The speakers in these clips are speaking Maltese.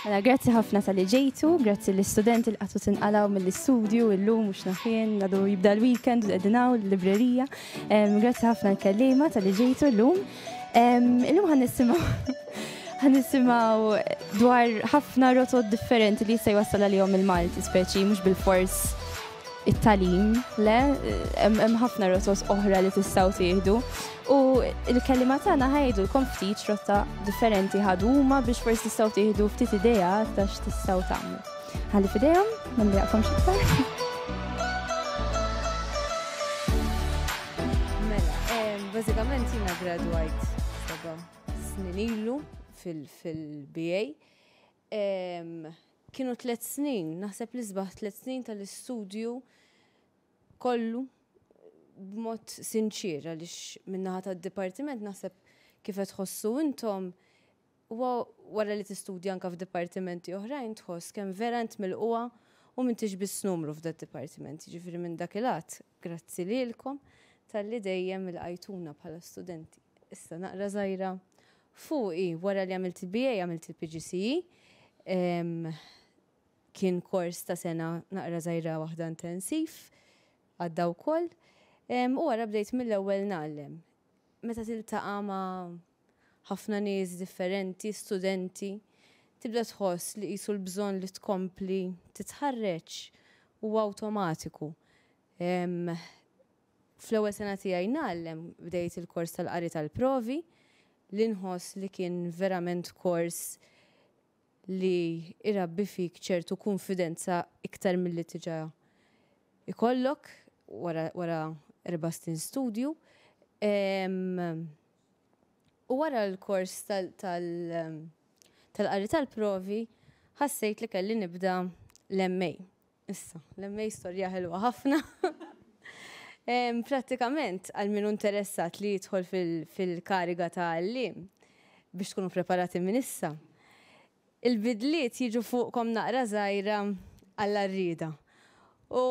Mela, grazzi ħafna talli ġejtu, grazzi l-istudenti li qatgħu tinqalgħu mill-istudju illum mhux naf jien, għadu jibda l-weekend u qegħdin hawn l-librerija. Grazzi ħafna l-kelliema talli ġejtu llum. Illum ħa nisimgħu ħa nisimgħu dwar ħafna rotot differenti li jista' jwassal għalihom il-Malti, speċi mhux bilfors it-tagħlim, le, hemm ħafna rotot oħra li tistgħu tieħdu. U l-kelliema tagħna ħa jgħidulkom ftit x'rotta differenti ħadu huma biex forsi tistgħu tieħdu ftit idea ta' x'tistgħu tagħmlu. Ħalli f'idejhom, ma nbejjaqkomx iktar. Mela, bażikament jiena gradwajt seba' snin ilu fil-BA. Kienu tlet snin, naħseb l-isbaħ tlet snin tal-istudju kollu b'mod sinċier għaliex min-naħa tad-dipartiment naħseb kif qed tħossu intom huwa wara li tistudja anke f'dipartimenti oħrajn tħoss kemm vera int milqugħa u m'intix biss numru f'dad-dipartiment. Jiġifieri minn dak il-għadd grazzi lilkom talli dejjem ilqajtuna bħala studenti. Issa naqra żgħira fuqi wara li għamilt il-BA għamilt il-PGCE. Kien kors ta' sena naqra żgħira waħda intensiv, għadda wkoll. U wara bdejt mill-ewwel ngħallem. Meta tiltaqa' ma' ħafna nies differenti, studenti, tibda tħoss li qisu l-bżonn li tkompli titħarreġ huwa awtomatiku. Fl-ewwel sena tiegħi ngħallem bdejt il-kors tal-qari tal-provi li nħoss li kien verament kors li jrabbi fik ċertu kunfidenza iktar milli diġà ikollok wara wara erba' snin studju. U wara l-kors tal-qari tal-provi ħassejt li kelli nibda l-MA. Issa, l-MA storja ħelwa ħafna. Prattikament, għal min hu interessat li jidħol fil-kariga ta' għalliem, biex tkunu preparati minn issa, il-bidliet jiġu fuqkom naqra żgħira għall-għarrieda. U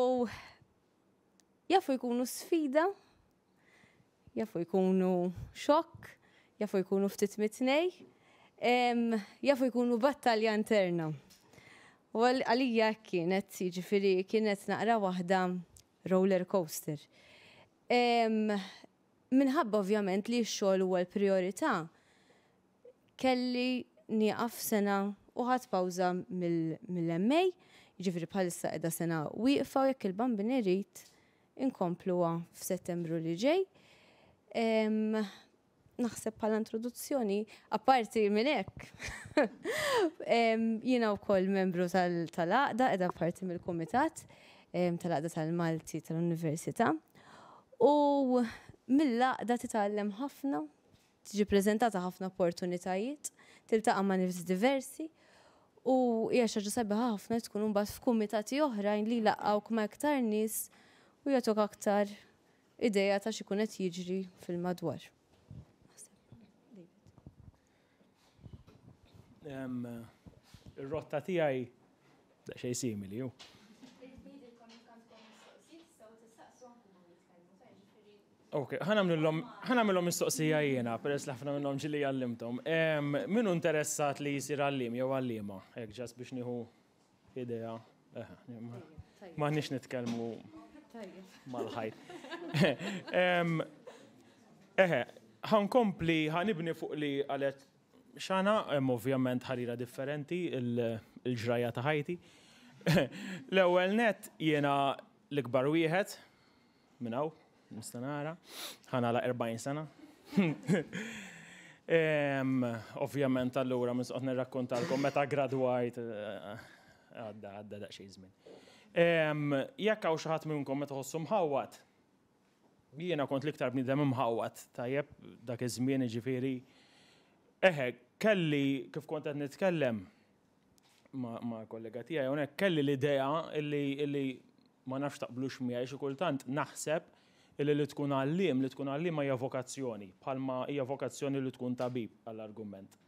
jafu jkunu sfida, jafu jkunu xokk, jafu jkunu ftit mit-tnej, jafu jkunu battalja interna. U għalija hekk kienet, jiġifieri kienet naqra waħda roller coaster. Minħabba ovvjament li x-xogħol huwa l-prijorità, kelli nieqaf sena u ħadt pawża mill-MA, jiġifieri bħalissa qiegħda sena wieqfa u jekk il-Bambin irid inkompluha f'Settembru li ġej. Naħseb bħala introduzzjoni, apparti minn hekk, jiena wkoll membru tal-għaqda, qiegħda parti mill-kumitat tal-Għaqda tal-Malti tal-Università. U mill-għaqda titgħallem ħafna, tiġi preżentata ħafna opportunitajiet, tiltaqa' ma' nies diversi u hija xi ħaġa sabiħa ħafna li tkun imbagħad f'kumitati oħrajn li jlaqqgħuk ma' iktar nies u jagħtuk aktar idea ta' x'ikun qed jiġri fil-madwar. Ir-rotta tiegħi daqsxejn simili, hu. Ok, ħa nagħmilhom mistoqsija jiena, peress li ħafna minnhom ġieli għallimthom. Min hu interessat li jsir għalliem jew għalliema? Hekk ġast biex nieħu idea. M'aħniex nitkellmu mal-ħajt. Eħe, ħa nkompli, ħa nibni fuq li qalet Xana, hemm ovvjament ħarira differenti il-ġrajja ta' ħajti. L-ewwel nett jiena l-ikbar wieħed, Minn hawn, nista' nara, ħa nagħlaq 40 sena. Ovvjament allura minn soqgħod nirrakkontalkom meta gradwajt eh, għadda għadda daqsxejn żmien. Jekk hawn xi ħadd minnkom meta ħossu mħawwad, jiena kont l-iktar bniedem imħawwad, tajjeb, dak iż-żmien jiġifieri. Eħe, kelli kif kont qed nitkellem, ma' kollega tiegħi hawnhekk kelli l-idea illi ma nafx taqblux miegħi xi kultant naħseb illi li tkun għalliem, li tkun għalliema hija vokazzjoni, bħalma hija vokazzjoni li tkun tabib għall-argument.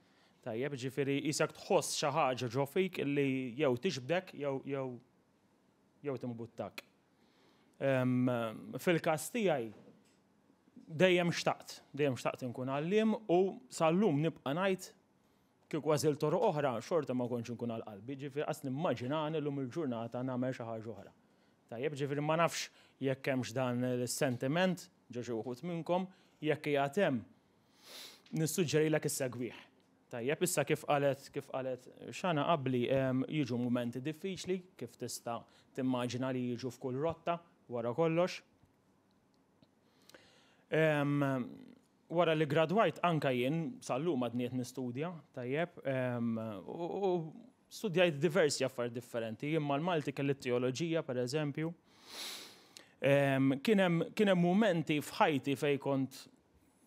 Tajjeb, ġifieri qisek tħoss xi ħaġa ġo fik illi jew tixbdek jew jew jew timbuttak. Fil-każ tiegħi dejjem xtaqt, dejjem xtaqt inkun għalliem u sal-lum nibqa' ngħid. Kieku għażilt toroq oħra, xorta ma kontx inkun għal qalbi, ġifieri qas nimmaġinani llum il-ġurnata nagħmel xi ħaġa oħra. Tajjeb, ġifieri ma nafx jekk hemmx dan is-sentiment ġo xi wħud minnkom, jekk qiegħed hemm, nissuġġerilek issegwih. Tajjeb, issa kif qalet kif qalet Xana qabli jiġu mumenti diffiċli kif tista' timmaġina li jiġu f'kull rotta wara kollox. Wara li gradwajt anka jien sal-lum għadni qed nistudja, tajjeb, u studjajt diversi affarijiet differenti, jien mal-Malti kelli t-teoloġija pereżempju. Kien hemm mumenti f'ħajti fejn kont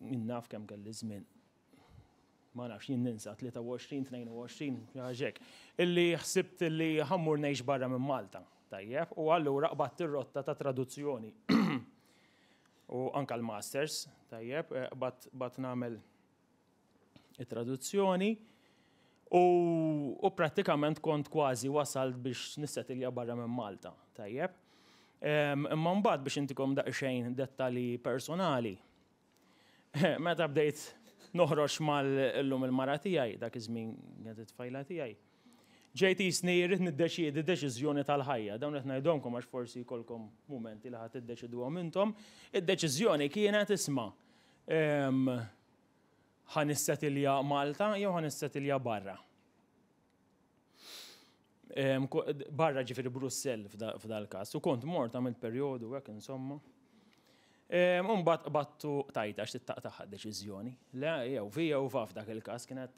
naf kemm kelli żmien. Ma nafx, jien ninsa, 23, 22, xi hekk, illi ħsibt illi ħa mmur ngħix barra minn Malta. Tajjeb, u allura qbadt ir-rotta ta' traduzzjoni. U anka l-masters, tajjeb, eh, qbadt nagħmel it-traduzzjoni u, u prattikament kont kważi wasalt biex nissetilja barra minn Malta, tajjeb. Imma mbagħad biex intikom daqsxejn dettalji personali, Meta bdejt noħroġ mal-illum il-mara tiegħi, dak iż-żmien kienet it-tfajla tiegħi, ġejt jisni rrid niddeċiedi deċiżjoni tal-ħajja. Dawn qed ngħidhomkom għax forsi jkollkom mumenti li ħadd tiddeċiduhom intom. Id-deċiżjoni kienet isma' ħa nissetilja Malta jew ħa nissetilja barra. Barra ġifieri Brussell f'dal-każ. U kont mort għamilt perjodu hekk insomma. U mbagħad qbadtu tajta għax tittaqtaħ deċiżjoni. Le, jew fi jew fa f'dak il-każ kienet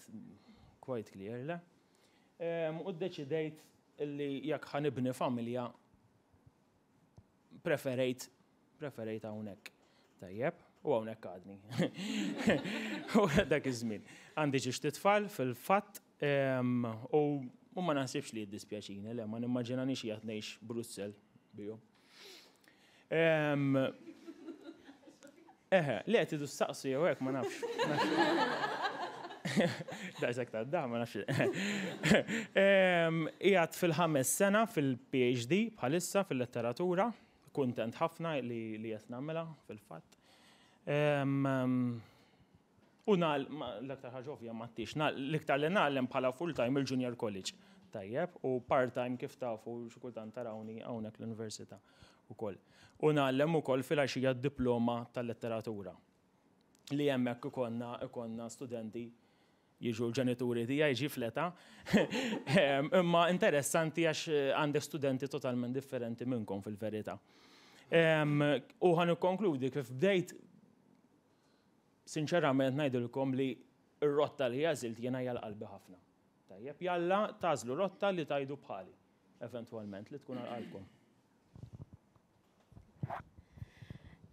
quite clear, le. U ddeċidejt li jekk ħa nibni familja preferejt preferejt hawnhekk. Tajjeb, u hawnhekk għadni. U dak iż-żmien. Għandi xi tfal fil-fatt u ma naħsibx li jiddispjaċini, le ma nimmaġinanix qiegħed ngħix Brussell bihom. Eħe, le tidu staqsu jew hekk ma nafx. Daqshekk ta' da ma nafx. Qiegħed fil-ħames sena fil-PhD bħalissa fil-letteratura, kuntent ħafna li qed nagħmilha fil-fatt. U nal, l-aktar ħaġa ovvja ma tix, l-iktar li nagħlem bħala full-time il-junior college. Tajjeb, u part-time kif tafu xi kultant tarawni hawnhekk l-università ukoll. U nagħlem ukoll filgħaxija d-diploma tal-letteratura. Li hemmhekk ikollna ikollna studenti jiġu l-ġenituri tiegħi ġi fl-età. Imma interessanti għax għandek studenti totalment differenti minnkom fil-verità. U ħa nikkonkludi kif bdejt Sinċerament ngħidilkom li r-rotta li għażilt jiena hija l-qalbi ħafna. Tajjeb, jalla tagħżlu rotta li tgħidu bħali, eventwalment li tkun għal qalbkom.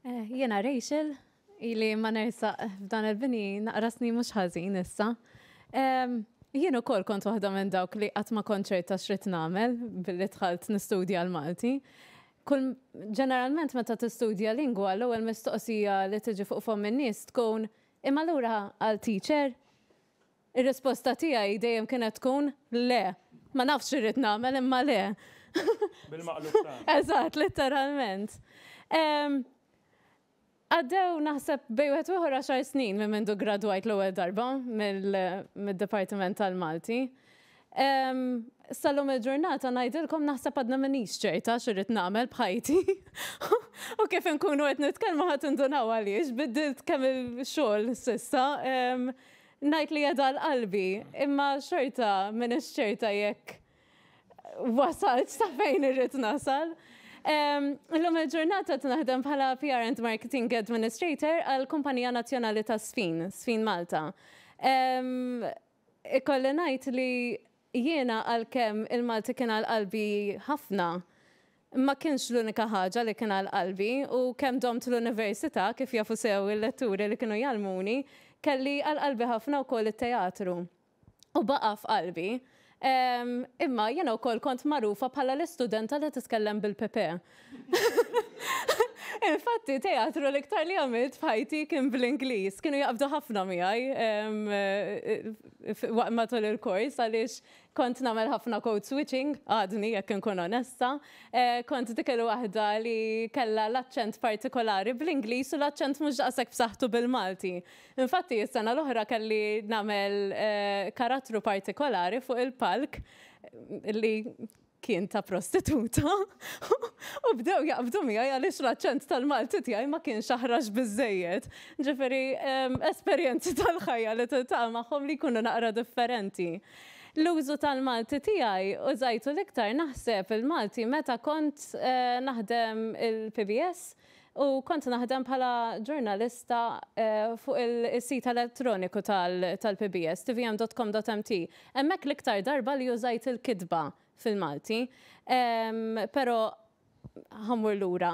Eh, jiena Rachel, ili ma nersaq f'dan il-bini naqra snin mhux ħażin issa. Jien ukoll kont waħda minn dawk li qatt ma kont ċerta x'rid nagħmel billi dħalt nistudja l-Malti. Kull ġeneralment meta tistudja lingwa l-ewwel mistoqsija li tiġi fuq fomm in-nies tkun imma allura għal teacher? Ir-risposta tiegħi dejjem kienet tkun le. Ma nafx x'irrid nagħmel imma le. Bil-maqlub ta'. Eżatt, litteralment. Għaddew naħseb bejn wieħed u ieħor għaxar snin minn mindu ggradwajt l-ewwel darba mid-Dipartiment tal-Malti. Sal-lum il-ġurnata ngħidilkom naħseb għadna m'iniex ċerta x'irrid nagħmel b'ħajti. U kif inkunu qed nitkellmu ħa tindunaw għaliex biddilt kemm il-xogħol s'issa. Ngħid li qiegħda għal qalbi, imma xorta m'iniex ċerta jekk wasalt sa fejn irrid nasal. Illum il-ġurnata qed naħdem bħala PR and Marketing Administrator għal Kumpanija Nazzjonali ta' Sfin, Sfin Malta. Ikolli ngħid li jiena għalkemm il-Malti kien għal qalbi ħafna, ma kienx l-unika ħaġa li kien għal qalbi u kemm domt l-università, kif jafu sew il-letturi li kienu jgħallmuni, kelli għal qalbi ħafna wkoll it-teatru. u baqa' f'qalbi. Imma jiena wkoll kont magħrufa bħala l-istudenta li titkellem bil-PP. Infatti, teatru l-iktar li għamilt f'ħajti kien bl-Ingliż. Kienu jaqbdu ħafna miegħi matul il-kors għaliex kont nagħmel ħafna code switching, għadni jekk inkun onesta. Kont dik il-waħda li kella l-aċċent partikolari bl-Ingliż u l-aċċent mhux daqshekk b'saħħtu bil-Malti. Infatti, s-sena l-oħra kelli nagħmel karattru partikolari fuq il-palk li kien ta' prostituta u bdew jaqbdu miegħi għaliex l-aċċent tal-Malti tiegħi ma kienx aħrax biżejjed. Ġifieri esperjenzi tal-ħajja li tiltaqa' magħhom li jkunu naqra differenti. L-użu tal-Malti tiegħi użajtu l-iktar naħseb il-Malti meta kont naħdem il-PBS u kont naħdem bħala ġurnalista fuq il-sit elettroniku tal-PBS, tvm.com.mt. Hemmhekk l-iktar darba li użajt il-kitba fil-Malti. Però ħa mmur lura.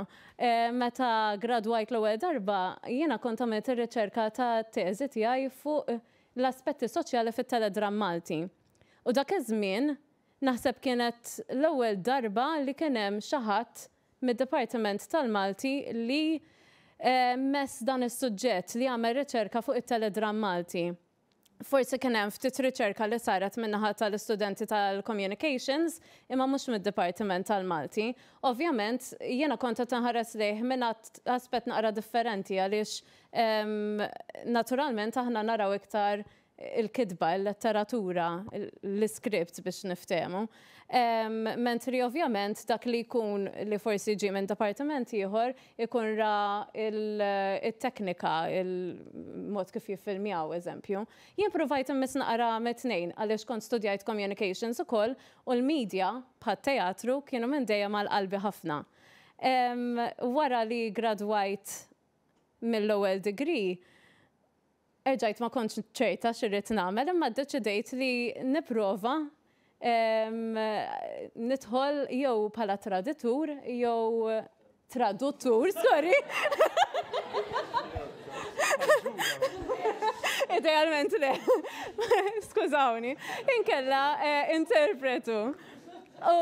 Meta gradwajt l-ewwel darba, jiena kont għamilt ir-riċerka ta' teżi tiegħi fuq l-aspetti soċjali fit-teledram Malti. U dak iż-żmien naħseb kienet l-ewwel darba li kien hemm xi ħadd mid-Dipartiment tal-Malti li mess dan is-suġġett, li għamel riċerka fuq it-teledram Malti. Forsi kien hemm ftit riċerka li saret min-naħa tal-istudenti tal-communications, imma mhux mid-Dipartiment tal-Malti. Ovvjament, jiena kont qed inħares lejh minn aspett naqra differenti għaliex naturalment aħna naraw iktar il-kitba, il-letteratura, l-iskript biex niftehmu. Mentri ovvjament dak li jkun li forsi ġie minn dipartiment ieħor ikun ra il-teknika, il-mod kif jiffilmjaw, eżempju. Jien provajt immiss naqra mit-tnejn għaliex kont studjajt communications ukoll u l-media bħat-teatru kienu minn dejjem għal qalbi ħafna. Wara li gradwajt mill-ewwel degree, erġajt ma kontx ċerta x'irrid nagħmel, imma ddeċidejt li nipprova nidħol jew bħala traditur jew traduttur, sorry. Idealment le. Skużawni. Inkella interpretu. U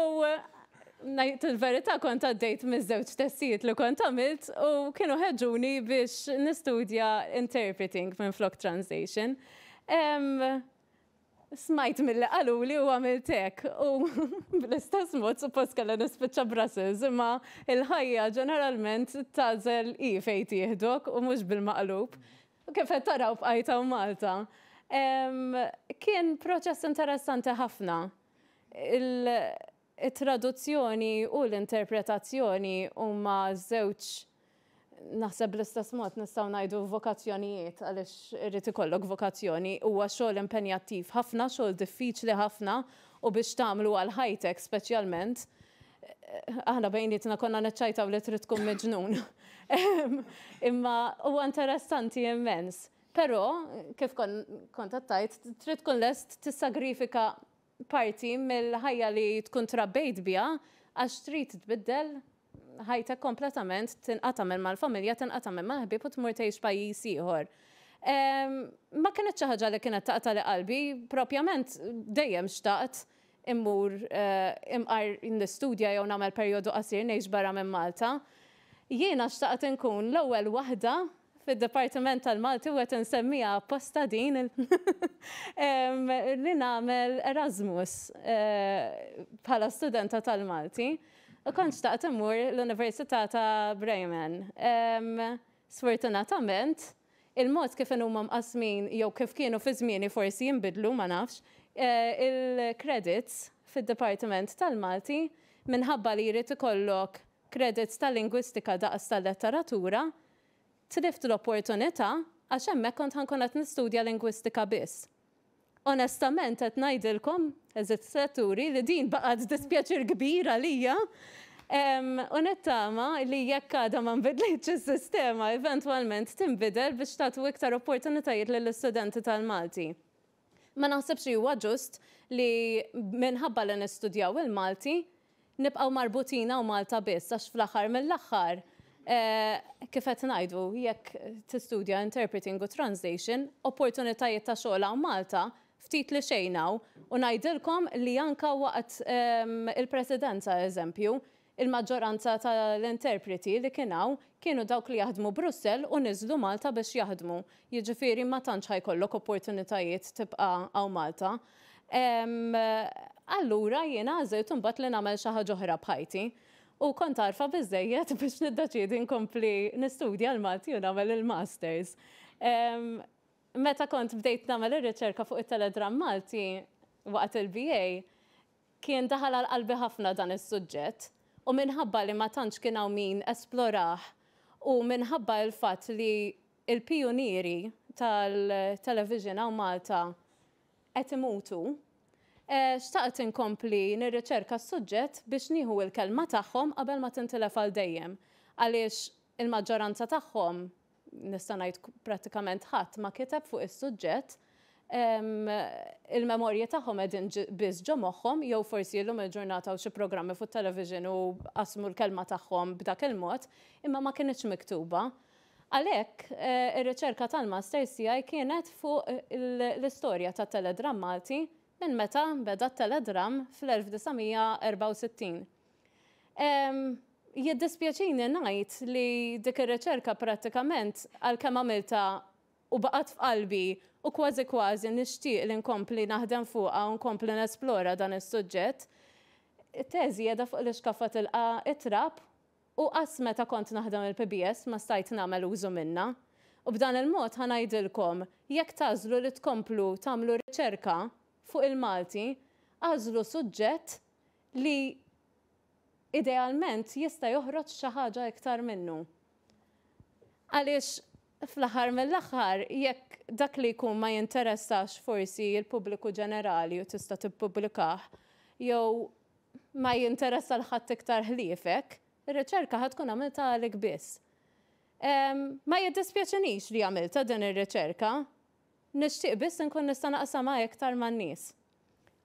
ngħid il-verità, kont għaddejt miż-żewġ testijiet li kont għamilt u kienu ħeġġuni biex nistudja interpreting minn flok translation. Smajt milli qaluli u għamilt hekk u bl-istess mod suppost kellha nispiċċa Brussels, imma il-ħajja ġeneralment tagħżel hi fejn tieħdok u mhux bil-maqlub. U kif qed taraw, bqajt hawn Malta. Kien proċess interessanti ħafna. Il-traduzzjoni u l-interpretazzjoni huma żewġ, naħseb bl-istess mod nistgħu ngħidu, vokazzjonijiet, għaliex irid ikollok vokazzjoni. Huwa xogħol impenjattiv ħafna, xogħol diffiċli ħafna, u biex tagħmlu għal ħajtek speċjalment, aħna bejnietna konna neċċajtaw li trid tkun miġnun. Imma huwa interessanti immens. Però, kif kont għedt, trid tkun lest tissagrifika parti mill-ħajja li tkun trabbejt biha għax trid tbiddel ħajtek kompletament, tinqata' minn mal-familja, tinqata' minn mal-ħbieb u tmur tgħix pajjiż ieħor. Ma kienet xi ħaġa li kienet taqtagħli qalbi, propjament dejjem xtaqt immur imqar nistudja jew nagħmel perjodu qasir ngħix barra minn Malta. Jiena xtaqt inkun l-ewwel waħda fid-Dipartiment tal-Malti, u qed insemmiha apposta din, li nagħmel Erasmus bħala studenta tal-Malti. U kont xtaqt immur l-Università ta' Bremen. Sfortunatament, il-mod kif huma mqasmin jew kif kienu fi żmieni, forsi jinbidlu, ma nafx, il-credits fid-Dipartiment tal-Malti, minħabba li jrid ikollok credits tal-lingwistika daqs tal-letteratura, tlift l-opportunità għax hemmhekk kont ħa nkun qed nistudja lingwistika biss. Onestament qed ngħidilkom, għeżież letturi, li din baqgħet dispjaċir kbir għalija. U nittama li jekk għadha ma nbidlitx is-sistema, eventwalment tinbidel biex tagħtu iktar opportunitajiet lill-istudenti tal-Malti. Ma naħsibx li huwa ġust li minħabba li nistudjaw il-Malti nibqgħu marbutin hawn Malta biss, għax fl-aħħar mill-aħħar, kif qed ngħidu, jekk tistudja interpreting u translation, opportunitajiet ta' xogħol hawn Malta ftit li xejn hawn, u ngħidilkom li anka waqt il-presidenza, eżempju, il-maġġoranza tal-interpreti li kien hawn kienu dawk li jaħdmu Brussell u niżlu Malta biex jaħdmu. Jiġifieri ma tantx ħa jkollok opportunitajiet tibqa' hawn Malta. Allura jiena għażilt imbagħad li nagħmel xi ħaġa oħra b'ħajti. U kont għarfa biżżejjed biex niddeċiedi nkompli nistudja l-Malti u nagħmel il-Masters. Meta kont bdejt nagħmel ir-riċerka fuq it-teledramm Malti waqt il-BA, kien daħal għal qalbi ħafna dan is-suġġett u minħabba li ma tantx kien hawn min esplorah u minħabba l-fatt li l-pijunieri tal-television hawn Malta qed imutu, xtaqt inkompli nirriċerka s-suġġett biex nieħu l-kelma tagħhom qabel ma tintilef għal dejjem għaliex il-maġġoranza tagħhom nista' ngħid prattikament ħadd ma kiteb fuq is-suġġett, il-memorji tagħhom qegħdin biss ġo moħħhom jew forsi illum il-ġurnata hawn xi programmi fuq television u qasmu l-kelma tagħhom b'dak il-mod, imma ma kinitx miktuba. Għalhekk, ir-riċerka tal-Masters tiegħi kienet fuq l-istorja tat-teledramm Malti minn meta beda t-teledramm fl-1964. Jiddispjaċini ngħid li dik ir-riċerka prattikament għalkemm għamiltha u baqgħet f'qalbi u kważi kważi nixtieq li nkompli naħdem fuqha u nkompli nesplora dan is-suġġett, it-teżi qiegħda fuq l-ixkaffa tilqa' t-trab u qass meta kont naħdem il-PBS ma stajt nagħmel użu minnha. U b'dan il-mod ħa ngħidilkom, jekk tagħżlu li tkomplu tagħmlu riċerka fuq il-Malti, agħżlu suġġett li idealment jista' joħroġ xi ħaġa iktar minnu. Għaliex fl-aħħar mill-aħħar jekk dak li jkun ma jinteressax forsi l-pubbliku ġenerali u tista' tippubblikah jew ma jinteressa 'l ħadd iktar ħliefek, ir-riċerka ħa tkun għamiltha għalik biss. Ma jiddispjaċinix li għamiltha din ir-riċerka, nixtieq biss inkun nista' naqsamha iktar man-nies.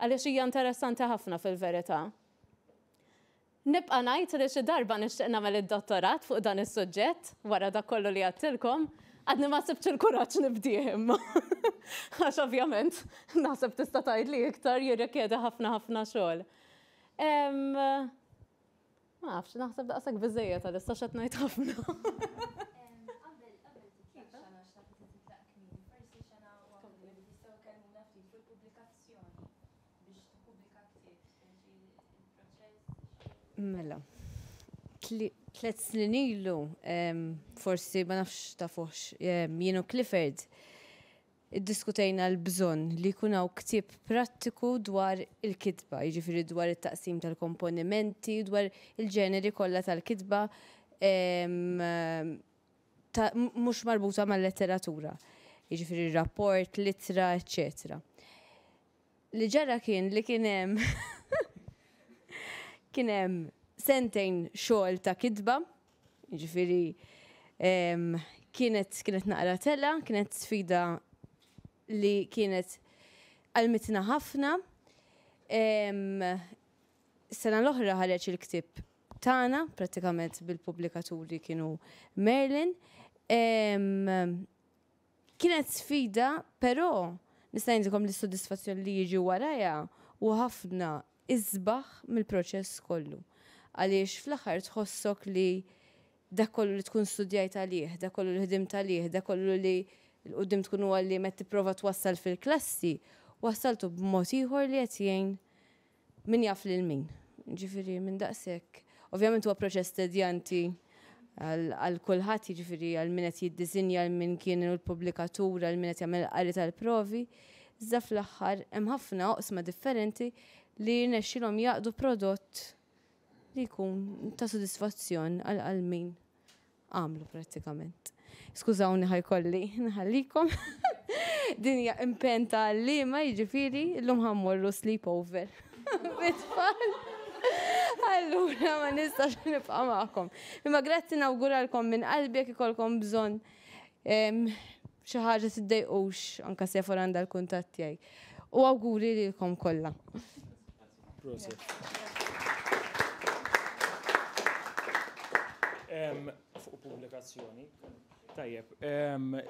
Għaliex hija interessanti ħafna fil-verità. Nibqa' ngħid li xi darba nixtieq nagħmel id-dottorat fuq dan is-suġġett, wara dak kollu li għedtilkom. Għadni ma sibtx il-kuraġġ nibdieh imma. Għax ovvjament naħseb tista' tgħidli iktar jirrikjedi ħafna ħafna xogħol. Ma nafx, naħseb daqshekk biżejjed għalissa x'qed ngħid ħafna. Mela, tlet snin ilu, forsi ma nafx tafuhx, jien u Clifford iddiskutejna l-bżonn li jkun hawn ktieb prattiku dwar il-kitba, jiġifieri dwar it-taqsim tal-komponimenti, dwar il-ġeneri kollha tal-kitba mhux marbuta mal-letteratura, jiġifieri rapport, l-ittra, eċċetera. Li ġara kien li kien hemm kien hemm sentejn xogħol ta' kitba, jiġifieri kienet kienet naqra tela, kienet sfida li kienet għalmitna ħafna. Sena l-oħra ħareġ il-ktieb tagħna, prattikament bil-pubblikaturi kienu Merlin. Kienet sfida, però nista' ngħidilkom li s-sodisfazzjon li jiġi warajha huwa ħafna isbaħ mill-proċess kollu. Għaliex fl-aħħar tħossok li dak kollu li tkun studjajt għalih, dak kollu li ħdimt għalih, dak kollu li 'l quddiem tkun għalliem qed tipprova twassal fil-klassi, wassaltu b'mod ieħor li qed jgħin min jaf lil min. Ġifieri minn daqshekk. Ovvjament huwa proċess tedjanti għal kulħadd, jiġifieri għal min qed jiddisinja, għal min kien il-pubblikatur, għal min qed jagħmel qari tal-provi. Iżda fl-aħħar hemm ħafna oqsma differenti li rnexxielhom jaqdu prodott li jkun ta' sodisfazzjon għal min għamlu prattikament. Skużawni ħajkolli nħallikom. Din hija impenn ta' għalliema jiġifieri llum ħa mmorru sleepover bit-tfal. Allura ma nistax nibqa' magħkom. Imma grazzi nawguralkom minn qalbi jekk ikollkom bżonn xi ħaġa tiddejqux anke Sephora għandha l-kuntatt tiegħi. U awguri lilkom kollha. Proset. Fuq pubblikazzjoni. Tajjeb,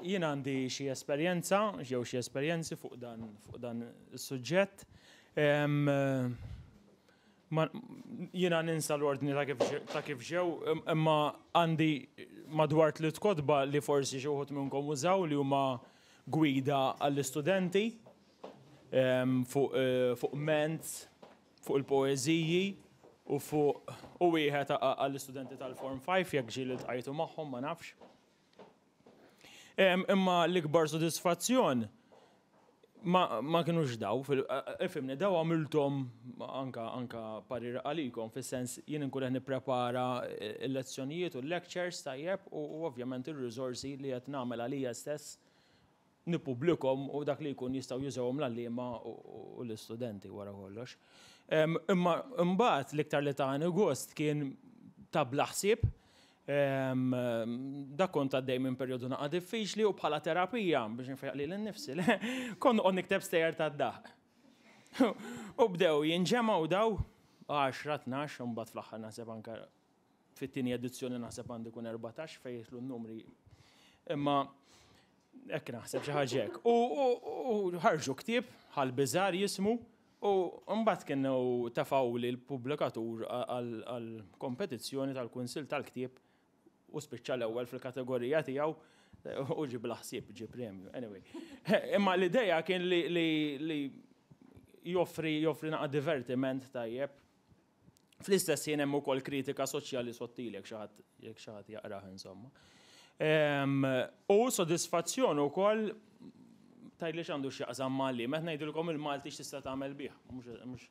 jien għandi xi esperjenza, jew xi esperjenzi fuq dan fuq dan is-suġġett. Ma, jiena ninsa l-ordni ta' kif ta' kif ġew, imma għandi madwar tliet kotba li forsi xi wħud minnkom użaw li huma gwida għall-istudenti fuq fuq Mentz, fuq il-poeżiji u fuq u wieħed għall-istudenti tal-Form 5 jekk ġieli ltqajtu magħhom ma nafx. Imma l-ikbar sodisfazzjon ma, ma kinux daw, ifhimni, daw għamilthom anka anka parir għalikom, fis-sens jien inkun qed nipprepara l-lezzjonijiet u l-lectures tajjeb u, u ovvjament ir-riżorsi li qed nagħmel għalija stess nippubblikhom u dak li jkun jistgħu jużawhom l-għalliema u l-istudenti wara kollox. Imma mbagħad l-iktar li tani gost kien ta' bla ħsieb Dak kont għaddej minn perjodu naqa' diffiċli u bħala terapija biex nfejjaq lili nnifsi, kont noqgħod nikteb stejjer tad-daħq. U bdew jinġemgħu daw 10, 12, u mbagħad fl-aħħar naħseb anke fit-tieni edizzjoni naħseb għandu jkun 14 fejn jidħlu n-numri. Imma hekk naħseb xi ħaġa hekk. U ħarġu ktieb ħal biżar jismu U mbagħad kienu tefgħuli l-pubblikatur għall-kompetizzjoni tal-Kunsill tal-Ktieb u spiċċa l-ewwel fil-kategorija tiegħu u ġie bla ħsieb, ġie premju. Anyway. Imma l-idea kien li joffri joffri naqa' divertiment tajjeb. Fl-istess ħin hemm ukoll kritika soċjali sottili jekk xi ħadd jekk xi ħadd jaqrah insomma. U sodisfazzjon ukoll tgħidli x'għandu x'jaqsam ma' għalliem, qed ngħidilkom il-Malti x'tista' tagħmel bih. Mhux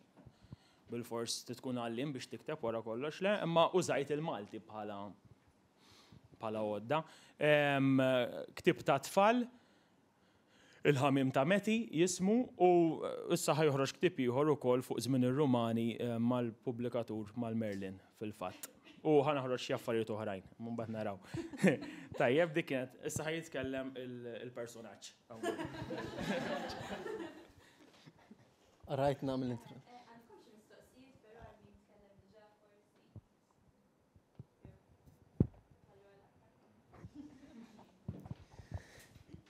bilfors tkun għalliem biex tikteb wara kollox, le, imma użajt il-Malti bħala bħala għodda. Ktieb ta' tfal Il-Ħamiem ta' Meti jismu u issa ħa joħroġ ktieb ieħor ukoll fuq żmien ir-Rumani mal-pubblikatur mal-Merlin fil-fatt. U ħa naħroġ xi affarijiet oħrajn, mbagħad naraw. Tajjeb dik kienet, issa ħa jitkellem il-personaġġ. Rajt nagħmel intro.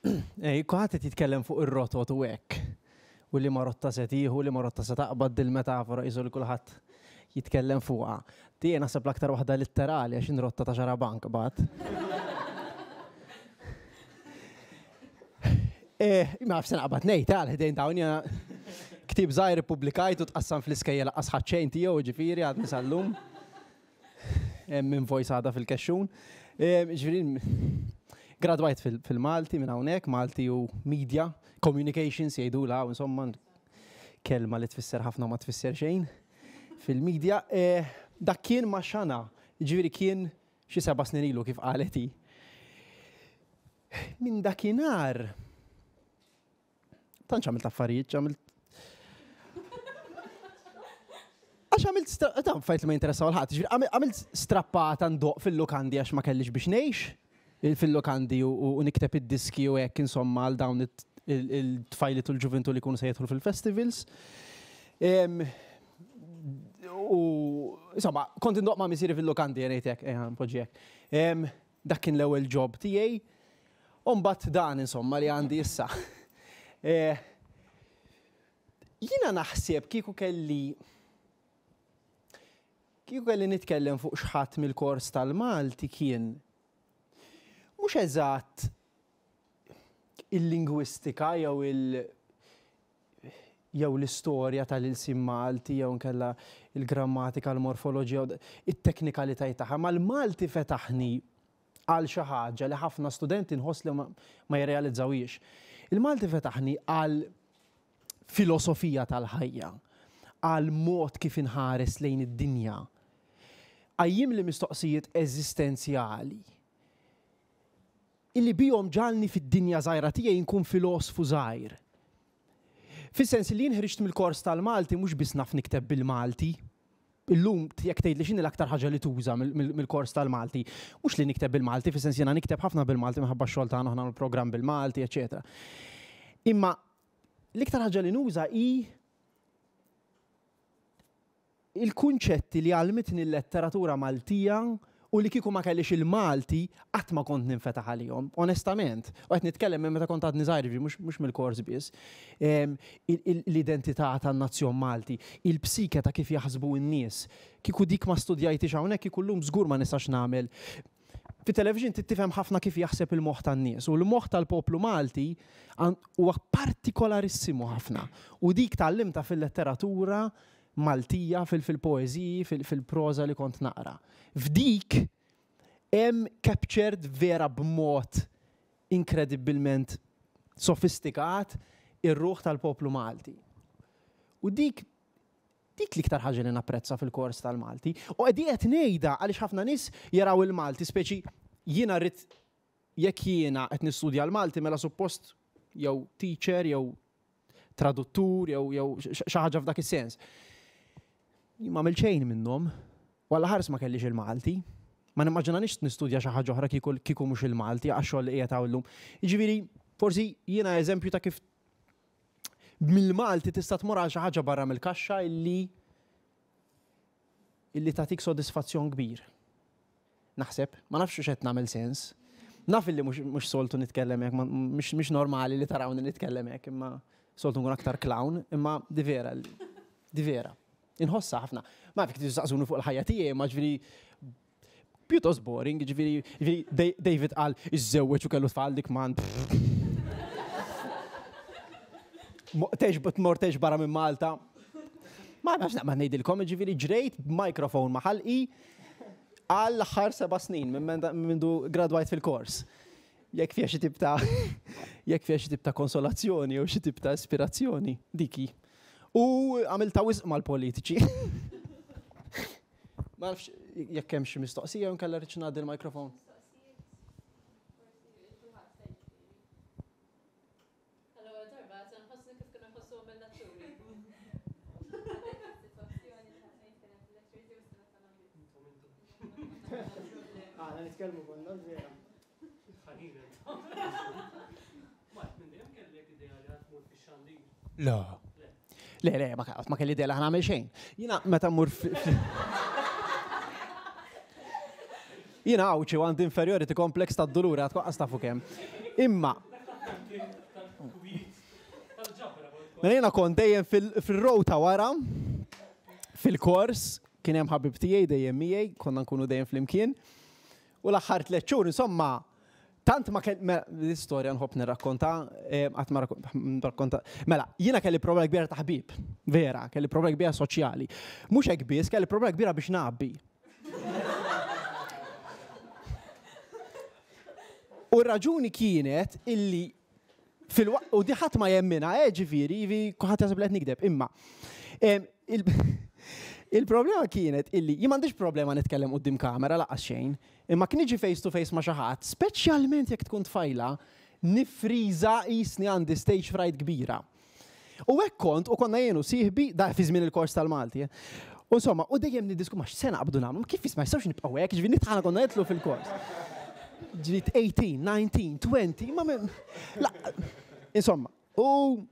Ej, kulħadd qed jitkellem fuq ir-rotot u hekk. U li ma rotta se tieħu, li ma rotta se taqbad dil-metafora qisu li kulħadd jitkellem fuqha. Tiegħi naħseb l-aktar waħda litterali għax rotta ta' xarabank qbad. Eh, ma nafx se naqbad ngħid għal ħdejn dawn jiena ktieb żgħir ippubblikajt u tqassam fl-iskejjel laqqas ħadd xejn tiegħu ġifieri għadni sal-lum. Hemm invoice għadha fil-kexxun. Ġifieri gradwajt fil-Malti minn hawnhekk, Malti u media, communications jgħidulha insomma kelma li tfisser ħafna ma tfisser xejn fil-media. Eh, dak kien ma' xana, ġifieri kien xi seba' snin ilu kif qalet hi. Minn dakinhar tantx għamilt affarijiet, għamilt Għax għamilt, ta' fajt li ma jinteressaw l-ħadd, għamilt strappata ndoq fil-lukandi għax ma kellix biex ngħix, fil-lukandi u nikteb id-diski u hekk insomma għal dawn il-tfajliet u l-ġuvintu li jkunu se jidħlu fil-festivals. U insomma, kont indoq ma' missieri fil-lukandi ngħid hekk, ejja npoġġi hekk. Dak kien l-ewwel job tiegħi. U mbagħad dan insomma li għandi issa. Eh, jiena naħseb kieku kelli kieku kelli nitkellem fuq xħadd mill-kors tal-Malti kien mhux eżatt il-lingwistika jew il- jew l-istorja tal-ilsien Malti jew inkella il-grammatika, l-morfoloġija, it-teknikalitajiet tagħha, ma l-Malti fetaħni għal xi ħaġa li ħafna studenti nħoss li ma jirrealizzawhiex. Il-Malti fetaħni għal filosofija tal-ħajja, għal mod kif inħares lejn id-dinja. Qajjimli mistoqsijiet eżistenzjali illi bihom ġagħalni fid-dinja żgħira tiegħi nkun filosfu żgħir. Fis-sens li jien ħriġt mill-kors tal-Malti mhux biss naf nikteb bil-Malti. Illum jekk tgħidli x'inhi l-aktar ħaġa li tuża mill-kors tal-Malti, mhux li nikteb bil-Malti, fis-sens jiena nikteb ħafna bil-Malti minħabba x-xogħol tagħna aħna nagħmlu programm bil-Malti, eċċetera. Imma l-iktar ħaġa li nuża hi il-kunċetti li għallmitni l-letteratura Maltija u U li kieku ma kellix il-Malti qatt ma kont ninfetaħ għalihom, onestament. U qed nitkellem minn meta kont għadni żgħir, mhux mill-kors biss. L-identità tan-nazzjon Malti, il-psike ta' kif jaħsbu n-nies. Kieku dik ma studjajtix hawnhekk kieku llum żgur ma nistax nagħmel. Fit-television trid tifhem ħafna kif jaħseb il-moħħ tan-nies u l-moħħ tal-poplu Malti huwa partikolarissimu ħafna. U dik tgħallimtha fil-letteratura Maltija, fil-poeżiji, fil-proża li kont naqra. F'dik hemm captured vera b'mod inkredibbilment sofistikat ir-ruħ tal-poplu Malti. U dik dik l-iktar ħaġa li napprezza fil-kors tal-Malti. U qed qed ngħidha għaliex ħafna nies jaraw il-Malti, speċi jiena rrid jekk jiena qed nistudja l-Malti mela suppost jew teacher jew traduttur jew jew xi ħaġa f'dak is-sens. Jien ma għamilt xejn minnhom. U Alla ħares ma kellix il-Malti. Ma nimmaġinanix nistudja xi ħaġa oħra kieku kieku mhux il-Malti għax-xogħol li qiegħed hawn illum. Jiġifieri, forsi jiena eżempju ta' kif mill-Malti tista' tmur għal xi ħaġa barra mill-kaxxa illi illi tagħtik sodisfazzjon kbir. Naħseb, ma nafx hux qed nagħmel sens. Naf illi mhux soltu nitkellem hekk, mhux normali li tarawni nitkellem hekk, imma soltu nkun aktar clown, imma di vera, di vera. Inħossha ħafna. Ma nafx tistaqsuni fuq il-ħajja tiegħi, ma ġifieri pjuttost boring, ġifieri David qal iżżewweġ u kellu tfal dik man. Tex tmur tex barra minn Malta. Ma nafx naqbad ngħidilkom, ġifieri ġrejt b'mikrofon ma' ħalqi għal l-aħħar seba' snin minn mindu gradwajt fil-kors. Jekk fiha xi tip ta' jekk fiha xi tip ta' konsolazzjoni jew xi tip ta' ispirazzjoni, diki. U għamilta wisq mal-politiċi. Ma nafx jekk hemm xi mistoqsija jew inkella rridx ngħaddi l-mikrofon. Għall-ewwel darba qed inħossni kif kienu jħossuhom il-letturi. Aħna nitkellmu konna vera. Le. Le, le, ma kelli idea li ħa nagħmel xejn. Jiena meta mmur Jiena Għawdxi u għandi inferiority complex tad-dulur għad kwaqqas tafu kemm. Imma Mela jiena kont dejjem fil-row ta' wara fil-kors, kien hemm ħabib tiegħi dejjem miegħi, konna nkunu dejjem flimkien. U l-aħħar tliet xhur, insomma, tant ma kell mela, l-istorja nħobb nirrakkonta, eh, qatt ma rakkonta. Mela, jiena kelli problema kbira ta' ħbieb, vera, kelli problema kbira soċjali. Mhux hekk biss, kelli problema kbira biex ngħabbi. U r-raġuni kienet illi fil-waqt, u di ħadd ma jemminha, eh, ġifieri, jivi kulħadd jaħseb li qed nikdeb, imma il-problema kienet illi jien m'għandix problema nitkellem quddiem kamera lanqas xejn, imma kien niġi face to face ma' xi ħadd, speċjalment jekk tkun tfajla, nifriża qisni għandi stage fright kbira. U hekk kont, u konna jien u sieħbi, da fi żmien il-kors tal-Malti, eh. U insomma, u dejjem niddisku ma x'se naqbdu nagħmlu, kif ma jistgħux nibqgħu hekk, ġifieri nitħana konna nidħlu fil-kors. Ġifieri 18, 19, 20, ma la, insomma, u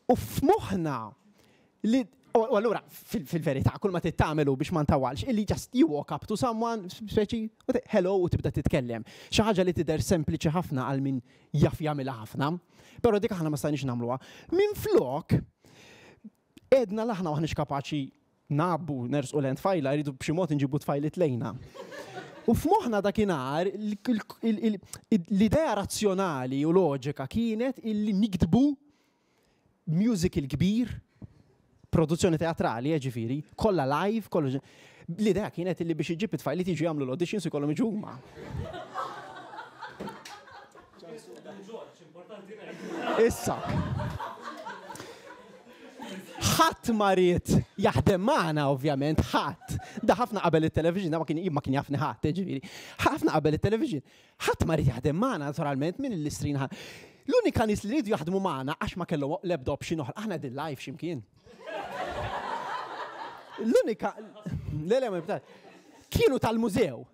u f'moħħna li u allura fil-verità kull ma trid tagħmel hu biex ma ntawalx illi just you walk up to someone speċi hello u tibda titkellem. Xi ħaġa li tidher sempliċi ħafna għal min jaf jagħmilha ħafna, però dik aħna ma stajniex nagħmluha. Minflok għedna l aħna maħniex kapaċi ngħabbu nersqu lejn tfajla, rridu b'xi mod inġibu tfajliet lejna. U f'moħħna dakinhar l-idea razzjonali u loġika kienet illi niktbu musical kbir, produzzjoni teatrali, eh, ġifieri, kollha live, kollu. L-idea kienet illi biex iġib it-tfajliet jiġu jagħmlu l-auditions u jkollhom jiġu huma. Issa. Ħadd ma ried jaħdem magħna ovvjament, ħadd. Da ħafna qabel it-television, ma kien ma kien jafni ħadd, ġifieri. Ħafna qabel it-television. Ħadd ma ried jaħdem magħna naturalment minn l-istrin L-unika nies li riedu jaħdmu magħna għax ma kellhom l-ebda option oħra, aħna din live x'imkien. L-unika, le le ma kienu tal-mużew.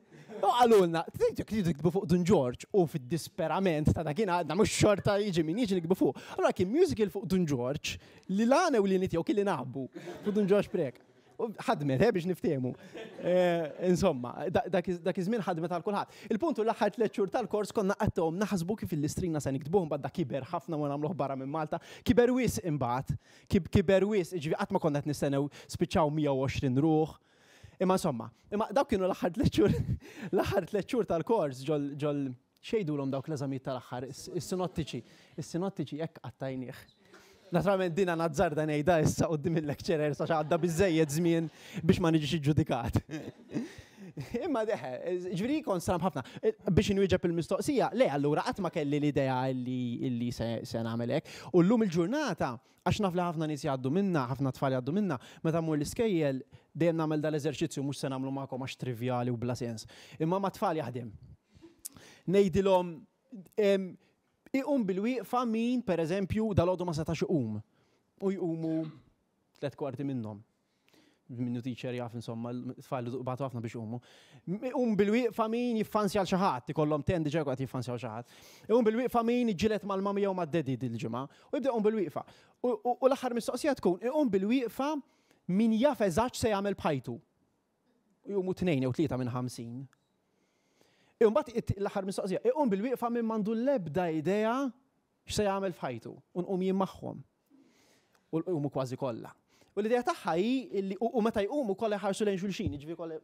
U qalulna, tridu tiktbu fuq Dun Ġorġ u fid-disperament ta' dakin għadna mhux xorta jiġi min jiġi nikbu fuq. Allura kien musical fuq Dun Ġorġ li l-għana u li tiegħu kien li nabbu fuq Dun Ġorġ Prek. Ħadmet, eh, biex niftehmu. Eh, insomma, dak iż-żmien ħadmet għal kulħadd. Il-punt hu l-aħħar tliet xhur tal-kors konna qattgħuhom naħsbu kif il-listrina se niktbuh imbagħad da kiber ħafna ma nagħmluh barra minn Malta. Kiber wisq imbagħad. Kiber wisq, jiġifieri qatt ma konna qed nistennew spiċċaw 120 ruħ. Imma insomma, imma dawk kienu l-aħħar tliet xhur l-aħħar tliet xhur tal-kors ġol ġol x'jgħidulhom dawk l-eżamijiet tal-aħħar, is-sinottiċi. Is-sinottiċi hekk qattajnieh. Naturalment dina nazzarda ngħidha issa quddiem il-lecturers għax għadda biżejjed żmien biex ma niġix iġġudikat. Imma deħe, ġifieri kont stramb ħafna. Biex inwieġeb il-mistoqsija, le allura qatt ma kelli l-idea illi se nagħmel hekk. U llum il-ġurnata, għax naf li ħafna nies jgħaddu minna, ħafna tfal jgħaddu minna, meta mmur l-iskejjel dejjem nagħmel dal-eżerċizzju mhux se nagħmlu magħkom għax trivjali u bla sens. Imma mat-tfal jaħdem. Ngħidilhom Iqum bilwieqfa min, per eżempju, dalgħodu ma setax iqum. U jqumu tlett kwarti minnhom. Minnu teacher jaf insomma, tfal batu ħafna biex iqumu. Iqum bilwieqfa min jiffansja għal xi ħadd, ikollhom ten diġà qed jiffansjaw xi ħadd. Iqum bilwieqfa min iġġieled mal-mami jew mad-daddy dil-ġimgħa. U jibda jqum bilwieqfa. U l-aħħar mistoqsija tkun, iqum bilwieqfa min jaf eżatt x'se jagħmel b'ħajtu. U jqumu tnejn jew tlieta minn 50. Imbagħad l-aħħar mistoqsija, iqum bil-wieqfa min m'għandu l-ebda idea x'se jagħmel f'ħajtu u nqum jien magħhom. U jqumu kważi kollha. U l-idea tagħha hi li u meta jqumu kollha jħarsu lejn xulxin, jiġifieri kollha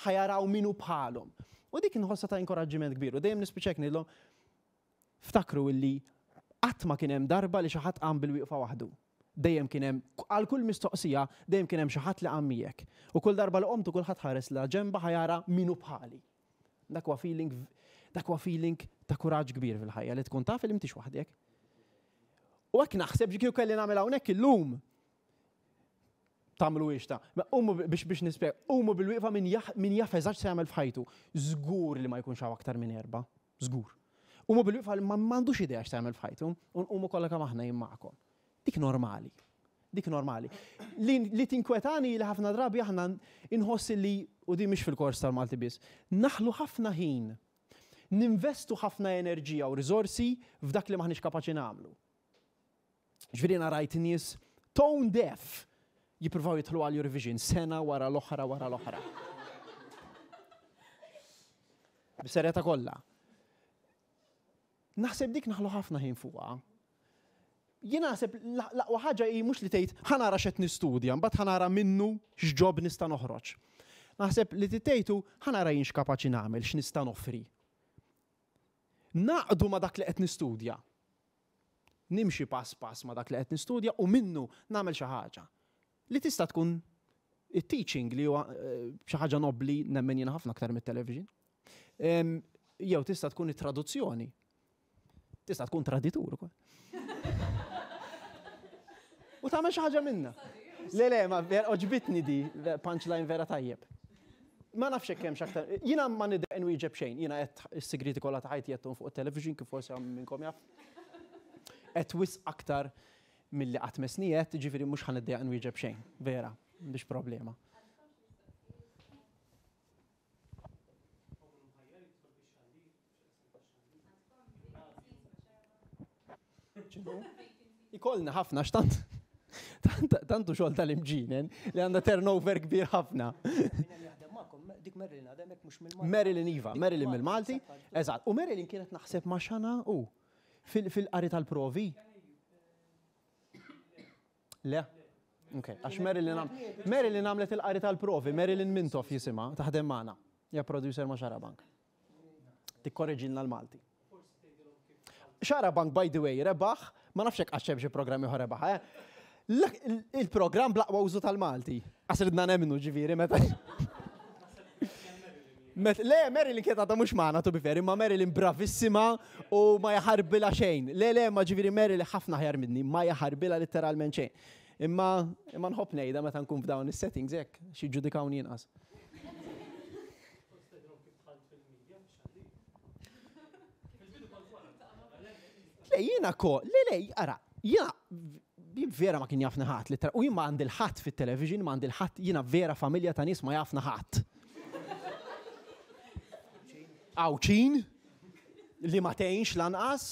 ħajaraw min hu bħalhom. U dik inħossha ta' inkoraġġiment kbir u dejjem nispiċċa ngħidilhom Ftakru illi qatt ma kien hemm darba li xi ħadd qam bil-wieqfa waħdu. Dejjem kien hemm, għal kull mistoqsija, dejjem kien hemm xi ħadd li qam miegħek. U kull darba li qomtu kulħadd ħares la ġenba ħa jara min hu bħali. Dak huwa feeling, dak huwa feeling ta' kuraġġ kbir fil-ħajja li tkun taf li m'intix waħdek. U hekk naħseb kieku kelli nagħmel hawnhekk illum tagħmluhiex ta'. Qumu biex biex nispjega, qumu bil-wieqfa min min jaf eżatt x'se jagħmel f'ħajtu. Żgur li ma jkunx hawn aktar minn erbgħa. Żgur. Qumu bil-wieqfa li ma m'għandux idea x'se jagħmel f'ħajtu, u nqumu kollha kemm aħna jien magħkom. Dik normali. Dik normali. Li, li tinkwetani li ħafna drabi aħna inħoss li, u din mhix fil-kors tal-Malti biss, naħlu ħafna ħin, ninvestu ħafna enerġija u riżorsi f'dak li m'aħniex kapaċi nagħmlu. Ġifieri jiena rajt nies tone deaf jippruvaw jidħlu għal Eurovision sena wara l-oħra wara l-oħra. B'serjetà kollha. Naħseb dik naħlu ħafna ħin fuqha. Jien naħseb l-aqwa ħaġa hi mhux li tgħid ħa nara x'qed nistudja, mbagħad ħa nara minnu x'ġob nista' noħroġ. Naħseb li tgħidu ħa nara jien x'kapaċi nagħmel, x'nista' noffri. Naqdu ma' dak li qed nistudja. Nimxi pass pass ma' dak li qed nistudja u minnu nagħmel xi ħaġa. Li tista' tkun it-teaching li huwa xi ħaġa nobbli nemmen jiena ħafna aktar mit-television. Jew tista' tkun it-traduzzjoni. Tista' tkun traditur ukoll. U tagħmel xi ħaġa minnha. Le le, ma oġbitni di, punchline vera tajjeb. Ma nafx hekk hemmx aktar. Jiena ma nidher nwieġeb xejn, jiena qed is-sigriti kollha ta' ħajti qedthom fuq it-television kif forsi hawn minnkom jaf. Qed wisq aktar milli qatt messni qed, jiġifieri mhux ħa niddejjaq nwieġeb xejn, vera, m'għandix problema. Ikollna ħafna x'tant tantu xogħol tal-imġinen li għandha turnover kbir ħafna. Dik Marilyn għadha hemmhekk mhux mill-Malti. Marilyn iva, Marilyn mill-Malti. Eżatt. U Marilyn kienet naħseb ma' Xana u fil-qari tal-provi. Le? Ok, għax Marilyn Marilyn għamlet il-qari tal-provi, Marilyn Mintoff jisimha, taħdem magħna. Ja producer ma' Xarabank. Tikkoreġilna l-Malti. Xarabank, by the way, rebaħ, ma nafx hekk għax hemm xi programm ieħor rebaħ, eh? Il-programm bl-aqwa użu tal-Malti. Għax ridna nemmnu ġifieri meta. Le, Marilyn kienet għadha mhux magħna to be fair, imma Marilyn bravissima u ma jaħarbilha xejn. Le, le, ma ġifieri Marilyn ħafna aħjar minni, ma jaħarbilha litteralment xejn. Imma imma nħobb ngħidha meta nkun f'dawn is-settings hekk, xi ġġudikawni inqas. Le, jiena ko, le, le, ara, jiena jien vera ma kien jafni ħadd, littra, u jien ma għandi l-ħadd fit-television, ma għandi l-ħadd, jiena vera familja ta' nies ma jafna ħadd. Għawċin, li ma tgħinx lanqas,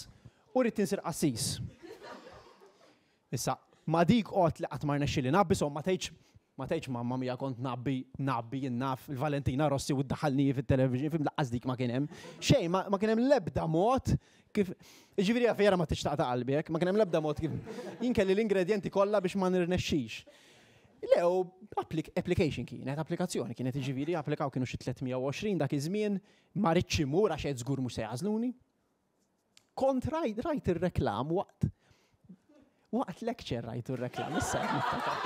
u rrid insir qassis. Issa, ma dik qgħod li qatt ma rnexxieli nabbisom ma tgħidx. Ma tgħidx mamma mia kont ngħabbi, ngħabbi jien naf il-Valentina Rossi u ddaħħalni fit-television, fim laqqas dik ma kien hemm. Xejn, ma kien hemm l-ebda mod kif. Jiġifieri vera ma tridx taqta' qalbi hekk, ma kien hemm l-ebda mod kif. Jien kelli l-ingredjenti kollha biex ma nirnexxix. Le, u application kienet, applikazzjoni kienet, jiġifieri applikaw kienu xi 320 dak iż-żmien, ma ridtx immur għax għedt żgur mhux se jagħżluni. Kont rajt, rajt ir-reklam waqt waqt lecture rajtu r-reklam, issa qed niftakar.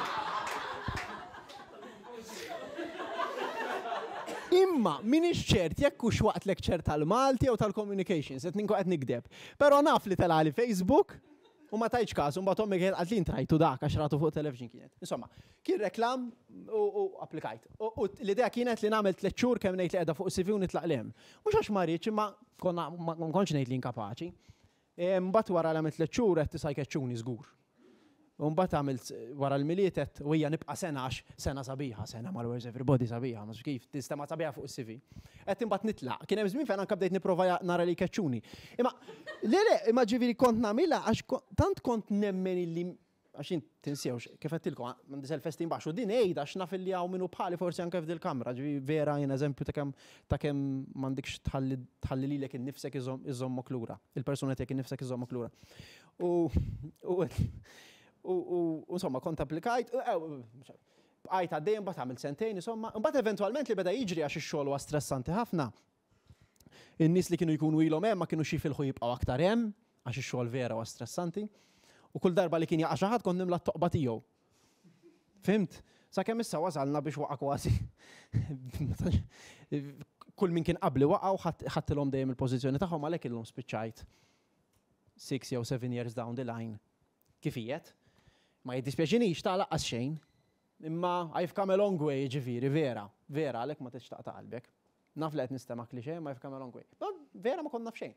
Imma minix ċert jekk hux waqt lecture tal-Malti jew tal-communications, qed ninkun qed nikdeb. Però naf li telali Facebook u ma tajtx każ, u mbagħad ommi kienet qalt li int rajtu dak għax ratu fuq television kienet. Insomma, kien reklam u applikajt. U l-idea kienet li nagħmel tliet xhur kemm ngħid li qiegħda fuq CV u nitlaq 'l hemm. Mhux għax ma rridx imma konna ma kontx ngħid li inkapaċi. Mbagħad wara li għamilt tliet xhur għedt issa jkeċċuni żgur. U mbagħad għamilt wara l-Milied għedt u hija nibqa' sena għax sena sabiħa, sena mal-Where's Everybody sabiħa, ma kif tinstema' sabiħa fuq is-CV. Għedt imbagħad nitlaq. Kien hemm żmien fejn anke bdejt nipprova nara li jkeċċuni. Imma le le, imma ġifieri kont nagħmilha għax tant kont nemmen illi għax jien tinsewx, kif għedtilkom, għandi self-esteem baxx u din ngħid għax naf illi hawn min hu bħali forsi anke f'dil-kamra, ġifieri vera jien eżempju ta' kemm ta' kemm m'għandikx tħalli tħalli lilek innifsek iżommok lura, il-persuna tiegħek innifsek iżommok lura. U u u insomma kont applikajt, bqajt għaddej imbagħad għamilt sentejn insomma, imbagħad eventwalment li beda jiġri għax ix-xogħol huwa stressanti ħafna. In-nies li kienu jkunu ilhom hemm ma kinux jifilħu jibqgħu aktar hemm għax ix-xogħol vera huwa stressanti. U kull darba li kien jaqa' xi ħadd kont nimla t-toqba tiegħu. Fhimt? Sakemm issa wasalna biex waqa' kważi. Kull min kien qabli waqa' u ħadtilhom dejjem il-pożizzjoni tagħhom għalhekk illum spiċċajt 6 jew 7 years down the line kif qiegħed. Ma jiddispjaċinix ta' laqqas xejn. Imma I've come a long way, jiġifieri, vera, vera, għalhekk ma tridx taqta' qalbek. Naf li qed nistema' cliché, imma I've come a long way. Ma vera ma kont naf xejn.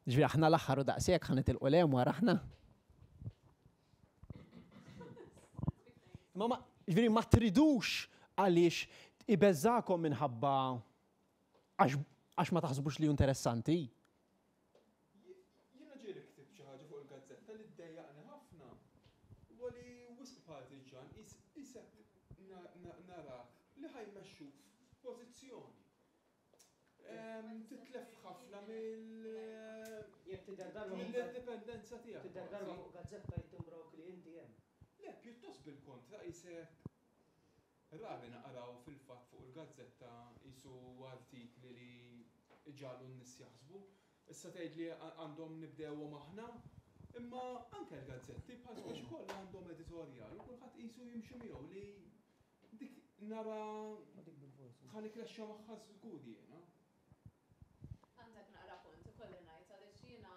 Ġifieri aħna l-aħħar u daqshekk ħa nitilqu 'l hemm wara aħna. Ma ġifieri ma tridux għaliex ibeżżakom minħabba għax ma taħsbux li hu interessanti. Jiena ġieli ktibt xi ħaġa fuq il-gazzetta li ddejjaqni ħafna huwa li wisq partiġġan qisek narak li ħa jmexxuk f'pożizzjoni. Titlef ħafna mill-indipendenza tiegħek. Tidher darba fuq gazzetta jittimbrawk li inti hemm. Le, pjuttost bil-kontra qisek Rari naqraw fil-fatt fuq il-gazzetta qisu artikli li jġagħlu n-nies jaħsbu. Issa tgħid li għandhom nibdewhom aħna, imma anke l-gazzetti bħal speċi kollha għandhom editorjal u kulħadd qisu jimxi miegħu li dik nara ħa nikkrexxa magħha żgur jiena. Għandek naqra punt, ikolli ngħid għaliex jiena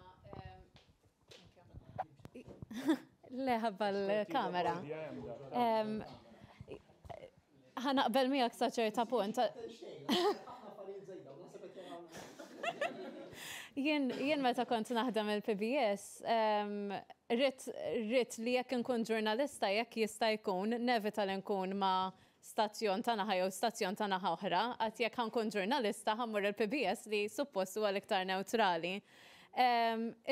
Le ħabba l-kamera. Ħa naqbel miegħek sa ċerta punt. Jien jien meta kont naħdem il-PBS, rrid li jekk inkun ġurnalista jekk jista' jkun nevita li nkun ma' stazzjon ta' naħa jew stazzjon ta' naħa oħra, għad jekk ħa nkun ġurnalista ħa mmur il-PBS li suppost huwa l-iktar newtrali.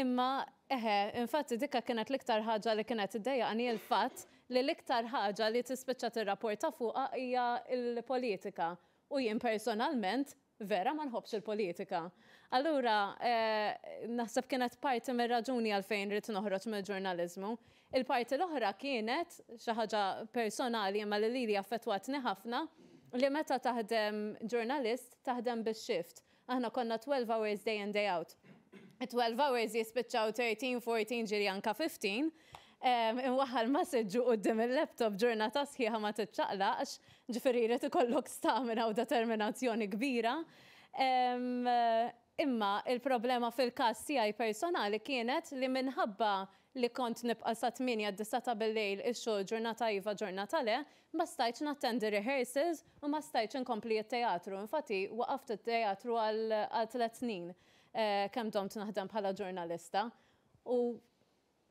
Imma eħe, infatti dikka kienet l-iktar ħaġa li kienet iddejjaqni l-fatt li l-iktar ħaġa li tispiċċa tirrapporta fuqha hija l-politika. U jien personalment Vera ma nħobbx il-politika. Allura, naħseb kienet parti mir-raġuni għalfejn ridt noħroġ mill-ġurnaliżmu. Il-parti l-oħra kienet xi ħaġa personali imma li lili affettwatni ħafna, li meta taħdem ġurnalist taħdem bix-shift. Aħna konna 12 hours day in day out. It-12 hours jispiċċaw 13, 14 ġieli anka 15. Imwaħħal ma' siġġu quddiem il-laptop ġurnata sħiħa ma tiċċaqlaqx, ġifieri jrid ikollok stamina u determinazzjoni kbira. Imma il-problema fil-każ tiegħi personali kienet li minħabba li kont nibqa' sa tmienja disa' ta' bil-lejl ix-xogħol ġurnata iva ġurnata le, ma stajtx nattendi rehearsals u ma stajtx inkompli t-teatru. Infatti waqaft it-teatru għal tliet snin kemm domt naħdem bħala ġurnalista. U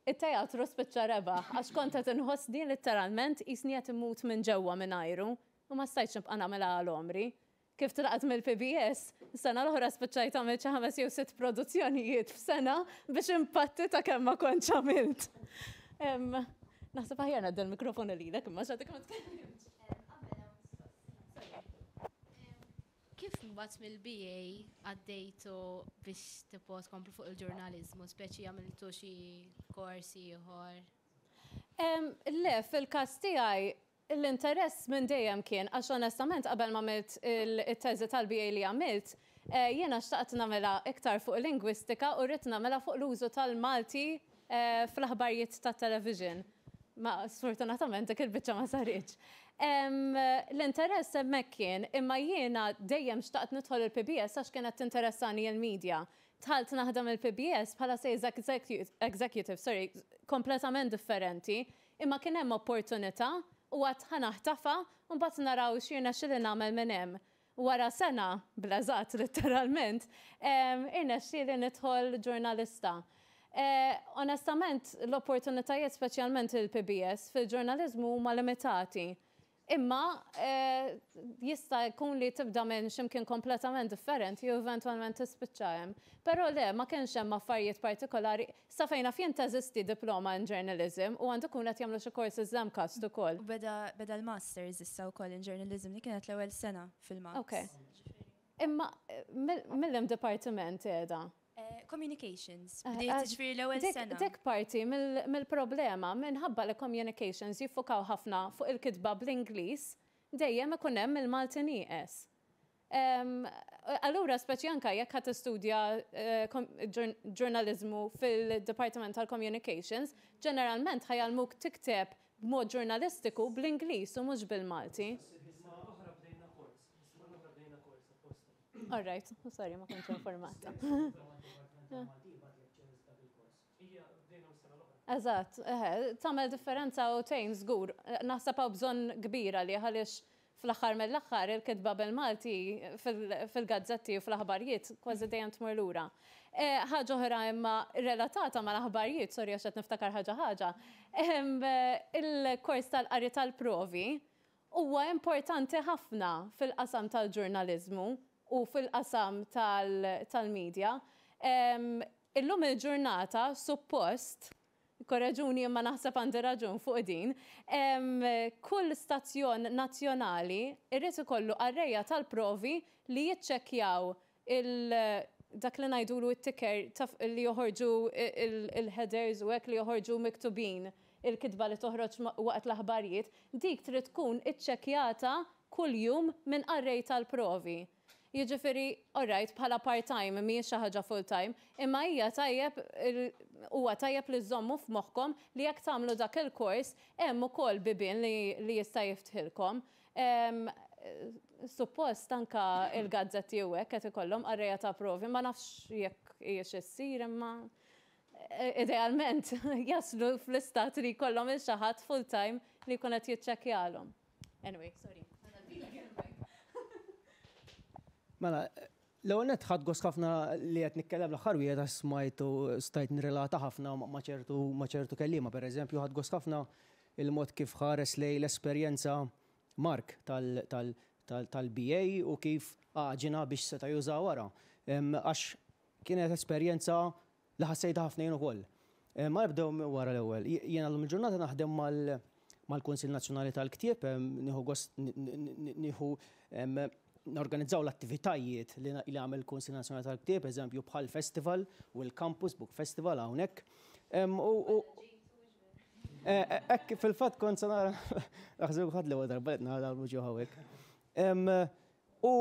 It-teatru spiċċa rebaħ għax kont qed inħossni litteralment qisni qed immut minn ġewwa mingħajru u ma stajtx nibqa' nagħmilha għal għomri. Kif tlaqt mill-PBS, sena l-oħra spiċċajt għamilt xi ħames jew sitt produzzjonijiet f'sena biex impatti ta' kemm ma kontx għamilt. Naħseb aħjar ngħaddi l-mikrofonu lilek imma x'għadek ma tkellimtx. Kif mbagħad mill-BA għaddejtu biex tipo tkomplu fuq il-ġurnaliżmu, speċi għamiltu xi kors ieħor? Le, fil-każ tiegħi L-interess minn dejjem kien, għax onestament qabel m'għamilt it-teżi tal-BA li għamilt, jiena xtaqt nagħmilha iktar fuq lingwistika u ridt nagħmilha fuq l-użu tal-Malti fl-aħbarijiet tat-television. Ma sfortunatament dik il-biċċa ma saritx. L-interess hemmhekk kien, imma jiena dejjem xtaqt nidħol il-PBS għax kienet tinteressani l-media. Dħalt naħdem il-PBS bħala sales executive, sorry, kompletament differenti, Imma kien hemm opportunità u għedt ħa naħtafha u mbagħad naraw x'jirnexxili nagħmel minn hemm. Wara sena, bl-eżatt litteralment, irnexxieli nidħol ġurnalista. Onestament, l-opportunitajiet speċjalment il-PBS fil-ġurnaliżmu huma limitati. Imma jista' jkun li tibda minn xi mkien kompletament differenti u eventwalment tispiċċa hemm. Però le, ma kienx hemm affarijiet partikolari. Sa fejn naf jien teżisti diploma in journalism u għandu jkun qed jagħmlu xi courses l-MCAST ukoll. U beda beda l-masters issa wkoll in journalism li kienet l-ewwel sena fil-MAPS. Ok. Imma mill-liem dipartiment qiegħda? Communications. Bdiet ġifieri l-ewwel sena. Dik parti mill-problema minħabba li communications jiffukaw ħafna fuq il-kitba bl-Ingliż, dejjem ikun hemm il-Malti nieqes. Allura speċi anke jekk ħa tistudja ġurnaliżmu fil-Dipartiment tal-Communications, ġeneralment ħa jgħallmuk tikteb b'mod ġurnalistiku bl-Ingliż u mhux bil-Malti. All right, sorry, ma kontx informata. Eżatt, tagħmel differenza u tgħin żgur. Naħseb hawn bżonn kbir għalih għaliex fl-aħħar mill-aħħar il-kitba bil-Malti fil-gazzetti u fl-aħbarijiet kważi dejjem tmur lura. Ħaġa oħra imma relatata mal-aħbarijiet, sorry għax qed niftakar ħaġa ħaġa, il-kors tal-qari tal-provi huwa importanti ħafna fil-qasam tal-ġurnaliżmu u fil-qasam tal-media. Illum il-ġurnata suppost, korreġuni imma naħseb għandi raġun fuq din, kull stazzjon nazzjonali jrid ikollu qarrejja tal-provi li jiċċekkjaw dak li ngħidulu t-ticker li joħorġu il-headers u hekk li joħorġu miktubin il-kitba li toħroġ waqt l-aħbarijiet, dik trid tkun iċċekkjata kuljum minn qarrej tal-provi. Jiġifieri, all right, bħala part-time mhijiex xi ħaġa full-time, imma hija tajjeb huwa tajjeb li żżommu f'moħħkom li jekk tagħmlu dak il-kors hemm ukoll bibien li jista' jiftħilkom. Suppost anke l-gazzetti u hekk qed ikollhom qarrejja ta' provi, ma nafx jekk hijiex issir imma idealment jaslu fl-istat li jkollhom il xi ħadd full time li jkun qed jiċċekkjalhom. Anyway, sorry. Mela, l-ewwel nett ħadt gost ħafna li qed nitkellem l-aħħar wieħed għax smajt u stajt nirrelata ħafna ma' ċertu ma' ċertu kelliema. Pereżempju, ħadt gost ħafna il-mod kif ħares lejn l-esperjenza Mark tal-BA u kif għaġinha biex seta' jużaha wara. Għax kienet esperjenza Li ħassejtha ħafna jien ukoll. Ma nibdew minn wara l-ewwel. Jiena llum il-ġurnata naħdem mal-Kunsill Nazzjonali tal-Ktieb, nieħu gost nieħu norganizzaw l-attivitajiet li jagħmel il-Kunsill Nazzjonali tal-Ktieb, eżempju bħal festival u l-Campus Book Festival hawnhekk. U hekk fil-fatt kont se nara naħseb ħadd l-ewwel darba li nara l-wuġuh hawnhekk. U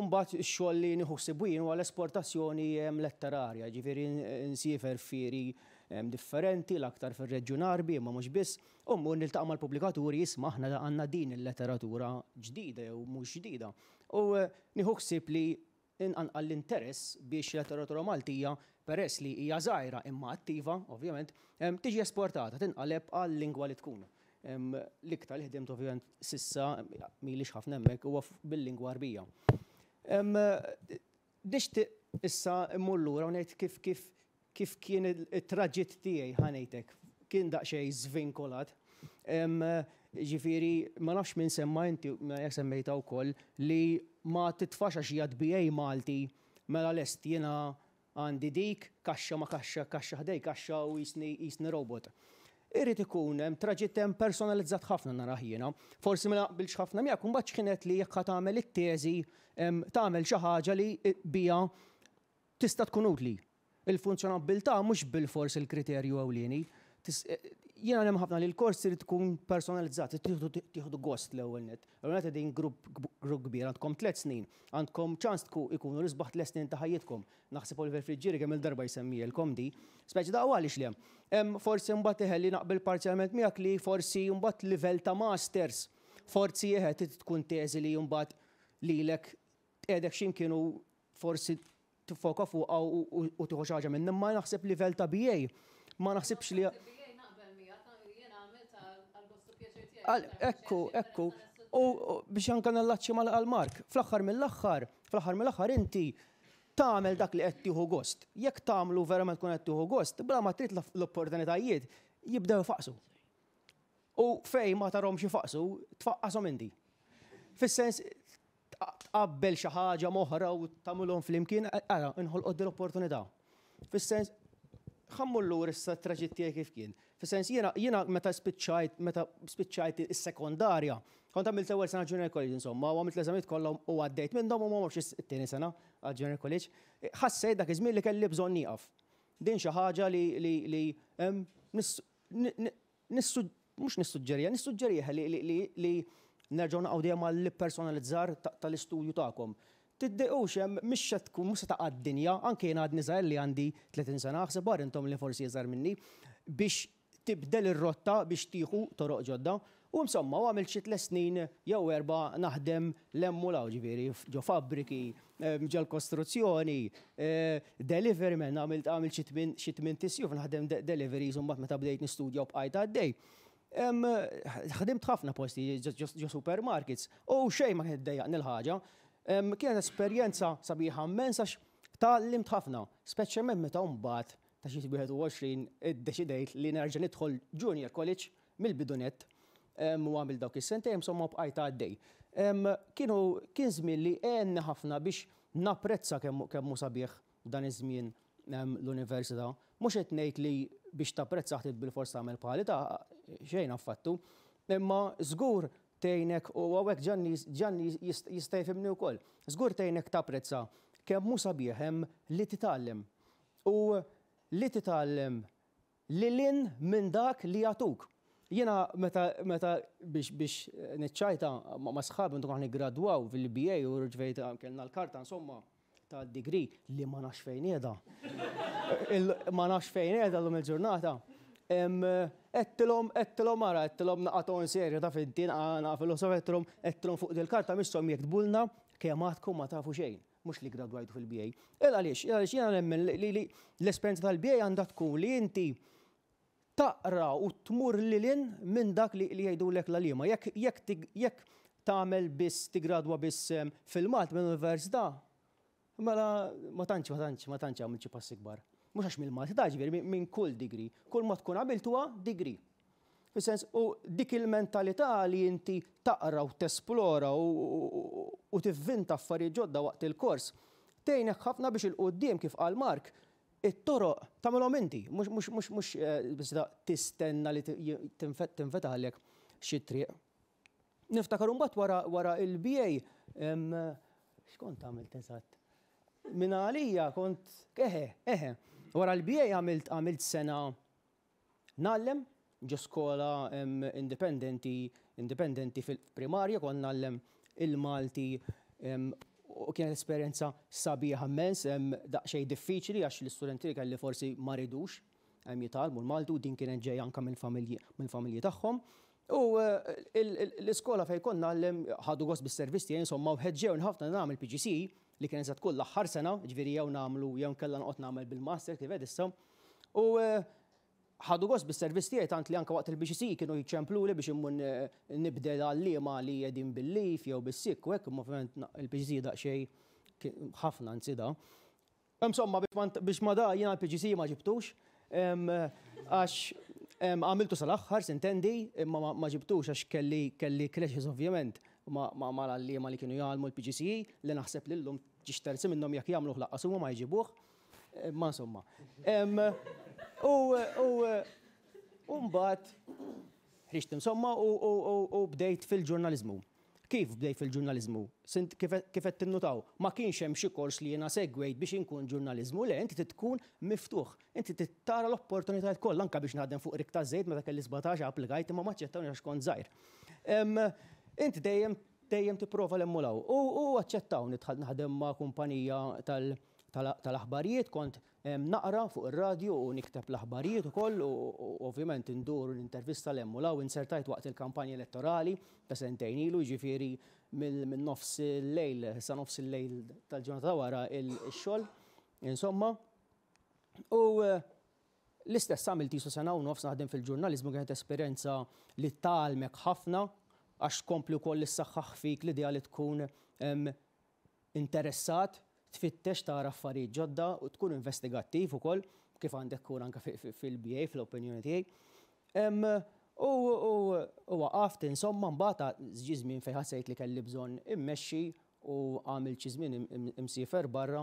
mbagħad ix-xogħol li nieħu ħsiebu jien huwa l-esportazzjoni letterarja, jiġifieri nsiefer f'fieri differenti, l-aktar fir-Reġjun Għarbi imma mhux biss, u mmur niltaqa' mal-pubblikaturi isma' aħna għandna din il-letteratura ġdida jew mhux ġdida. U nieħu ħsieb li nqanqal l-interess biex il-letteratura Maltija, peress li hija żgħira imma attiva, ovvjament, tiġi esportata, tinqaleb għal-lingwa li tkun. L-iktar li ħdimt ovvjament s'issa, m'ilix ħafna hemmhekk, huwa bil-lingwa Għarbija. Nixtieq issa mmur lura u ngħid kif kif kif kien it-traġitt tiegħi ħa ngħidlek, kien daqsxejn żvinkolat. Ġifieri ma nafx min semma inti, jekk semmejtha wkoll, li ma titfax għax hija BA Malti, mela lest jiena għandi dik, kaxxa ma kaxxa, kaxxa ħdej kaxxa u jisni robot. Irid ikun hemm traġitt hemm personalizzat ħafna narah jiena. Forsi ma naqbilx ħafna miegħek, imbagħad x'kienet li jekk ħa tagħmel it-teżi tagħmel xi ħaġa li bija tista' tkun utli. Il-funzjonabbiltà mhux bilfors il-kriterju ewlieni. Jiena nemmen ħafna li l-kors irid tkun personalizzat, tieħdu gost l-ewwel nett. L-ewwel nett qegħdin grupp kbir, għandkom 3 snin, għandkom ċans ikunu l-isbaħ 3 snin ta' ħajjitkom. Naħseb Oliver Friggieri kemm il-darba jsemmielkom di. Speċi da għaliex le. Forsi mbagħad iħelli naqbel parzjalment miegħek li forsi mbagħad livell ta' masters, forsi eħe trid tkun teżi li mbagħad lilek tqiegħdek x'imkien u forsi tiffoka fuqha u tieħu xi ħaġa minn, imma naħseb livell ta' BA ma naħsibx li Ekku, ekku. U biex anka nallaċċi mal-Mark, fl-aħħar mill-aħħar, fl-aħħar mill-aħħar inti tagħmel dak li qed tieħu gost. Jekk tagħmlu verament tkun qed tieħu gost, bla ma trid l-opportunitajiet jibdew ifaqsu. U fej ma tarhomx ifaqsu, tfaqqashom inti. Fis-sens tqabbel xi ħaġa moħra u tagħmilhom flimkien, ara, inħolqod din l-opportunità. Fis-sens ħammur lura issa t-traġitt tiegħi kif kien. Fis-sens jiena meta spiċċajt is-sekondarja, kont għamilt l-ewwel sena junior college insomma, u għamilt l-eżamijiet kollha u għaddejt minnhom u ma mortx it-tieni sena għal junior college. Ħassejt dak iż-żmien li kelli bżonn nieqaf. Din xi ħaġa li mhux nissuġġerija, nissuġġerija li nerġgħu naqgħu dejjem għall-personalizzar tal-istudju tagħkom. Tiddejqux hemm mhix se tkun mhux se taqa' d-dinja, anke jien għadni żgħir li għandi 30 sena, aħseb wara intom li forsi iżgħar minni, biex tibdel ir-rotta biex tieħu toroq ġodda. U insomma, u għamilt xi 3 snin jew 4 naħdem l-hemm u l-hawn, ġifieri ġo fabbriki, ġol kostruzzjoni, delivery man, għamilt xi tmien tisjuf naħdem deliveries u mbagħad meta bdejt nistudja u bqajt għaddej. Ħdimt ħafna posti ġo supermarkets u xejn ma kienet iddejjaqni l-ħaġa. Kienet esperjenza sabiħa immens għax tgħallimt ħafna, speċjalment meta mbagħad ta' xi 21 iddeċidejt li nerġa' nidħol junior college mill-bidu nett, u għamil dawk is-sentejn insomma bqajt għaddej. Kien żmien li għenni ħafna biex napprezza kemm hu sabiħ dan iż-żmien l-università. Mhux qed ngħid li biex tapprezza ħtiet bil-fors tagħmel bħali ta' xejn affattu, imma żgur tgħinek, u hawnhekk Gianni jista' jifhimni wkoll, żgur tgħinek tapprezza kemm hu sabiħ hemm li titgħallem. U li titgħallem lil hinn minn dak li jagħtuk. Jiena meta biex niċċajta ma' sħabi meta konna niggradwaw fil-BA u rġvejt kellna l-karta insomma ta' degree li ma nafx fejn qiegħda. Ma nafx fejn qiegħda llum il-ġurnata. Għedtilhom ara, għedtilhom naqa' ton serju ta' finti, naqa' filosof, għedtilhom fuq dil-karta misshom jektbulna kemm għadkom ma tafu xejn. Mhux li gradwajtu fil-BA. Il għaliex, il għaliex jiena nemmen li l-esperjenza tal-BA għandha tkun li inti taqra u tmur lil hinn minn dak li jgħidulek l-għalliema. Jekk tagħmel biss, tigradwa biss fil-Malti mill-università, mela ma tantx għamilt xi passi kbar. Mhux għax mill-Malti, ta' ġifieri minn kull degree. Kull ma tkun għamilt huwa degree. Fis-sens, u dik il-mentalità li inti taqra u tesplora u tivvinta affarijiet ġodda waqt il-kors, tgħinek ħafna biex il-quddiem kif qal Mark, it-toroq tagħmilhom inti, mhux biss tistenna li tinfetaħlek xi triq. Niftakar imbagħad wara il-BA, x'kont għamilt eżatt? Min għalija kont, eħe, eħe, wara l-BA għamilt sena ngħallem ġo skola indipendenti fil-primarja, kont ngħallem il-Malti, u kienet esperjenza sabiħa immens, daqsxejn diffiċli għax l-istudenti li kelli forsi ma ridux jitgħallmu l-Malti u din kienet ġejja anke mill-familji tagħhom. U l-iskola fejn kont ngħallem ħadu gost bis-servizz tiegħi, insomma, u ħeġġewni ħafna nagħmel PGC li kienet se tkun l-aħħar sena, ġifieri jew nagħmlu jew nkella noqgħod nagħmel bil-master kif qed issa. U ħadu gost bis-servizz tiegħi tant li anke waqt il-PGC kienu jiċċempluli biex immur nibdel għalliema li qegħdin bil-leave jew bis-sikk u hekk, imma ovvjament il-PGC daqsxejn ħafna anzi da. Insomma, biex ma da jiena l-PGC ma ġibtux, għax għamiltu sal-aħħar, sintendi, imma ma ġibtux għax kelli clashes ovvjament. mal-għalliema li kienu jgħallmu l-PGCE li naħseb li llum ġiex terzi minnhom jekk jagħmluh lanqas huma ma jġibuh. Ma insomma. U mbagħad ħriġt insomma u bdejt fil-ġurnaliżmu. Kif bdejt fil-ġurnaliżmu? Kif qed tinnutaw, ma kienx hemm xi kors li jiena segwejt biex inkun ġurnaliżmu, le inti trid tkun miftuħ. Inti trid tara l-opportunitajiet kollha anke biex naħdem fuq rig taż-żejt meta kelli 17 applikajt imma ma aċċettawni għax kont żgħir. Inti dejjem dejjem tipprova 'l hemm u 'l hawn. U aċċettawni dħalt naħdem ma' kumpanija tal-aħbarijiet, kont naqra fuq ir-radju u nikteb l-aħbarijiet ukoll u ovvjament indur u nintervista 'l hemm u 'l hawn. Insertajt waqt il-kampanja elettorali ta' sentejn ilu, jiġifieri minn nofs il-lejl sa nofs il-lejl tal-ġurnata ta' wara x-xogħol, insomma. U l-istess għamilt qisu sena u nofs naħdem fil-ġurnaliżmu, kienet esperjenza li tgħallmek ħafna għax tkompli wkoll issaħħaħ fik l-idea li tkun interessat, tfittex tara affarijiet ġodda u tkun investigattiv ukoll, kif għandek tkun anke fil-BA fl-opinjoni tiegħi. U waqaft insomma mbagħad ġie żmien fejn ħassejt li kelli bżonn immexxi u għamilt xi żmien imsiefer barra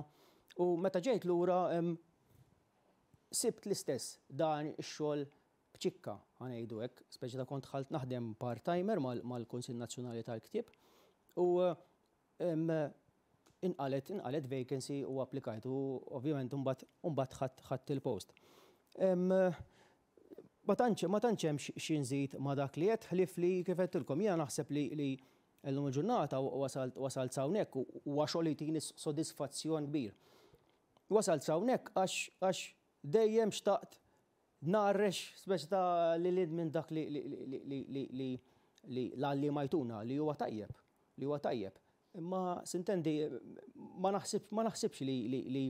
u meta ġejt lura sibt l-istess dan ix-xogħol b'ċikka, ħa ngħidu hekk, speċi ta' kont dħalt naħdem part-timer mal-Kunsill Nazzjonali tal-Ktieb u inqalet inqalet vacancy u applikajt u ovvjament imbagħad imbagħad ħadt il-post. Ma tantx ma tantx hemm xi nżid ma' dak li għedt ħlief li kif għedtilkom jiena naħseb li li llum il-ġurnata wasalt wasalt s'hawnhekk u huwa xogħol li jtini sodisfazzjon kbir. Wasalt s'hawnhekk għax għax dejjem xtaqt Ngħarrex speċi ta' lil hinn minn dak li li li l-għalliema jtuna li huwa tajjeb, li huwa tajjeb. Imma sintendi ma naħsib ma naħsibx li li li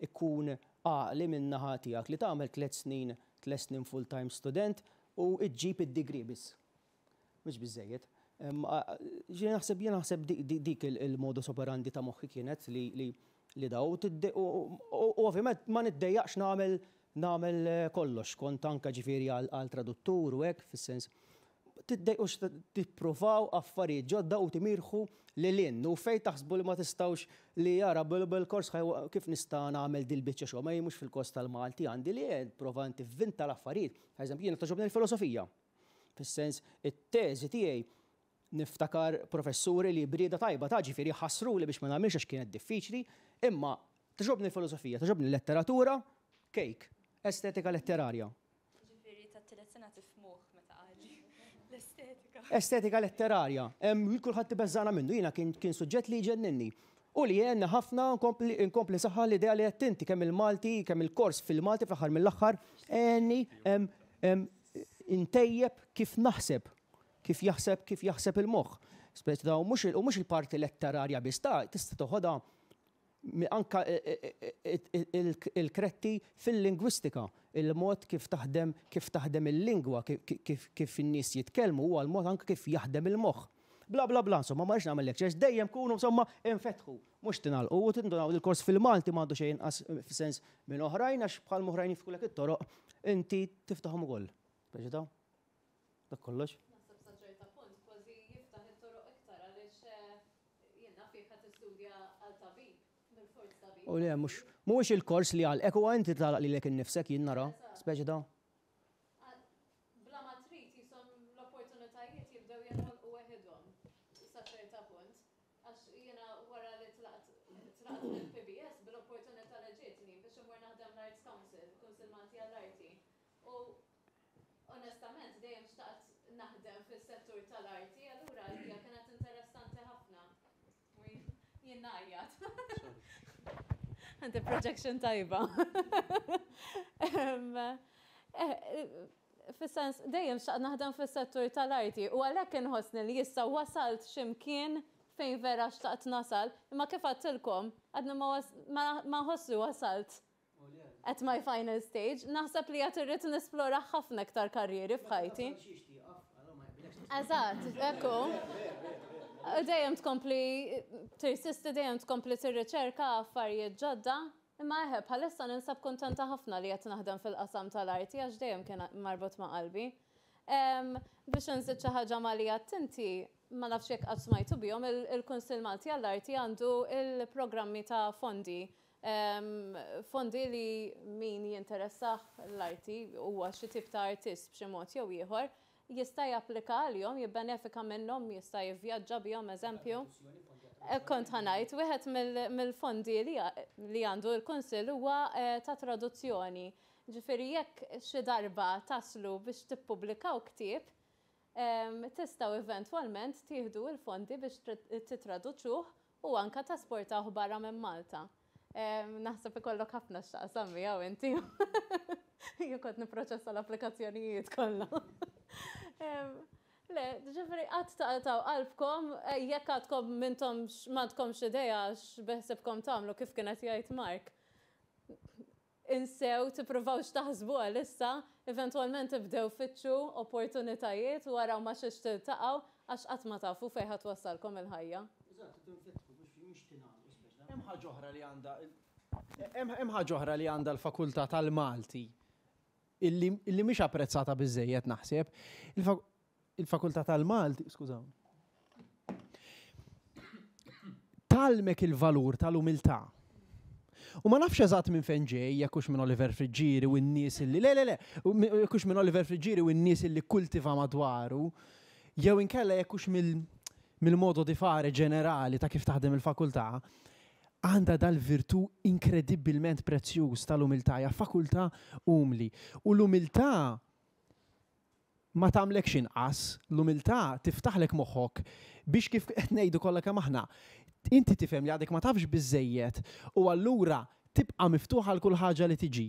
jkun għaqli min-naħa tiegħek li tagħmel tlett snin tlett snin full-time student u ġġib id-degree biss. Mhux biżżejjed. Ġifieri naħseb jien naħseb dik il-modus operandi ta' moħħi kienet li li li daw u ovvjament ma niddejjaqx nagħmel nagħmel kollox, kont anke ġifieri għal traduttur u hekk fis-sens tiddejqux tippruvaw affarijiet ġodda u timirħu lil hinn u fejn taħsbu li ma tistgħux li ara bil-kors kif nista' nagħmel dil-biċċa xogħol ma jien mhux fil-kors tal-Malti għandi li prova tivvinta l-affarijiet. Eżempju, jiena togħġobni l-filosofija. Fis-sens, it-teżi tiegħi niftakar professuri li b'rieda tajba ta' ġifieri ħassruli biex ma nagħmilx għax kienet diffiċli, imma togħġobni l-filosofija, togħġobni l-letteratura, cake, estetika letterarja. Ġifieri tat-tielet sena tifhmuh meta qal l-estetika. Estetika letterarja. Kulħadd ibeżżagħna minnu, jiena kien kien suġġett li jġenninni. U li għenni ħafna nkompli nkompli nsaħħaħ l-idea li għedt inti kemm il-Malti, kemm il-kors fil-Malti fl-aħħar mill-aħħar għenni Intejjeb kif naħseb, kif jaħseb kif jaħseb il-moħħ. Speċi ta' u mhux il-parti letterarja biss ta' tista' toħodha anka il-kretti fil-lingwistika, il-mod kif taħdem kif taħdem il-lingwa, kif in-nies jitkellmu huwa l-mod anke kif jaħdem il-moħħ. Bla bla bla, insomma, ma rridx nagħmel lectures, dejjem kunu insomma infetħu. Mhux tingħalqu u tindunaw li l-kors fil-Malti m'għandu xejn inqas f'sens minn oħrajn għax bħal m'oħrajn jiftħulek it-toroq, inti tiftaħhom ukoll. Speċi ta' dak kollox. Naħseb sa ċerta punt kważi jiftaħ it-toroq iktar għaliex jien naf jekk ħa tistudja għal tabib, bilfors tabib. U le mhux mhuwiex il-kors li jagħlqek huwa inti tagħlaq lilek innifsek jien nara, speċi ta'. Bla ma trid qishom l-opportunitajiet jibdew jinħolqu weħidhom sa ċerta punt. Għax jiena wara li tlaqt tlaqt mill-PBS bil-opportunità li ġietni biex immur naħdem l-Arts Council, Kunsill Malti għall-Arti. U onestament dejjem xtaqt naħdem fis-settur tal-arti, allura għalija kienet interessanti ħafna. Jien ngħajjat. Għandi projection tajba. Fis-sens, dejjem xtaqt naħdem fis-settur tal-arti u għalhekk inħossni li issa wasalt x'imkien fejn vera xtaqt nasal, imma kif għedtilkom, għadni ma nħoss li wasalt at my final stage. Naħseb li għad irrid nesplora ħafna iktar karrieri f'ħajti. Eżatt, ekku. Dejjem tkompli tirsisti, dejjem tkompli tirriċerka affarijiet ġodda. Imma eħe, bħalissa ninsab kuntenta ħafna li qed naħdem fil-qasam tal-arti għax dejjem kien marbut ma' qalbi. Biex nżid xi ħaġa ma' li għedt inti, Ma nafx jekk qatt smajtu bihom, il-Kunsill Malti għall-Arti għandu l-programmi ta' fondi. Fondi li min jinteressah l-arti, huwa xi tip ta' artist b'xi mod jew ieħor, jista' japplika għalihom, jibbenefika minnhom, jista' jivvjaġġa bihom eżempju. Kont ħa ngħid, wieħed mill-fondi li għandu l-Kunsill huwa ta' traduzzjoni. Ġifieri jekk xi darba taslu biex tippubblikaw ktieb, Tistgħu eventwalment tieħdu l-fondi biex tittraduċuh u anke tesportawh barra minn Malta. Naħseb ikollok ħafna x'taqsam miegħu inti. Jien kont nipproċessa l-applikazzjonijiet kollha. Le, ġifieri qatt taqtgħu qalbkom jekk għadkom m'intomx m'għandkomx idea x'beħsibkom tagħmlu kif kien qed jgħid Mark. Insew, tippruvawx taħsbu għalissa, eventwalment ibdew fittxu opportunitajiet u araw ma' xiex tiltaqgħu għax qatt ma tafu fejn ħa twassalkom il-ħajja. Eżatt, tinfetħu mhux tingħalqu speċi. Hemm ħaġa oħra li għandha hemm ħaġa oħra li għandha l-Fakultà tal-Malti illi illi mhix apprezzata biżżejjed naħseb. Il-Fakultà tal-Malti, skużawni. Tgħallmek il-valur tal-umiltà. U ma nafx eżatt minn fejn ġej, jekk hux minn Oliver Friggieri u n-nies illi le le le, jekk hux minn Oliver Friggieri u n-nies illi kultiva madwaru, jew inkella jekk hux mill-modo di fare ġenerali ta' kif taħdem il-fakultà, għandha dal-virtù inkredibbilment prezzjuż tal-umiltà, hija fakultà umli. U l-umiltà ma tagħmlekx inqas, l-umiltà tiftaħlek moħħok biex kif qed ngħidu kollha kemm aħna, inti tifhem li għadek ma tafx biżżejjed u allura tibqa' miftuħ għal kull ħaġa li tiġi.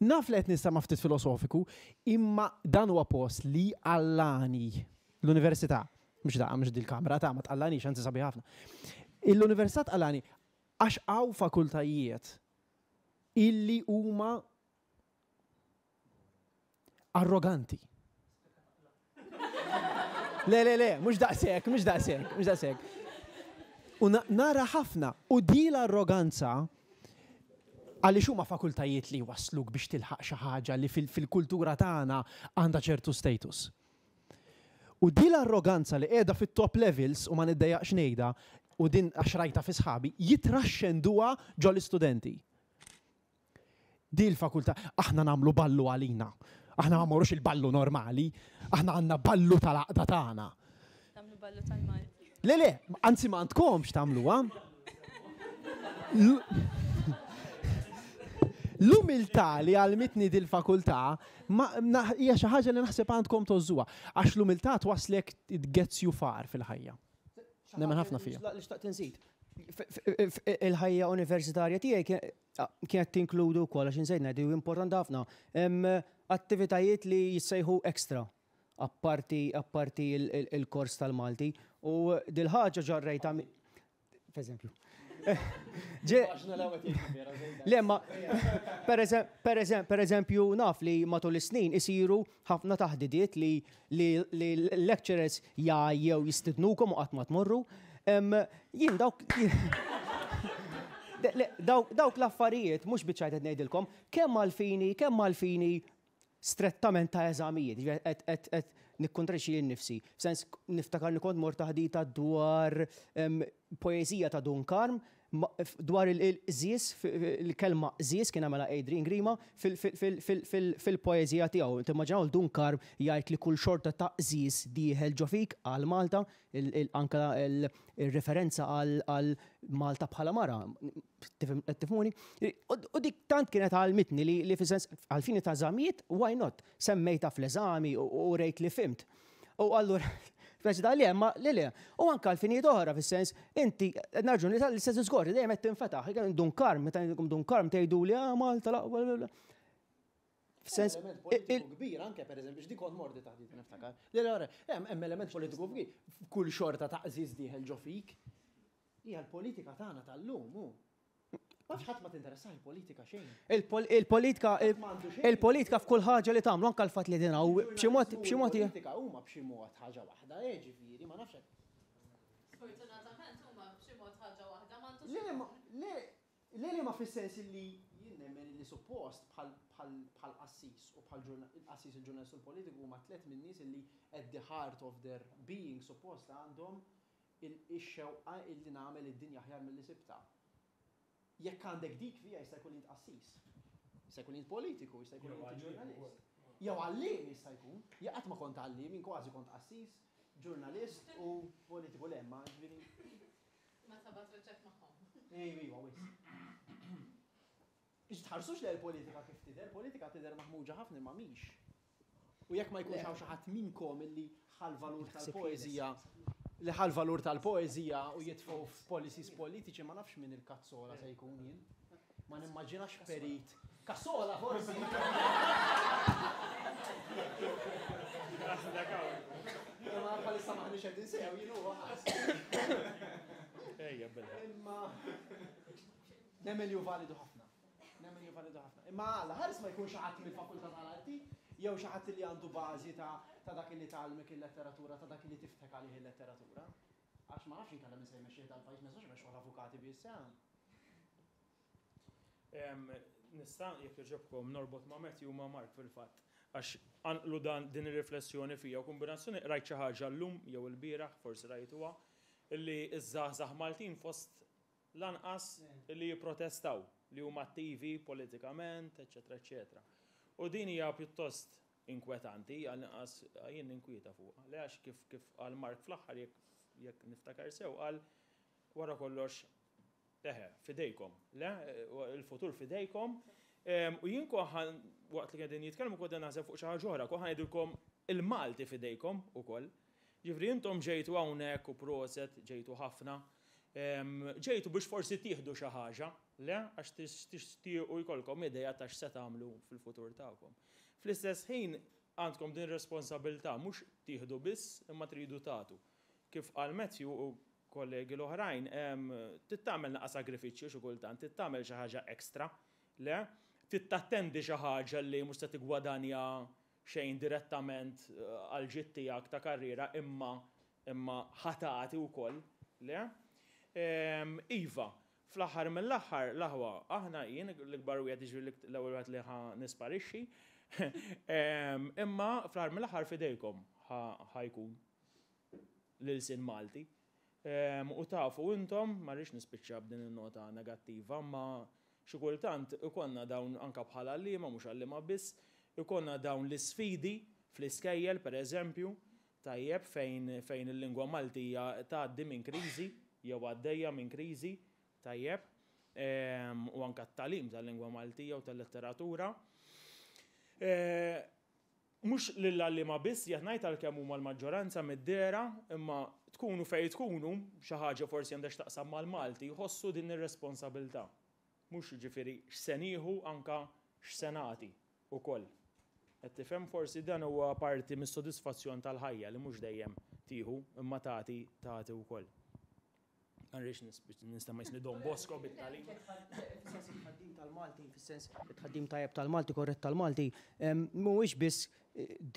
Naf li qed nistama' ftit filosofiku, imma dan huwa post li jqallagħni. L-università, mhux da, mhux dil-kamra ta' ma tqallagħnix, anzi sabiħ ħafna. L-università tqallagħni għax hawn fakultajiet illi huma arroganti. Le, le, le, mhux daqshekk, mhux daqshekk, mhux daqshekk. U nara ħafna, u di l-arroganza għaliex huma fakultajiet li wasluk biex tilħaq xi ħaġa li fil-kultura tagħna għandha ċertu status. U di l-arroganza li qiegħda fit-top levels u ma niddejjaqx ngħidha u din għax rajta fi sħabi, jitraxxenduha ġol-istudenti. Di l-fakultà, aħna nagħmlu ballu għalina. Aħna ma mmorrux il-ballu normali, aħna għandna ballu tal-għaqda tagħna. Nagħmlu ballu tal-Malti. Le, le, anzi ma għandkomx tagħmluha. L-umiltà li għallmitni dil-fakultà hija xi ħaġa li naħseb għandkom tgħożżuha, għax l-umiltà twasslek it gets you far fil-ħajja. Nemmen ħafna fiha. Li xtaqt inżid. Il-ħajja universitarja tiegħi kienet tinkludu wkoll għax insejt ngħid u importanti ħafna attivitajiet li jissejħu extra apparti apparti il-kors tal-Malti u dil-ħaġa ġarrejta F'eżempju. Le, ma, per eżempju, naf li matul is-snin isiru ħafna taħdidiet li l-lecturers jew jistidnukom u qatt ma tmorru. Jien dawk dawk l-affarijiet mhux biċ-ċajt qed ngħidilkom, kemm għall-fini, kemm għall-fini strettament ta' eżamijiet, jiġifieri qed qed nikkontrexxi lili nnifsi. F'sens niftakar li kont mort taħdita dwar poeżija ta' Dun Karm dwar il-qżież, il-kelma qżież kien għamilha Adrian Grima fil-poeżija tiegħu. Timmaġinaw lil Dun Karm jgħid li kull xorta ta' qżież dieħel ġo fik għal Malta, anke r-referenza għal Malta bħala mara. Qed tifhmuni? U dik tant kienet għallmitni li fis-sens għall-fini ta' eżamijiet, why not? Semmejtha fl-eżami u rejt li fhimt. U allura, speċi ta' le, ma le le. U anke għal finijiet oħra fis-sens, inti nerġgħu l-istess diskors, dejjem qed tinfetaħ. Dun Karm, meta ngħidilkom Dun Karm tgħiduli ah Malta l-aqwa. F'sens element politiku kbir anke pereżempju x'dik kont mordi taħdita niftakar. Le le, hemm element politiku kbir. Kull xorta ta' qżież dieħel ġo fik. Hija l-politika tagħna tal-lum hu. Ma nafx ħadd ma tinteressah il-politika xejn. Il-politika il-politika f'kull ħaġa li tagħmlu anke l-fatt li qegħdin hawn b'xi mod b'xi mod hija. Il-politika huma b'xi mod ħaġa waħda, eh ġifieri ma nafx hekk. Sfortunatament huma b'xi mod ħaġa waħda m'għandux. Le le le le ma fis-sens illi jien nemmen illi. illi suppost bħal bħal bħal qassis u bħal il-qassis il-ġurnalist u l-politiku huma tlett min-nies illi at the heart of their being suppost għandhom ix-xewqa illi nagħmel id-dinja aħjar milli sibtha. Jekk għandek dik fija jista' jkun li int qassis. Jista' jkun li int politiku, jista' jkun li inti ġurnalist. Jew għalliem jista' jkun. Jien qatt ma kont għalliem, jien kważi kont qassis, ġurnalist u politiku le, imma jiġifieri. Ma sabat wiċċek magħhom. Iva, wisq. Biex tħarsux lejn il-politika kif tidher, politika tidher maħmuġa ħafna imma mhix. U jekk ma jkunx hawn xi ħadd minnkom illi ħa l-valur tal-poeżija li ħa l-valur tal-poeżija u jitfgħu f'policies politiċi ma nafx min il-kazzola se jkun jien. Ma nimmaġinax perit. Kassola forsi! Imma bħalissa m'aħniex qegħdin sew jien huwa. Ejja bella. Imma nemmen li hu validu ħafna. Nemmen li hu validu ħafna. Imma Alla ħares ma jkun xi ħadd mill-fakultà tal-arti jew xi ħadd li għandu bażi ta' ta' dak li tgħallmek il-letteratura, ta' dak li tiftħek għalih il-letteratura. Għax ma nafx inkella min se jmexxih dal-pajjiż, ma jistgħux imexxuh l-avukati biss, eh. Nista' jekk jogħġobkom norbot ma' Matthew u ma' Mark fil-fatt, għax qanqlu dan din ir-riflessjoni fija u kombinazzjoni qrajt xi ħaġa llum jew ilbieraħ, forsi rajtuha, illi ż-żgħażagħ Maltin fost l-anqas li jipprotestaw, li huma attivi politikament, eċċetera eċċetera. U din hija pjuttost inkwetanti, għall-inqas jien ninkwieta fuqha. Le għax kif kif qal Mark fl-aħħar jekk jekk niftakar sew qal wara kollox eħe, f'idejkom. Le, il-futur f'idejkom. U jien kont waqt li qegħdin jitkellmu kont naħseb fuq xi ħaġa oħra, kont ngħidilkom il-Malti f'idejkom ukoll. Ġifieri intom ġejtu hawnhekk u proset, ġejtu ħafna. Ġejtu biex forsi tieħdu xi ħaġa, le? Għax tixtiequ jkollkom idea ta' x'se tagħmlu fil-futur tagħkom. Fl-istess ħin għandkom din ir-responsabilità mhux tieħdu biss imma tridu tagħtu. Kif qal Matthew u kollegi l-oħrajn, trid tagħmel naqa' sagrifiċċju xi kultant, trid tagħmel xi ħaġa extra, le? Trid tattendi xi ħaġa li mhux se tiggwadanja xejn direttament għall-ġid tiegħek ta' karriera imma imma ħa tagħti wkoll, le? Iva, fl-aħħar mill-aħħar, l-aħwa, aħna jien l-ikbar wieħed jiġifieri l-ewwel wieħed li ħa nisparixxi, imma fl-aħħar mill-aħħar f'idejkom ħa jkun l-ilsien Malti. U tafu intom, ma rridx nispiċċa b'din in-nota negattiva, imma xi kultant ikollna dawn anke bħala għalliema, mhux għalliema biss, ikollna dawn l-isfidi fl-iskejjel pereżempju, tajjeb, fejn fejn il-lingwa Maltija tgħaddi minn kriżi jew għaddejja minn kriżi, tajjeb, u anke t-tagħlim tal-lingwa Maltija u tal-letteratura. Mhux lill-għalliema biss qiegħed ngħid għalkemm huma l-maġġoranza mid-dehra, imma tkunu fejn tkunu, xi ħaġa forsi għandha x'taqsam mal-Malti, ħossu din ir-responsabilità. Mhux jiġifieri x'se nieħu anke x'se nagħti ukoll. Qed tifhem? Forsi dan huwa parti mis-sodisfazzjon tal-ħajja li mhux dejjem tieħu imma tagħti tagħti wkoll. Ma rridx nistema' jisni Don Bosco bit-tagħlim. Fis-sens it-tħaddim tal-Malti, fis-sens it-tħaddim tajjeb tal-Malti, korrett tal-Malti, mhuwiex biss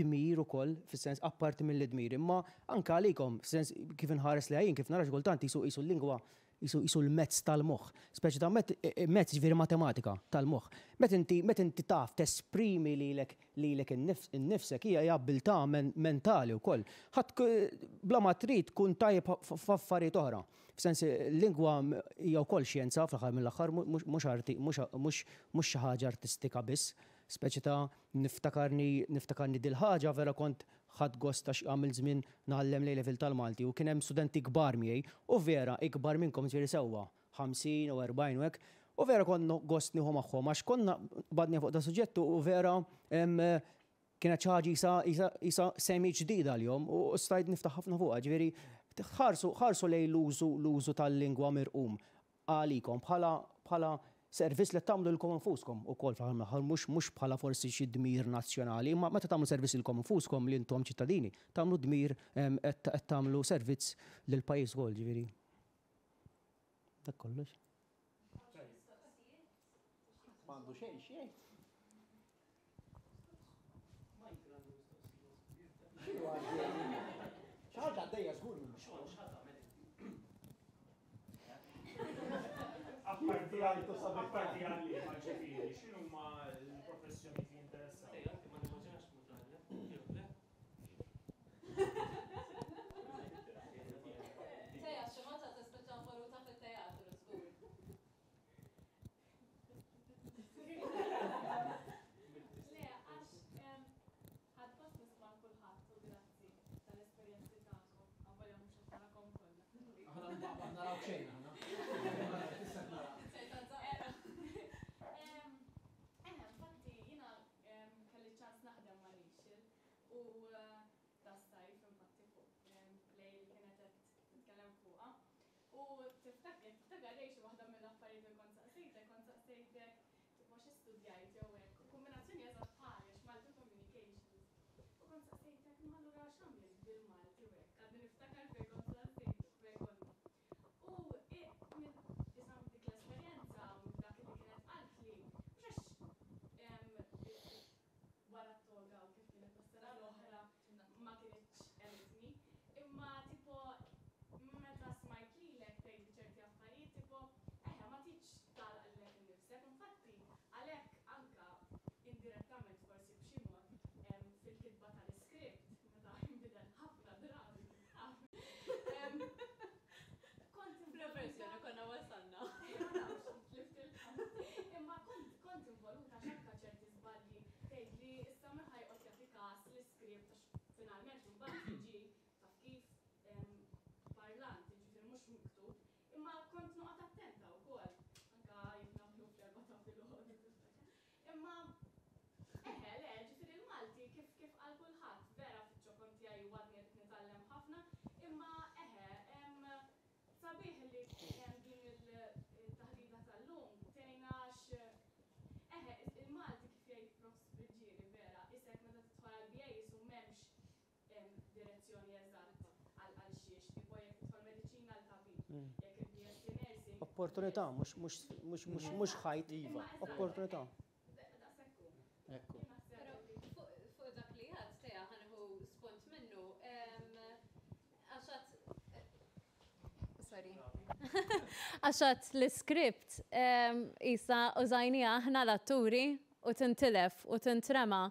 dmir ukoll, fis-sens apparti mill-dmir, imma anke għalikom, fis-sens kif inħares lejha jien, kif nara xi kultant qisu qisu l-lingwa qisu qisu l-mezz tal-moħħ. Speċi ta' mezz jiġifieri matematika tal-moħħ. Meta inti meta inti taf tesprimi lilek lilek innifsek hija hija abbiltà mentali wkoll. Ħadd bla ma trid tkun tajjeb f'affarijiet oħra. F'sens il-lingwa hija wkoll xjenza fl-aħħar mill-aħħar mhux arti mhux xi ħaġa artistika biss. Speċi ta' niftakarni niftakarni dil-ħaġa vera kont ħadt gost għax għamilt żmien ngħallem l-A Level tal-Malti u kien hemm studenti kbar miegħi u vera ikbar minnkom jiġifieri sewwa. 50 u 40 u hekk, u vera kont nieħu gost nieħu magħhom għax konna qbadna fuq da suġġett u vera kienet xi ħaġa qisha qisha qisha semi ġdida għalihom u stajt niftaħ ħafna fuqha, ġifieri ħarsu ħarsu lejn l-użu l-użu tal-lingwa mirqum għalikom bħala bħala servizz li qed tagħmlu lilkom infuskom ukoll fl-aħħar mill-aħħar mhux mhux bħala forsi xi dmir nazzjonali, imma meta tagħmlu servizz lilkom infuskom li intom ċittadini, tagħmlu dmir qed qed tagħmlu servizz lill-pajjiż ukoll, ġifieri. Dak kollox. M'għandu xejn xejn. Xi ħaġa għaddejja żgur minn Apparti għalliema ġifieri, x'inhuma. Saqsejtek imma allura x'għamilt bil-Malti u hekk, għadni niftakar fejn kont saqsejtek fejn konna. U minn issa dik l-esperjenza u minn dak li kienet qaltli, mhux għax wara t-toga u kif kienet tas-sena l-oħra ma kinitx għenitni, imma tipo meta smajt lilek tgħidli ċerti affarijiet tipo eħe ma tridx tagħlaq lilek innifsek, infatti għalhekk anke indirettament forsi b'xi mod fil-kitba tal-iskript meta jinbidel ħafna drabi kif taf kont Fl-verżjoni konna wasalna. Ma nafx, tlift il-ħadd. Imma kont kont involuta għax anke ċerti żbalji tgħidli issa min ħa joqgħod jagħti każ l-iskript għax finalment imbagħad jiġi taf kif parlant, jiġifieri mhux miktub. Imma kont noqgħod attenta wkoll, anke jekk nagħmlu fl-erbgħa ta' filgħodu tiftakar. Imma eħe, le, ġifieri l-Malti kif kif qal kulħadd, vera fiċ-ċokon tiegħi u għadni qed nitgħallem ħafna, imma eħe, sabiħ li din il-taħdita tal-lum tgħinna għax eħe, il-Malti kif jgħid Prof. Friggieri vera, isek meta tidħol għall-BA qisu m'hemmx direzzjoni eżatt għal xiex, tipo jekk tidħol mediċina għal tabib, jekk il-BSc Nursing. Opportunità, mhux ħajt, iva, opportunità. Daqshekk hu. Ekku. Però fuq dak li għedt Tea ħa nieħu spunt minnu, għax għad sorry. Għax għad l-iskript qisha użajniha aħna l-atturi u tintilef u tintrema.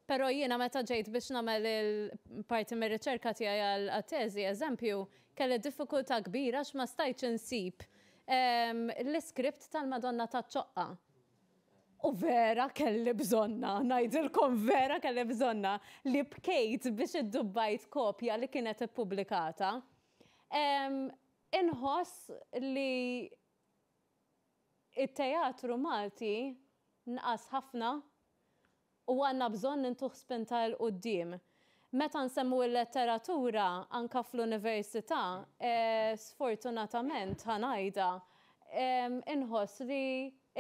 Però jiena meta ġejt biex nagħmel il-parti mir-riċerka tiegħi għat-teżi, eżempju, kelli diffikultà kbira għax ma stajtx insib l-iskript tal-Madonna taċ-Ċoqqa. U vera kelli bżonnha, ngħidilkom vera kelli bżonnha, li bkejt biex iddubbajt kopja li kienet ippubblikata. Inħoss li it-teatru Malti nqas ħafna u għandna bżonn intuh spinta 'l quddiem. Meta nsemmu l-letteratura anke fl-università, sfortunatament ħa ngħidha, inħoss li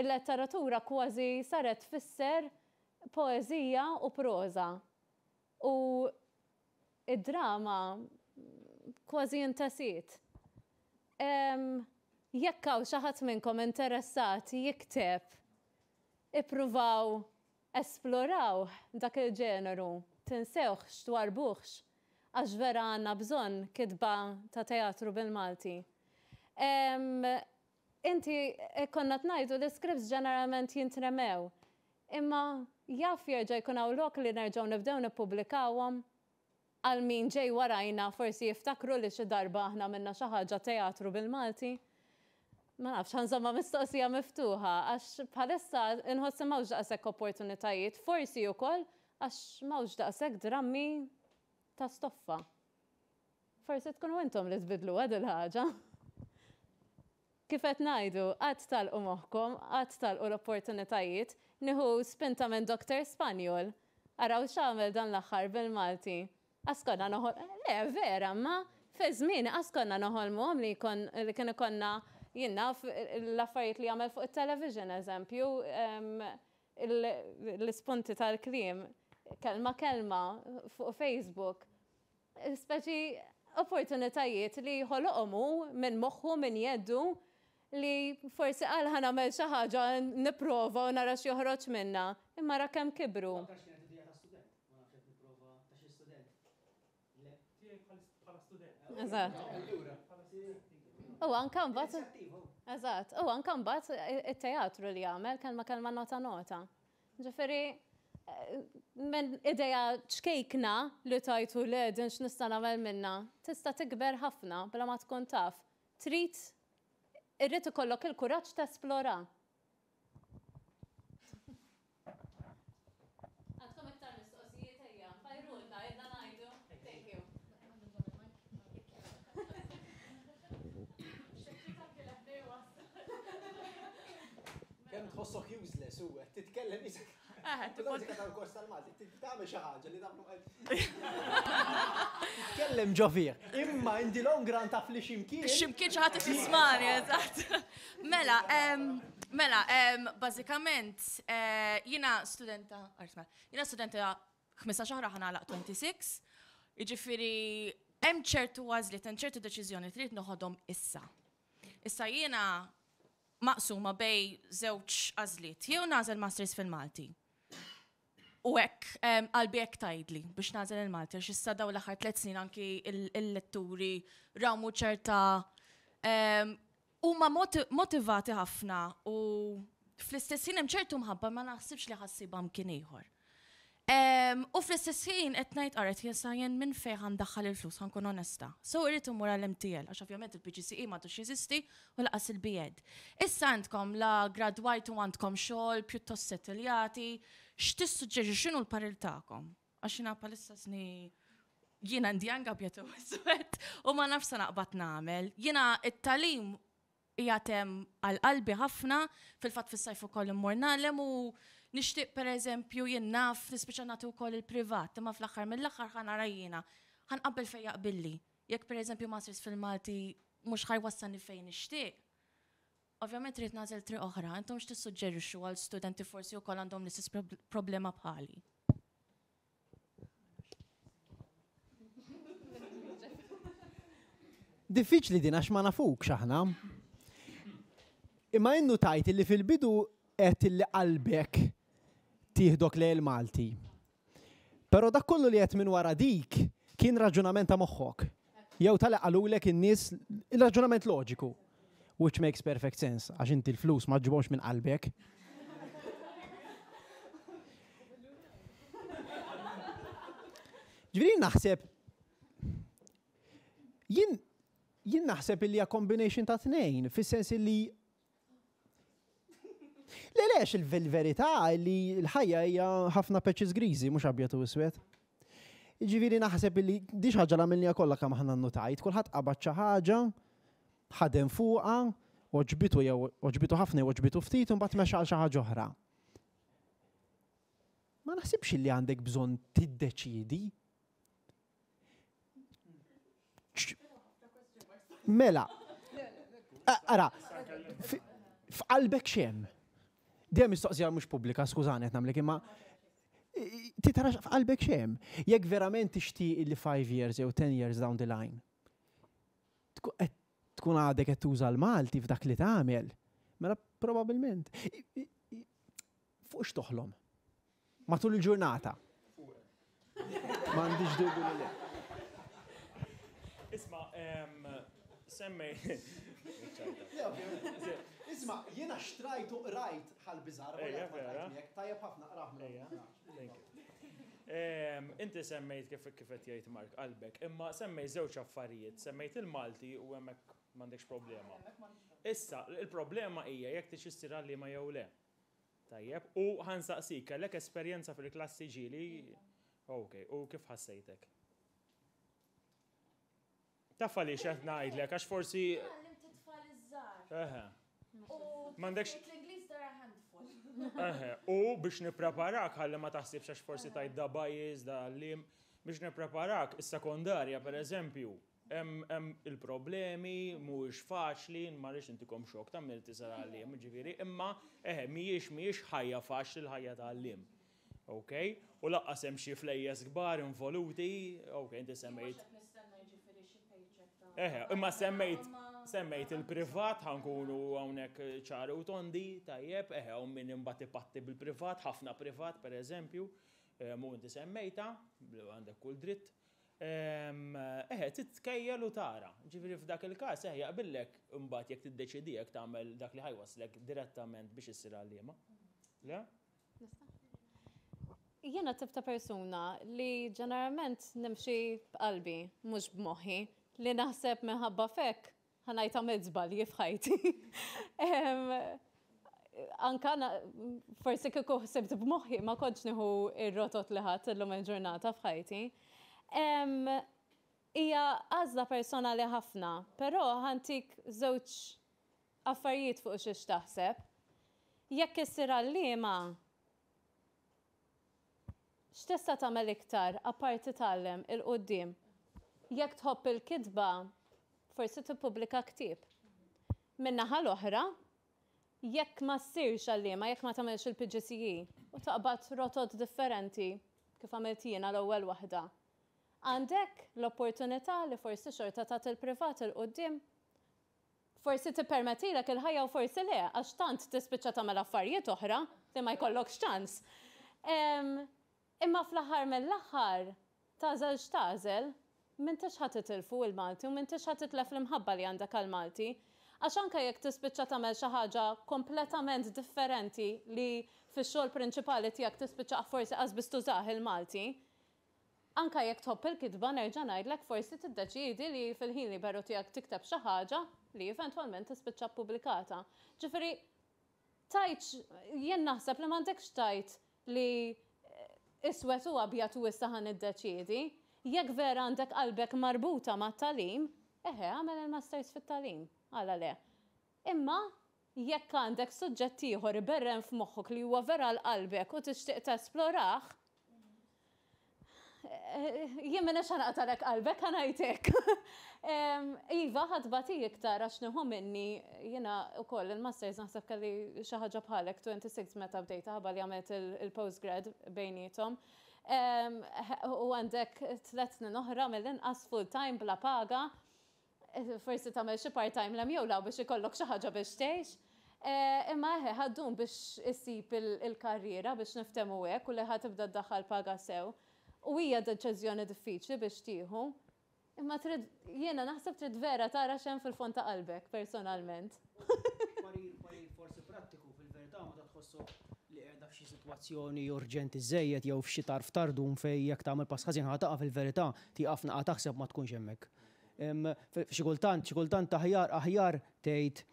l-letteratura kważi saret tfisser poeżija u proża. U id-drama kważi intesiet. Jekk hawn xi ħadd minnkom interessat jikteb, ippruvaw esplorawh dak il-ġeneru, tinsewhx, twarrbuhx, għax vera għandna bżonn kitba ta' teatru bil-Malti. Inti konna qed ngħidu li scripts ġeneralment jintremew. Imma jaf jerġa' jkun hawn lok li nerġgħu nibdew nippubblikawhom? Għal min ġej warajna forsi jiftakru li xi darba aħna għamilna xi ħaġa teatru bil-Malti? Ma nafx, ħa nżommha mistoqsija miftuħa għax bħalissa inħoss li m'hawnx daqshekk opportunitajiet, forsi ukoll għax m'hawnx daqshekk drammi ta' stoffa. Forsi tkunu intom li tbiddluha dil-ħaġa. Kif qed ngħidu, qatt tagħlqu moħħkom, qatt tagħlqu l-opportunitajiet. Nieħu spinta minn Doctor Spanjol. Araw x'għamel dan l-aħħar bil-Malti. Qas konna noħol, le vera, imma fi żmieni qas konna noħolmuhom li jkun li kien ikollna jien naf l-affarijiet li jagħmel fuq it-television eżempju, l-ispunti tal-kliem, kelma kelma fuq Facebook. Speċi opportunitajiet li ħoloqhom hu minn moħħu, minn jeddu, li forsi qal ħa nagħmel xi ħaġa nipprova u nara x'joħroġ minnha, imma ra kemm kibru. Ma nafx kienet idea ta' student, ma nafx qed nipprova ta' xi student. Le. Tiegħi bħala student. Eżatt. U anke mbagħad. Eżatt, u anke mbagħad it-teatru li għamel kelma kelma nota nota. Ġifieri, minn idea ċkejkna li tajtu le din x'nista' nagħmel minnha, tista' tikber ħafna bla ma tkun taf. Trid irrid ikollok il-kuraġġ tesplora. Għandkom iktar mistoqsijiet ejja, fajrulna, ilna ngħidu. Thank you. Kemm tħossok useless u qed titkellem isek. Eh, tipo tal-kors tal-Malti, tagħmel xi ħaġa li tagħmlu Titkellem ġo fih. Imma in the long run taf li x'imkien. X'imkien xi ħadd qed jismani, eżatt. Mela, mela, bażikament eh, jiena studenta, jiena studenta 15 oħra ħa nagħlaq 26. Jiġifieri hemm ċertu għażliet, hemm ċertu deċiżjoni trid noħodhom issa. Issa jiena maqsuma bejn żewġ għażliet. Jew nagħżel masters fil-Malti. U hekk qalbi hekk tgħidli biex nagħżel il-Malti għax issa dawn l-aħħar tliet snin anki il-letturi rawmu ċerta huma motivati ħafna u fl-istess ħin hemm ċertu mħabba ma naħsibx li ħassibha mkien ieħor. U fl-istess ħin qed ngħid qaret jessa jien minn fejn ħa ndaħħal il-flus ħa nkun onesta. So irrid immur għall-MTL għax ovvjament il-PGCE m'għadux jeżisti u lanqas il-BEd. Issa għandkom la gradwajtu għandkom xogħol pjuttost settiljati, x'tissuġġerixxu x'inhu l-parir tagħkom? Għax jiena bħalissa sni jiena għandi anke abjad u iswed u ma nafx se naqbad nagħmel. Jiena it-tagħlim qiegħed hemm għal qalbi ħafna, fil-fatt fis-sajf ukoll immur nagħlem u nixtieq pereżempju jien naf nispiċċa nagħti wkoll il-privat, imma fl-aħħar mill-aħħar ħa nara jiena, ħa nqabbel fejn jaqbilli. Jekk pereżempju masters fil-Malti mhux ħa jwassalni fejn nixtieq, ovvjament irrid nagħżel triq oħra. Intom x'tissuġġerixxu għal studenti forsi wkoll għandhom l-istess problema bħali? Diffiċli din għax ma nafukx aħna. Imma innutajt li fil-bidu għedt li qalbek tieħdok lejn il-Malti. Però dak kollu li għedt minn wara dik kien raġunament ta' moħħok. Jew ta' li qalulek in-nies, il-raġunament loġiku. Which makes perfect sense, għax inti l-flus ma ġġibhomx minn qalbek. Ġifieri naħseb jien jien naħseb illi hija combination ta' tnejn, fis-sens illi Le lex il-verità li l-ħajja hija ħafna patches griżi mhux abjad u iswed. Ġifieri naħseb illi di ħaġa li għamilniha kollha kemm aħna nnotajt, kulħadd qabad xi ħaġa, ħadem fuqha, għoġbitu jew għoġbitu ħafna jew għoġbitu ftit u mbagħad mexa għal xi ħaġa oħra. Ma naħsibx li għandek bżonn tiddeċiedi. Mela, ara, f'qalbek xem. Dejjem mistoqsija mhux pubblika, skużani qed nagħmlek imma titarax f'qalbek xem. Jekk verament tixtieq li 5 years jew 10 years down the line, tkun għadek qed tuża l-Malti f'dak li tagħmel, mela probabbilment. Fuq x'toħlom? Matul il-ġurnata. M'għandix dubju li le. Isma, semmej. Isma, jiena xtrajt u qrajt ħal-biżar, tajjeb ħafna qrah. Inti semmejt kif kif qed jgħid Mark qalbek, imma semmejt żewġ affarijiet, semmejt il-Malti u hemmhekk m'għandekx problema. Issa, il-problema hija jekk tix issir għalliema jew le. Tajjeb, u ħa nsaqsik, kellek esperjenza fil-klassi ġieli? Ok, u kif ħassejtek? Taf għaliex qed ngħidlek, għax forsi. Għallimt it-tfal iż-żgħar. Eħe. U M'għandekx. L-Ingliż dara handful. Eħe, u biex nippreparak ħalli ma taħsibx għax forsi tajt da bias, da għalliem, biex nippreparak is-sekondarja pereżempju, hemm il-problemi, mhuwiex faċli, ma rridx intikom xokk ta' min tisal għalliem, ġifieri, imma eħe mhijiex mhijiex ħajja faċli l-ħajja ta' għalliem. Ok? U lanqas hemm xi flejjes kbar involuti, ok, inti semmejt. Eħe, imma semmejt semmejt il-privat ħa nkunu hawnhekk ċari u tondi, tajjeb, eħe, u min imbagħad ipatti bil-privat, ħafna privat pereżempju, mu inti semmejta, għandek kull dritt. Eħe, titkejjel u tara. Ġifieri f'dak il-każ eħe jaqbillek imbagħad jekk tiddeċidi jekk tagħmel dak li ħa jwasslek direttament biex issir għalliema. Le? Jiena tip ta' persuna li ġeneralment nimxi b'qalbi, mhux b'moħħi, li naħseb minħabba fek ħa ngħid għamilt żbalji f'ħajti. Anka forsi kieku ħsibt b'moħħi ma kontx nieħu ir-rotot li ħadt illum il-ġurnata f'ħajti. Hija għażla personali ħafna, però ħa ntik żewġ affarijiet fuq xiex taħseb. Jekk issir għalliema, x'tista' tagħmel iktar apparti tgħallem 'il quddiem? Jekk tħobb il-kitba, forsi tippubblika ktieb. Min-naħa l-oħra, jekk ma ssirx għalliema, jekk ma tagħmilx il-PGCE u taqbad rotot differenti, kif għamilt jiena l-ewwel waħda, għandek l-opportunità li forsi xorta tagħti l-privat 'il quddiem. Forsi tippermettilek il-ħajja u forsi le, għax tant tispiċċa tagħmel affarijiet oħra li ma jkollokx ċans. Imma fl-aħħar mill-aħħar, tagħżel x'tagħżel, m'intix ħa titilfu il-Malti u m'intix ħa titlef l-imħabba li għandek għall-Malti. Għax anke jekk tispiċċa tagħmel xi ħaġa kompletament differenti li fix-xogħol prinċipali tiegħek tispiċċa forsi qas biss tużah il-Malti, Anke jekk tħobb il-kitba nerġa' ngħidlek forsi tiddeċiedi li fil-ħin liberu tiegħek tikteb xi ħaġa li eventwalment tispiċċa ppubblikata. Ġifieri tgħidx, jien naħseb li m'għandekx tgħid li iswed u abjad u issa ħa niddeċiedi. Jekk vera għandek qalbek marbuta mat-tagħlim, eħe agħmel il-masters fit-tagħlim, għala le. Imma jekk għandek suġġett ieħor iberren f'moħħok li huwa vera għal qalbek u tixtieq tesplorah, jien m'iniex ħa naqtagħlek qalbek, ħa ngħid hekk. Iva, ħa tbati iktar għax nieħu minni, jiena wkoll il-masters naħseb kelli xi ħaġa bħalek 26 meta bdejtha ħabba li għamilt il-postgrad bejniethom. U għandek tlett snin oħra mill-inqas full time bla paga. Forsi tagħmel xi part-time 'l hemm jew 'l hawn biex ikollok xi ħaġa biex tgħix. Imma eħe, ħa ddum biex issib il-karriera biex niftehmu hekk u li ħa tibda ddaħħal paga sew. U hija deċiżjoni diffiċli biex tieħu. Imma trid, jiena naħseb trid vera tara x'hemm fil-fond ta' qalbek personalment. Parir, parir forsi prattiku fil-verità meta tħossok li qiegħda f'xi sitwazzjoni urġenti żżejjed jew f'xi tarf tardum fejn jekk tagħmel pass ħażin ħa taqa' fil-verità tieqaf naqa' taħseb ma tkunx hemmhekk. Xi kultant, xi kultant aħjar, aħjar tgħid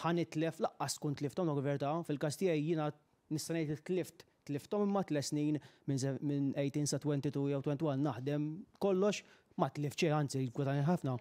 ħa nitlef, laqqas tkun tlifthom dawk il-verità, fil-każ tiegħi jiena nista' ngħid li tlift, tlifthom imma tle snin minn 18 sa 22 jew 21 naħdem kollox ma tlift xejn, anzi gwadanjajt ħafna.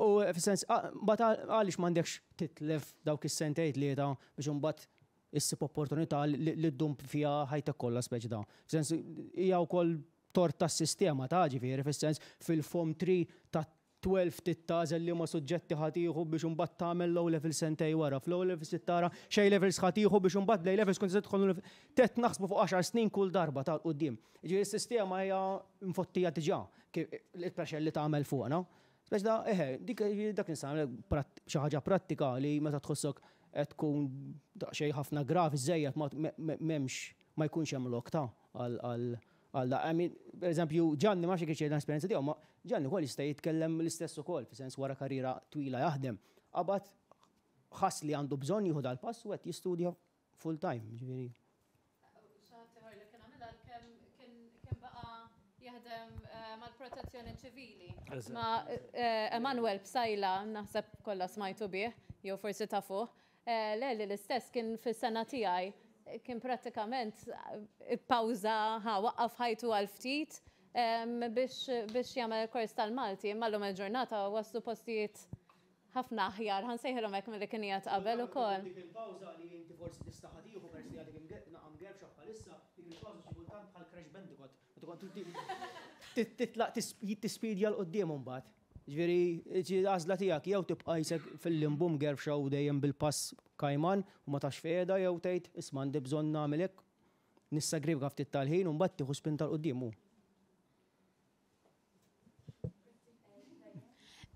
U fis-sens, mbagħad għaliex m'għandekx titlef dawk is-sentejn tlieta biex imbagħad issib opportunità li ddum fiha ħajtek kollha speċi ta'. Fis-sens hija wkoll tort tas-sistema ta' ġifieri fis-sens fil-form 3 ta' 12 trid tagħżel liema suġġetti ħa tieħu biex imbagħad tagħmel l-O level sentejn wara. Fl-O levels trid tara x'A levels ħa tieħu biex imbagħad bl-A levels tkun tista' tidħol Trid naħsbu fuq għaxar snin kull darba ta' 'l quddiem. Jiġifieri s-sistema hija mfottija diġà il-pressure li tagħmel fuqna. Speċi ta' eħe, dik dak nista' nagħmel xi ħaġa prattika li meta tħossok qed tkun daqsxejn ħafna gravi żejjed ma m'hemmx ma jkunx hemm lok ta' għal għal da. I mean, per eżempju, Ġanni ma nafx jekk l-esperjenza tiegħu, ma Ġanni wkoll jista' jitkellem l-istess ukoll, fis-sens wara karriera twila jaħdem. Qabad ħass li għandu bżonn jieħu dal-pass u qed jistudja full time, ġifieri. Xi ħadd ieħor li kien għamilha għalkemm kien baqa' jaħdem mal-protezzjoni ċivili. Ma' Emanuel Psaila, naħseb kollha smajtu bih, jew forsi tafuh. Le, li l-istess kien fis-sena tiegħi, kien prattikament ippawża, ħa waqqaf ħajtu għal ftit biex jagħmel il-kors tal-Malti, imma llum il-ġurnata waslu postijiet ħafna aħjar, ħa nsejħilhom hekk milli kien qiegħed qabel ukoll. Dik il-pawża li inti forsi tista' ħa tieħu peress li għadek naqa' mgerfxa bħalissa, dik il-pawża xi kultant bħal Crash Bandicoot, meta kont titlaq tispidja 'l quddiem imbagħad. Ġifieri għażla tiegħek jew tibqa' qisek fil-limbu mgerfxa u dejjem bil-pass kajman u ma tafx fejn qiegħda jew tgħid isma' għandi bżonn nagħmel hekk, nissagrifika ftit tal-ħin u mbagħad tieħu spinta 'l quddiem u.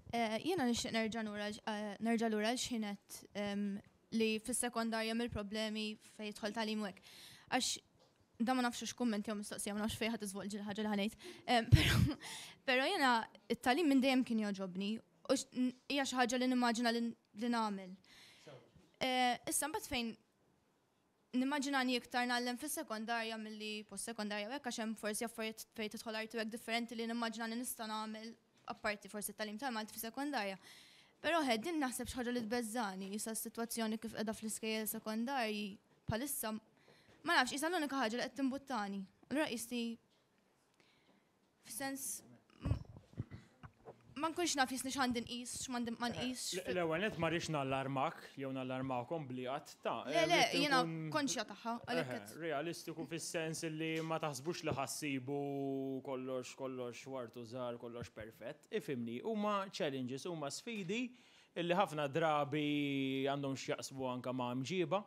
Eh, jiena nixtieq nerġa' eh, nerġa' lura għal x'ħinet li fis-sekondarja mill-problemi fejn jidħol tagħlim hekk. Għax da ma nafx x'kumment jew mistoqsija, ma nafx fejn ħadd iżvolġi l-ħaġa li ħanejt. Però jiena it-tagħlim minn dejjem kien jogħġobni u hija xi ħaġa li nimmaġina li nagħmel. Eh, issa mbagħad fejn Nimmaġinani iktar ngħallem fis-sekondarja milli post-sekondarja u hekk għax hemm forsi affarijiet fejn tidħol arti u hekk differenti li nimmaġinani nista' nagħmel apparti forsi t-tagħlim tal-Malti fis-sekondarja. Però eħe din naħseb xi ħaġa li tbeżżagħni, issa s-sitwazzjoni kif qiegħda fl-iskejjel sekondarji bħalissa ma nafx, qisha l-unika ħaġa li qed timbuttani. Allura qisni F'sens ma nkunx naf jisni x'għandi nqis, x'm'għandi ma nqisx. L-ewwel nett ma rridx nallarmak jew nallarmakom bli qatt ta' Le, le, jiena konxja tagħha, għalhekk qed. Realistiku fis-sens li ma taħsbux li ħa ssibu kollox kollox ward u żahar, kollox perfett. Ifhimni, huma challenges, huma sfidi illi ħafna drabi għandhom x'jaqsmu anke ma' mġiba,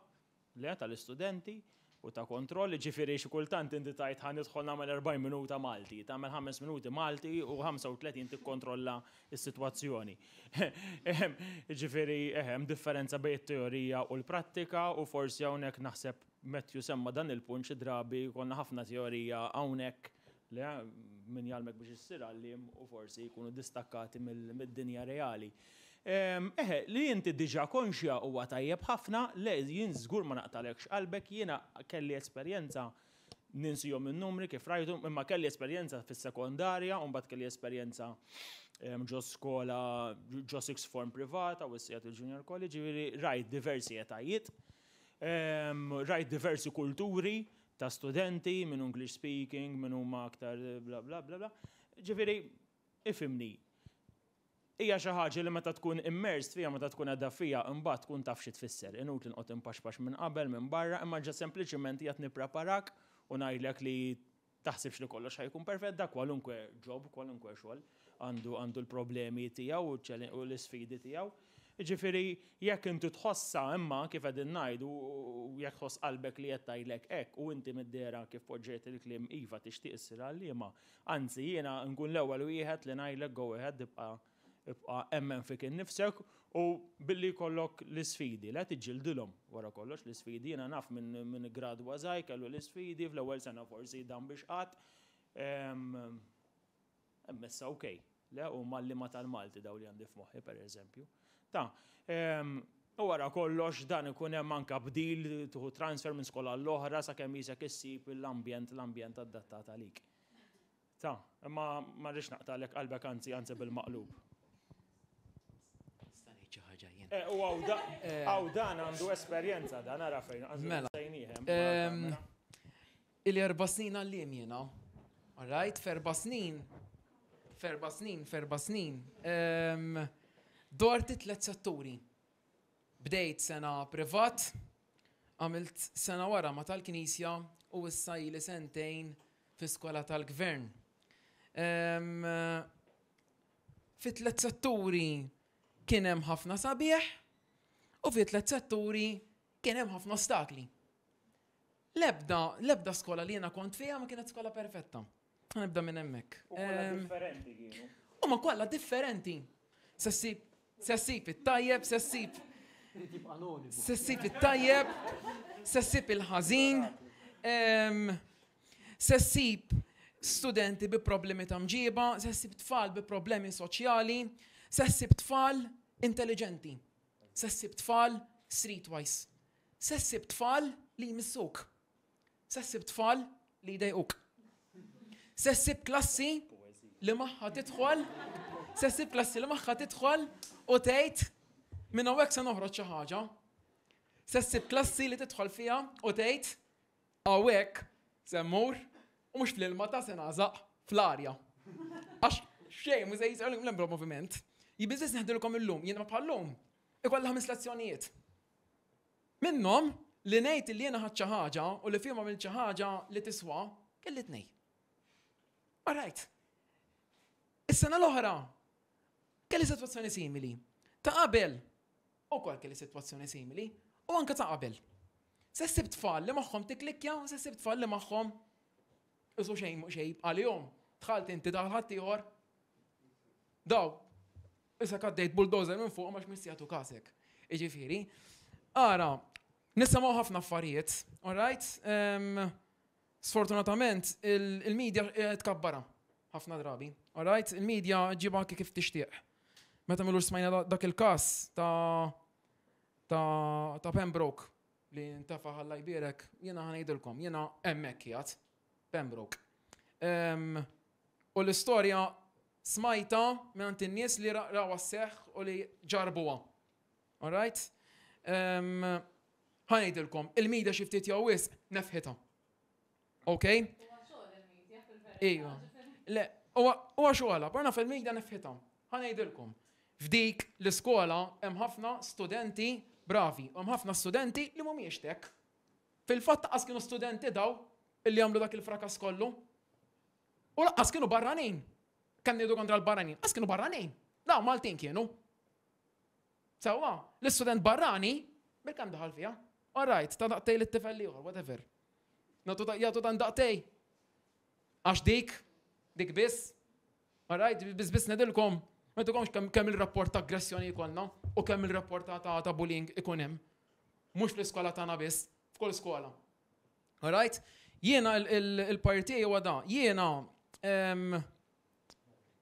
le, tal-istudenti. u ta' kontroll, jiġifieri xi kultant inti tgħid ħa nidħol nagħmel 40 minuta Malti, tagħmel 5 minuti Malti u 35 tikkontrolla s-sitwazzjoni. Jiġifieri hemm differenza bejn it-teorija u l-prattika u forsi hawnhekk naħseb Matthew semma dan il-punt xi drabi jkollna ħafna teorija hawnhekk le min jgħallmek biex issir għalliem u forsi jkunu distakkati mid-dinja reali. Eħe, li inti diġà konxja huwa tajjeb ħafna, le jien żgur ma naqtagħlekx qalbek, jiena kelli esperjenza ninsihom in-numri kif rajtu, imma kelli esperjenza fis-sekondarja u mbagħad kelli esperjenza ġo skola, ġo sixth form privata u issa qiegħed il-junior college, jiġifieri rajt diversi etajiet, rajt diversi kulturi ta' studenti, min hu English speaking, min huma aktar bla bla bla bla. Ġifieri, ifhimni, hija xi ħaġa li meta tkun immersed fiha, meta tkun qiegħda fiha, imbagħad tkun taf xi tfisser. Inutli nqgħod inpaxpax minn qabel, minn barra, imma ġa sempliċiment qiegħed nippreparak u ngħidlek li taħsibx li kollox ħa jkun perfett, da kwalunkwe job, kwalunkwe xogħol għandu għandu l-problemi tiegħu u l-isfidi tiegħu. Jiġifieri jekk inti tħossha imma kif qegħdin ngħidu u jekk tħoss qalbek li qed tgħidlek hekk u inti mid-dehra kif poġġejt il-kliem iva tixtieq issir għalliema, anzi jiena nkun l-ewwel wieħed li ngħidlek go ahead ibqa' ibqa' emmen fik innifsek u billi jkollok l-isfidi, le tiġġildilhom wara kollox l-isfidi, jiena naf min min iggradwa żgħir kellu l-isfidi fl-ewwel sena forsi dam biex qatt. Hemm issa ok. Le, huma għalliema tal-Malti dawn li għandi f'moħħi pereżempju. Ta, u wara kollox dan ikun hemm anke bdil, tieħu transfer minn skola għall-oħra sakemm qisek issib l-ambjent l-ambjent adattat għalik. Ta, imma ma rridx naqtagħlek qalbek anzi anzi bil-maqlub. Nista' ngħid xi ħaġa jien. Eh, u hawn dan għandu esperjenza dan ara fejn. Mela. Ili erba' snin għalliem jiena. All right, f'erba' snin, f'erba' snin, f'erba' snin, dort it-tlet setturi. Bdejt sena privat, għamilt sena wara ma tal-Knisja u issa ili sentejn fi skola tal-Gvern. Fi tlet setturi kien hemm ħafna sabiħ u fi tlet setturi kien hemm ħafna ostakli. L-ebda, l-ebda skola li jiena kont fiha ma kienet skola perfetta. Nibda minn hemmhekk. U kollha differenti kienu. Huma kollha differenti. Se ssib, se ssib it-tajjeb, se ssib. Se ssib it-tajjeb, se ssib il-ħażin, se ssib studenti bi problemi ta' mġiba, se ssib tfal bi problemi soċjali, se ssib tfal intelligenti, se ssib tfal streetwise. Se ssib tfal li jmissuk. Se ssib tfal li jdejquk. Se ssib klassi li magħha tidħol, se ssib klassi li magħha tidħol u tgħid minn hawnhekk se noħroġ xi ħaġa. Se ssib klassi li tidħol fiha u tgħid hawnhekk se mmur u mhux fl-ilma ta' se nagħżaq fl-arja. Għax xejn mhux se jisir l-ebda moviment. Jien neħdilkom illum, jiena bħal-lum, ikollha ħames lezzjonijiet. Minnhom, li ngħid li jiena ħadt xi ħaġa u li fihom għamilt xi ħaġa li tiswa, kelli tnej. All right. Is-sena l-oħra kelli sitwazzjoni simili. Ta' qabel ukoll kelli sitwazzjoni simili u anke ta' qabel. Se ssib tfal li magħhom tiklikkja u se ssib tfal li magħhom isu xejn xejn għalihom. Dħalt inti daħal ħaddieħor. Daw, Issa għaddejt bulldozer minn fuq għax mhux jagħtu kasek. Jiġifieri, ara, nisimgħu ħafna affarijiet, all right? Sfortunatament, il-media eh, tkabbara ħafna drabi, all right? Il-media ġiba anke kif tixtieq. Meta milux smajna dak il-każ ta' ta' ta' Pembroke li ntafa ħalla jbierek, jiena ħanejdilkom, jiena hemmhekk qiegħed, Pembroke. U l-istorja Smajtha mingħand in-nies li rawha sseħħ u li ġarrbuha. All right? Ħa ngħidilkom, il-media xi ftit jew wisq nefħitha. Ok? Iva. Le, huwa xogħolha, però naf il-media nefħitha. Ħa ngħidilkom. F'dik l-iskola hemm ħafna studenti bravi, u hemm ħafna studenti li mhumiex tek. Fil-fatt qas kienu studenti daw illi għamlu dak il-frakas kollu. U laqqas kienu barranin. Kemm ngħidu kontra l-barranin? Qas kienu barranin. Dawn Maltin kienu. Sewwa, l-istudent barrani, bil-kemm daħal fiha. All right, ta' daqtej lit-tifel ieħor, whatever. Nagħtu jagħtu dan daqtej. Għax dik, dik biss, alright, biss biss nedilkom, ma tukomx kemm il-rapport ta' aggressjoni jkollna u kemm il-rapport ta' bullying ikun hemm. Mhux fl-iskola tagħna biss, f'kull skola. Alright? Jiena il-parti huwa da. Jiena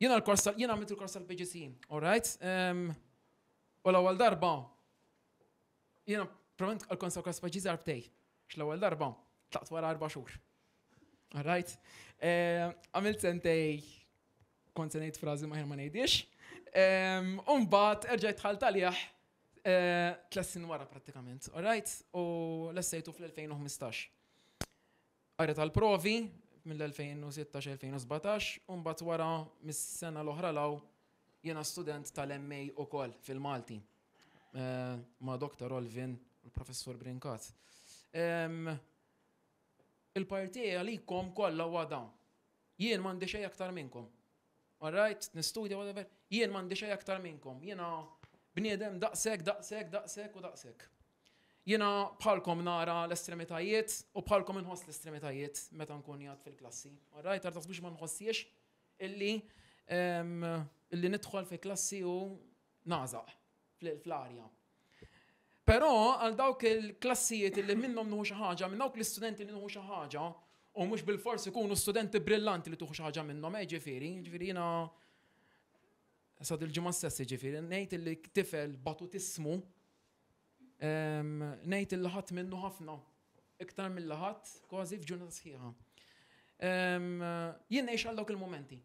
jiena l-kors jiena għamilt il-kors tal-PGC, alright? U l-ewwel darba jiena provent għal-kors tal-PGC darbtej. X-l-ewwel darba tlaqt wara 4 xhur. Alright? Għamilt sentej kont se ngħid frażi ma ma ngħidix. U mbagħad erġajt dħalt għalih tlet snin wara prattikament, alright? U lessejtu fl-2015. Qari tal-provi mill-2016-2017, u mbagħad wara mis-sena l-oħra law jiena student tal-MA ukoll fil-Malti ma' Dr. Olvin u l-Professur Brincat. Il-parti għalikom kollha huwa dawn. Jien m'għandi xejn aktar minnkom. Alright, nistudja whatever, jien m'għandi xejn aktar minnkom. Jiena bniedem daqshekk, daqshekk, daqshekk u daqshekk. Jiena bħalkom nara l-estremitajiet u bħalkom inħoss l-estremitajiet meta nkun jgħad fil-klassi. Alright, għar taħsbux ma nħossiex illi illi nidħol fi klassi u nażaq fl-arja. Però għal dawk il-klassijiet li minnhom nuħu xi ħaġa, minn dawk l-istudenti li nuħu xi ħaġa, u mhux bilfors ikunu studenti brillanti li tuħu xi ħaġa minnhom, ġifieri, ġifieri jiena sa dil-ġimgħa stess ġifieri, ngħid li tifel batutismu, ngħid li ħadd minnu ħafna, iktar mill ħadd kważi f'ġurnata sħiħa. Jien ngħix għal dawk il-momenti.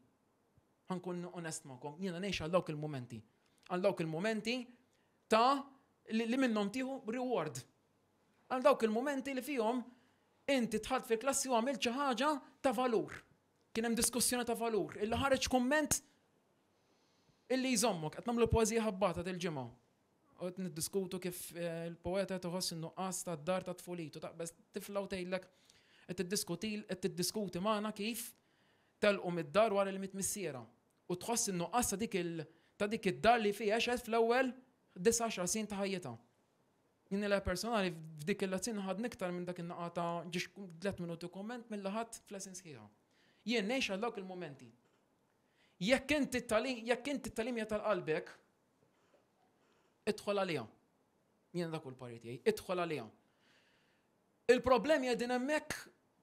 Ħa nkun onest magħkom, jiena ngħix għal dawk il-momenti. Għal dawk il-momenti ta' li minnhom tieħu reward. Għal dawk il-momenti li fihom inti dħalt fil-klassi u għamilt xi ħaġa ta' valur. Kien hemm diskussjoni ta' valur, illi ħareġ kumment illi jżommok, qed nagħmlu poeżija ħabbata dil-ġimgħa. U qed niddiskutu kif il-poeta toħoss in-nuqqas tad-dar ta' tfulitu, taqbeż tifla u tgħidlek qed tiddiskuti qed tiddiskuti magħna kif telqu mid-dar wara li miet missiera. U tħoss in-nuqqas ta' dik il ta' dik id-dar li fiha għexet fl-ewwel 19 snin ta' ħajjitha. Jien nilgħab personali f'dik il-lezzjoni ħadni iktar minn dak in-naqa ta' ġiex 3 minuti kumment milli ħadd f'lesson sħiħa. Jien ngħix għal dawk il-mumenti. Jekk inti t-tagħlim, jekk inti t-tagħlim hija tal-qalbek, idħol għaliha. Jien dak hu l-parir tiegħi, idħol għaliha. Il-problemi qegħdin hemmhekk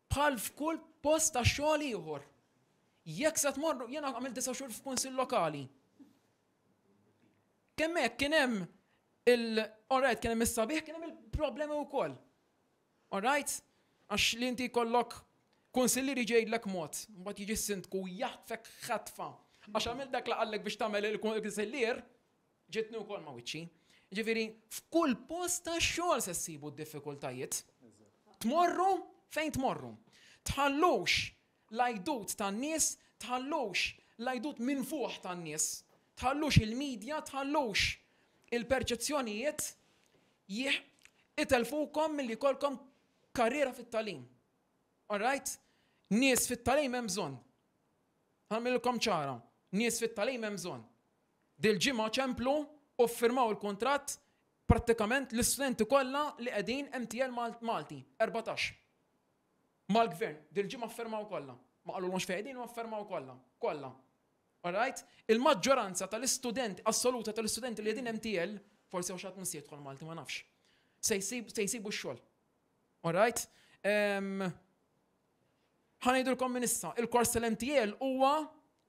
bħal f'kull post ta' xogħol ieħor. Jekk se tmorru, jiena għamilt disa' xhur f'kunsill lokali. Kemm hekk kien hemm il alright, kien hemm is-sabiħ, kien hemm il-problemi wkoll. Alright? Għax li inti jkollok kunsillier jiġi jgħidlek mod, mbagħad jiġi s-sindku jaħtfek ħatfa. Għax għamilt dak li qallek biex tagħmel il-kunsillier, ġietni wkoll ma' wiċċi. Ġifieri, f'kull post ta' xogħol se ssibu d-diffikultajiet. Tmorru fejn tmorru. Tħallux l-għajdut tan-nies, tħallux l-għajdut minfuħ tan-nies, tħallux il-media, tħallux il-perċezzjonijiet itelfukom milli jkollkom karriera fit-tagħlim. Alright? Nies fit-tagħlim hemm bżonn. Ħa nagħmilkom ċara, nies fit-tagħlim hemm bżonn. Dil-ġimgħa ċemplu u ffirmaw il-kuntratt prattikament l-istudenti kollha li qegħdin MTL Malti, 14. Mal-gvern, dil-ġimgħa ffirmaw kollha. Ma qalulhomx fejn qegħdin ma ffirmaw kollha, kollha. Alright? Il-maġġoranza tal-istudenti, assoluta tal-istudenti li qegħdin MTL, forsi hawn xi ħadd mhux se jidħol Malti, ma nafx. Se jsibu x-xogħol. Alright? Ħa ngħidulkom minn issa, il-kors tal-MTL huwa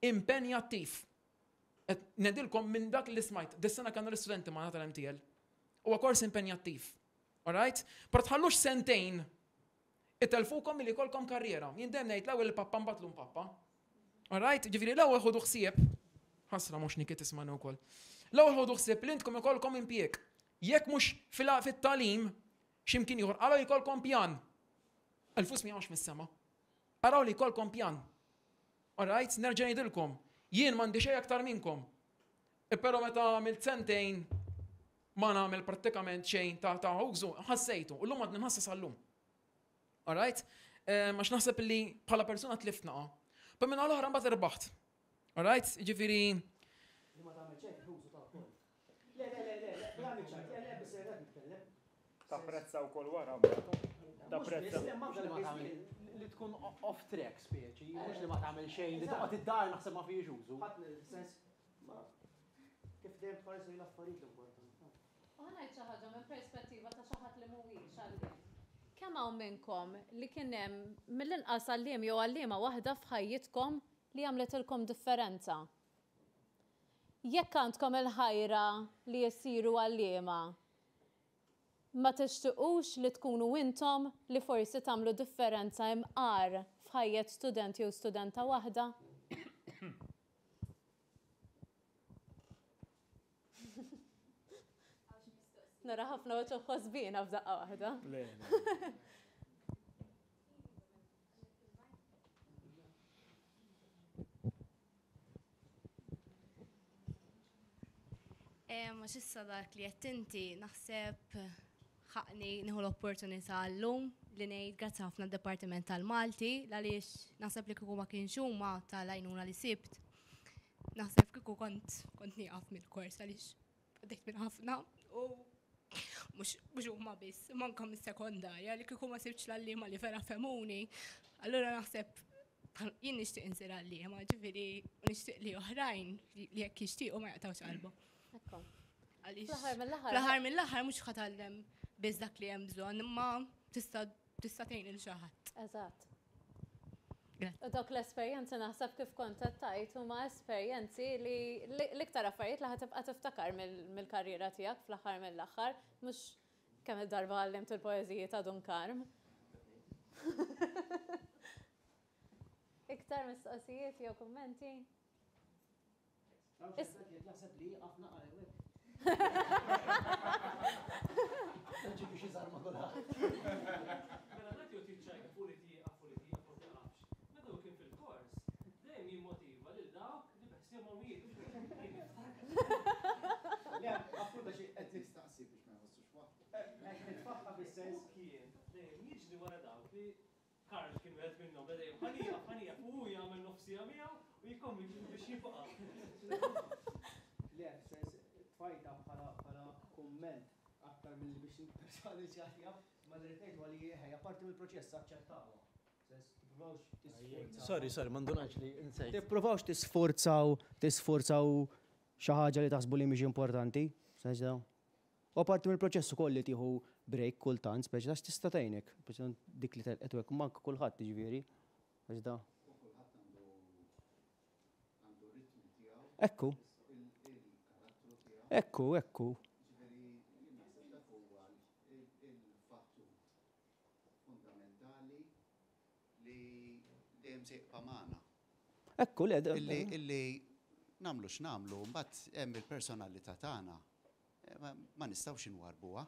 impenjattiv. Qed ngħidilkom minn dak li smajt, dis-sena kellna l-istudenti magħna tal-MTL. Huwa kors impenjattiv. Alright? Però tħallux sentejn itelfukom milli jkollkom karriera. Jien dejjem ngħid l-ewwel il-pappa mbagħad l pappa. Alright? Ġifieri l-ewwel ħudu ħsieb, ħasra mhux Niki tismani wkoll. L-ewwel ħudu ħsieb li intkom ikollkom impjieg. Jekk mhux fit-tagħlim x'imkien ieħor, araw jkollkom pjan. Il-flus ma jaqgħux mis-sema. Araw li jkollkom pjan. Alright? Nerġa' ngħidilkom, jien m'għandi xejn aktar minnkom. E però meta għamilt sentejn ma nagħmel prattikament xejn ta' użu, ħassejtu, u llum għadni nħassas għallum. Alright? Għax naħseb li bħala persuna tlift naqa. Pa minn l-oħra mbagħad irbaħt. Alright? Ġifieri. Li ma tagħmel xejn użu ta' wkoll. Le, le, le, le, le, għamil ċajt, le, le, biss qed nitkellem. Tapprezza wkoll wara. Tapprezza. Li tkun off track speċi, mhux li ma tagħmel xejn, li toqgħod id-dar naħseb ma fihiex użu. Ħadd sens ma kif dejjem tħares lejn l-affarijiet l-importanti. U ħa ngħid xi ħaġa minn perspettiva ta' xi ħadd li mhuwiex għalliem. Kemm hawn minnkom li kien hemm mill-inqas għalliem jew għalliema waħda f'ħajjitkom li għamletilkom differenza? Jekk għandkom il-ħajra li issiru għalliema, Ma tixtiqux li tkunu intom li forsi tagħmlu differenza imqar f'ħajjet student jew studenta waħda? Nara ħafna uċuħ ħosbina f'daqqa waħda. Għax issa dak li qed inti naħseb ħaqni nieħu l-opportunità llum li ngħid grazzi ħafna d-Dipartiment tal-Malti għaliex naħseb li kieku ma kienx huma tal-għajnuna li sibt. Naħseb kieku kont kont nieqaf mill-kors għaliex għaddejt minn ħafna u mhux huma biss, imma anke mis-sekondarja li kieku ma sibtx l-għalliema li vera fehmuni. Allura naħseb jien nixtieq insir għalliema, ġifieri u nixtieq li oħrajn li jekk jixtiequ ma jaqtgħux qalbhom. Ekku. Għaliex Fl-aħħar mill-aħħar. Fl-aħħar mill-aħħar mhux ħa tgħallem biss dak li hemm bżonn, imma tista' tista' tgħin lil xi ħadd. Eżatt. U dawk l-esperjenzi naħseb kif kont qed tgħid huma esperjenzi li l-iktar affarijiet li ħa tibqa' tiftakar mill-karriera tiegħek fl-aħħar mill-aħħar, mhux kemm il-darba għallimt il-poeżiji ta' Dun Karm. Iktar mistoqsijiet jew kummenti? Naħseb li jieqaf naqra jew hekk. Ġi biex iżarma kulħadd. Mela Matthew tiċċajta fuq li tieqaf u li tieqaf u tiqafx. Meta hu kien fil-kors, dejjem jimmotiva lil dawk li beħsiebhom jieqfu. Le, appunto xi qed jistaqsi biex ma jħossux waħdu. Qed nitfaħħa fis-sens. Hu kien dejjem jiġri wara dawk li Karl kien wieħed minnhom, beda dejjem ħa nieqaf, ħa nieqaf, u hu jagħmel nofs siegħa miegħu u jikkonvinċih biex jibqa'. Le, fis-sens tfajtha bħala bħala kumment aktar milli biex nipperswadi xi ħadd jaf, imma li rrid ngħid huwa li eħe, hija parti mill-proċess aċċettawha. Fis-sens tippruvawx tisforzaw. Sorry, sorry, ma ndunajtx li nsejt. Tippruvawx tisforzaw tisforzaw xi ħaġa li taħsbu li mhix importanti, fis-sens da. Huwa parti mill-proċess ukoll li tieħu break kultant, speċi għax tista' tgħinek, speċi dik li telqet u hekk, imma anke kulħadd jiġifieri, għax da. U kulħadd għandu għandu r-ritmu tiegħu. Ekku. Il-karattru tiegħu. Ekku, ekku. Jiġifieri jien naħseb dak huwa il-fattur fundamentali li dejjem se jibqa' magħna. Ekku, le. Illi illi nagħmlu x'nagħmlu, mbagħad hemm il-personalità tagħna Ma nistgħux inwarrbuha.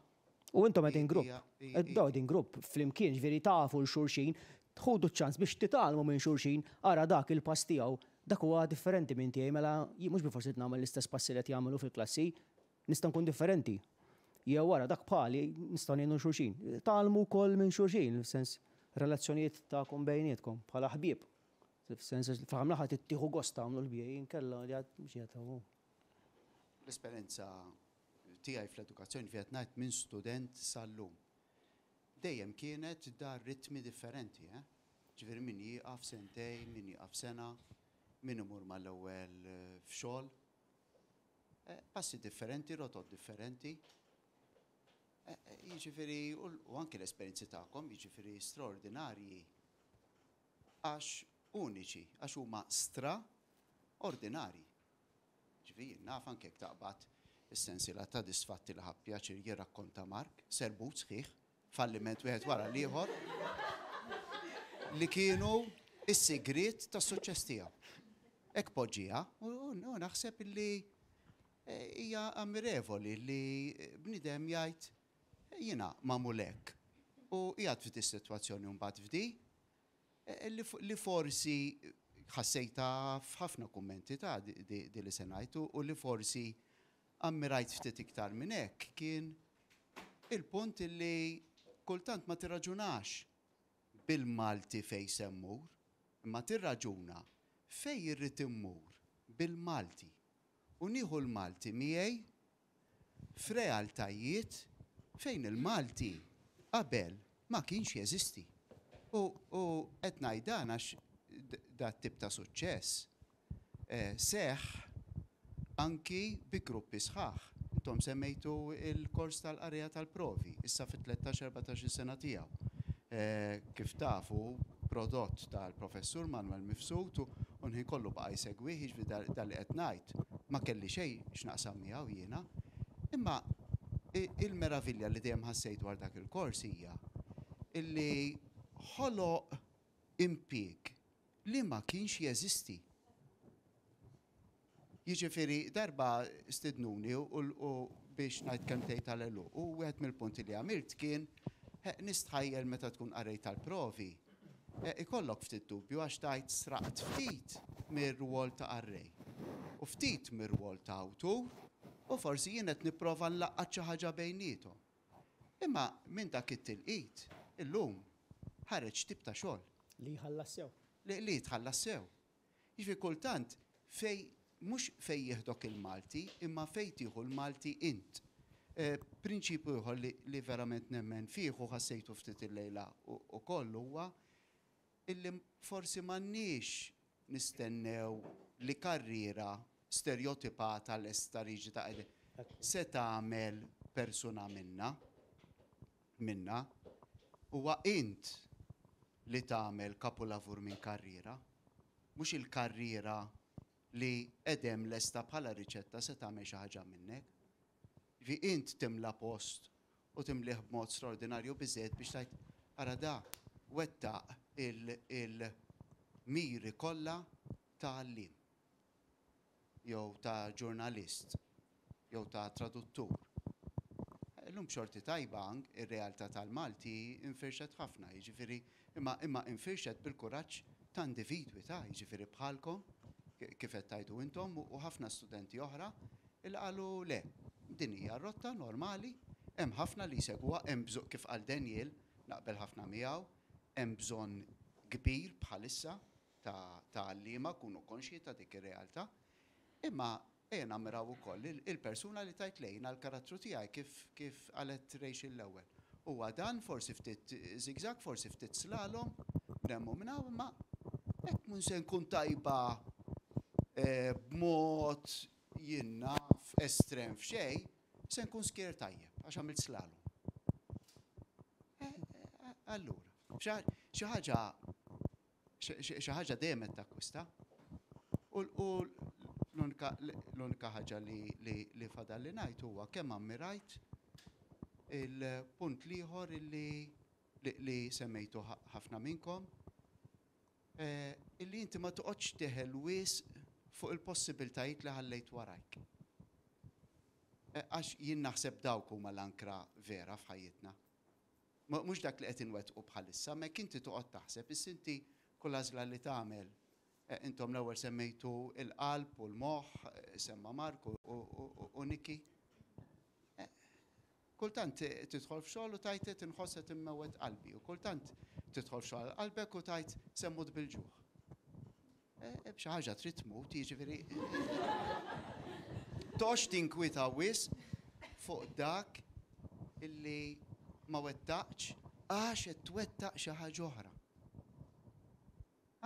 U intom qegħdin grupp. Dawn qegħdin grupp flimkien, ġifieri tafu 'l xulxin, tħudu ċ-ċans biex titgħallmu minn xulxin, ara dak il-pass tiegħu, dak huwa differenti minn tiegħi, mela jien mhux bilfors irid nagħmel l-istess passi li qed jagħmel hu fil-klassi, nista' nkun differenti. Jew ara dak bħali, nistgħu ngħinu 'l xulxin. Tgħallmu wkoll minn xulxin, fis-sens relazzjonijiet tagħkom bejnietkom bħala ħbieb. Fis-sens fl-aħħar mill-aħħar trid tieħu gost tagħmlu l-BA inkella mhux qiegħed hawn. L-esperjenza tiegħi fl-edukazzjoni fi qed ngħid minn student sal-lum. Dejjem kienet dar ritmi differenti, eh? Ġifieri min jieqaf sentejn, min jieqaf sena, min imur mal-ewwel f'xogħol. Eh, passi differenti, rotot differenti. Eh, eh, jiġifieri u anke l-esperjenzi tagħkom, jiġifieri straordinarji għax uniċi, għax huma stra ordinarji. Ġifieri jien naf anke jekk taqbad is-sensiela ta' disfatti li ħa pjaċir jirrakkonta Mark, serbut sħiħ, falliment wieħed wara l-ieħor, li kienu s-sigriet tas-suċċess tiegħu. Hekk poġġieha u naħseb li hija ammirevoli li bniedem jgħid jiena magħmul hekk u qiegħed f'di s-sitwazzjoni u mbagħad f'di Li forsi ħassejtha f'ħafna kummenti ta' di li se ngħid u li forsi ammirajt ftit iktar minn hekk kien il-punt li kultant ma tirraġunax bil-Malti fejn se mmur, imma tirraġuna fejn irrid immur bil-Malti u nieħu l-Malti miegħi f'realtajiet fejn il-Malti qabel ma kienx jeżisti. U qed ngħid dan għax dat-tip ta' suċċess seħħ anki bi gruppi sħaħ. Intom semmejtu l-kors tal-qarrejja tal-provi, issa fit-13, 14-il sena tiegħu. Kif tafu, prodott tal-Professur Manuel Mifsud u l-ħin kollu baqa' jsegwih, jiġifieri dan li qed ngħid ma kelli xejn x'naqsam miegħu jiena. Imma il-meravilja li dejjem ħassejt dwar dak il-kors hija illi ħoloq impieg li ma kienx jeżisti. Jiġifieri darba stidnuni u biex ngħid kelmtejn tal-għeluq u wieħed mill-punti li għamilt kien nistħajjel meta tkun qarrej tal-provi ikollok ftit dubju għax tgħid sraqt ftit mir-rwol ta' qarrej u ftit mir-rwol ta' awtur u forsi jien qed nipprova nlaqqat xi ħaġa bejniethom. Imma minn dak it-tilqit, illum, ħareġ tip ta' xogħol. Li jħallas sew. Li jitħallas sew. Jiġifieri kultant fejn, mhux fejn jieħdok il-Malti, imma fejn tieħu l-Malti int. Prinċipju ieħor li verament nemmen fih u ħassejtu ftit illejla ukoll huwa illi forsi m'għandniex nistennew li karriera sterjotipata lesta riġida se tagħmel persuna minna, minna. Huwa int li tagħmel kapulavur minn karriera, mhux il-karriera li qed hemm lesta bħala riċetta se tagħmel xi ħaġa minnek. Jiġifieri int timla post u timlih b'mod straordinarju biżżejjed biex tgħid ara da wettaq il-miri kollha ta' għalliem jew ta' ġurnalist jew ta' traduttur. Illum b'xorti tajba ir-realtà tal-Malti infirxet ħafna, jiġifieri imma imma infirxet bil-kuraġġ ta' individwi ta' jiġifieri bħalkom kif qed tgħidu intom u ħafna studenti oħra illi qalu le, din hija r-rotta normali, hemm ħafna li jsegwuha, hemm bżonn kif qal Daniel, naqbel ħafna miegħu, hemm bżonn kbir bħalissa ta' ta' għalliema, kunu konxji ta' dik ir-realtà. Imma ejja nammiraw ukoll il-persuna li tgħid le jiena l-karattru tiegħi kif kif qalet Rachel l-ewwel. Huwa dan, forsi ftit zigzag, forsi ftit slalom, minn hemm u minn hawn, imma hekk mhux se nkun tajba b'mod jien naf estrem f'xejn, se nkun skier tajjeb għax għamilt slalom. Allura, xi ħaġa xi ħaġa dejjem qed takkwista. U l-unika ħaġa li fadal li ngħid huwa kemm ammirajt il-punt l-ieħor li semmejtu ħafna minnkom Illi inti ma toqgħodx teħel wisq fuq il-possibiltajiet li ħallejt warajk. Għax jien naħseb dawk huma l-ankra vera f'ħajjitna. Mhux dak li qed inwettqu bħalissa, imma jekk inti toqgħod taħseb, issa inti kull għażla li tagħmel, intom l-ewwel semmejtu l-qalb u l-moħħ, semma Mark u Nikki. Kultant tidħol f'xogħol u tgħid qed inħoss qed immewwet qalbi u kultant tidħol f'xogħol għal qalbek u tgħid se mmut bil-ġuħ. B'xi ħaġa trid tmut, jiġifieri toqgħodx tinkwieta wisq fuq dak illi ma wettaqtx għax qed twettaq xi ħaġa oħra.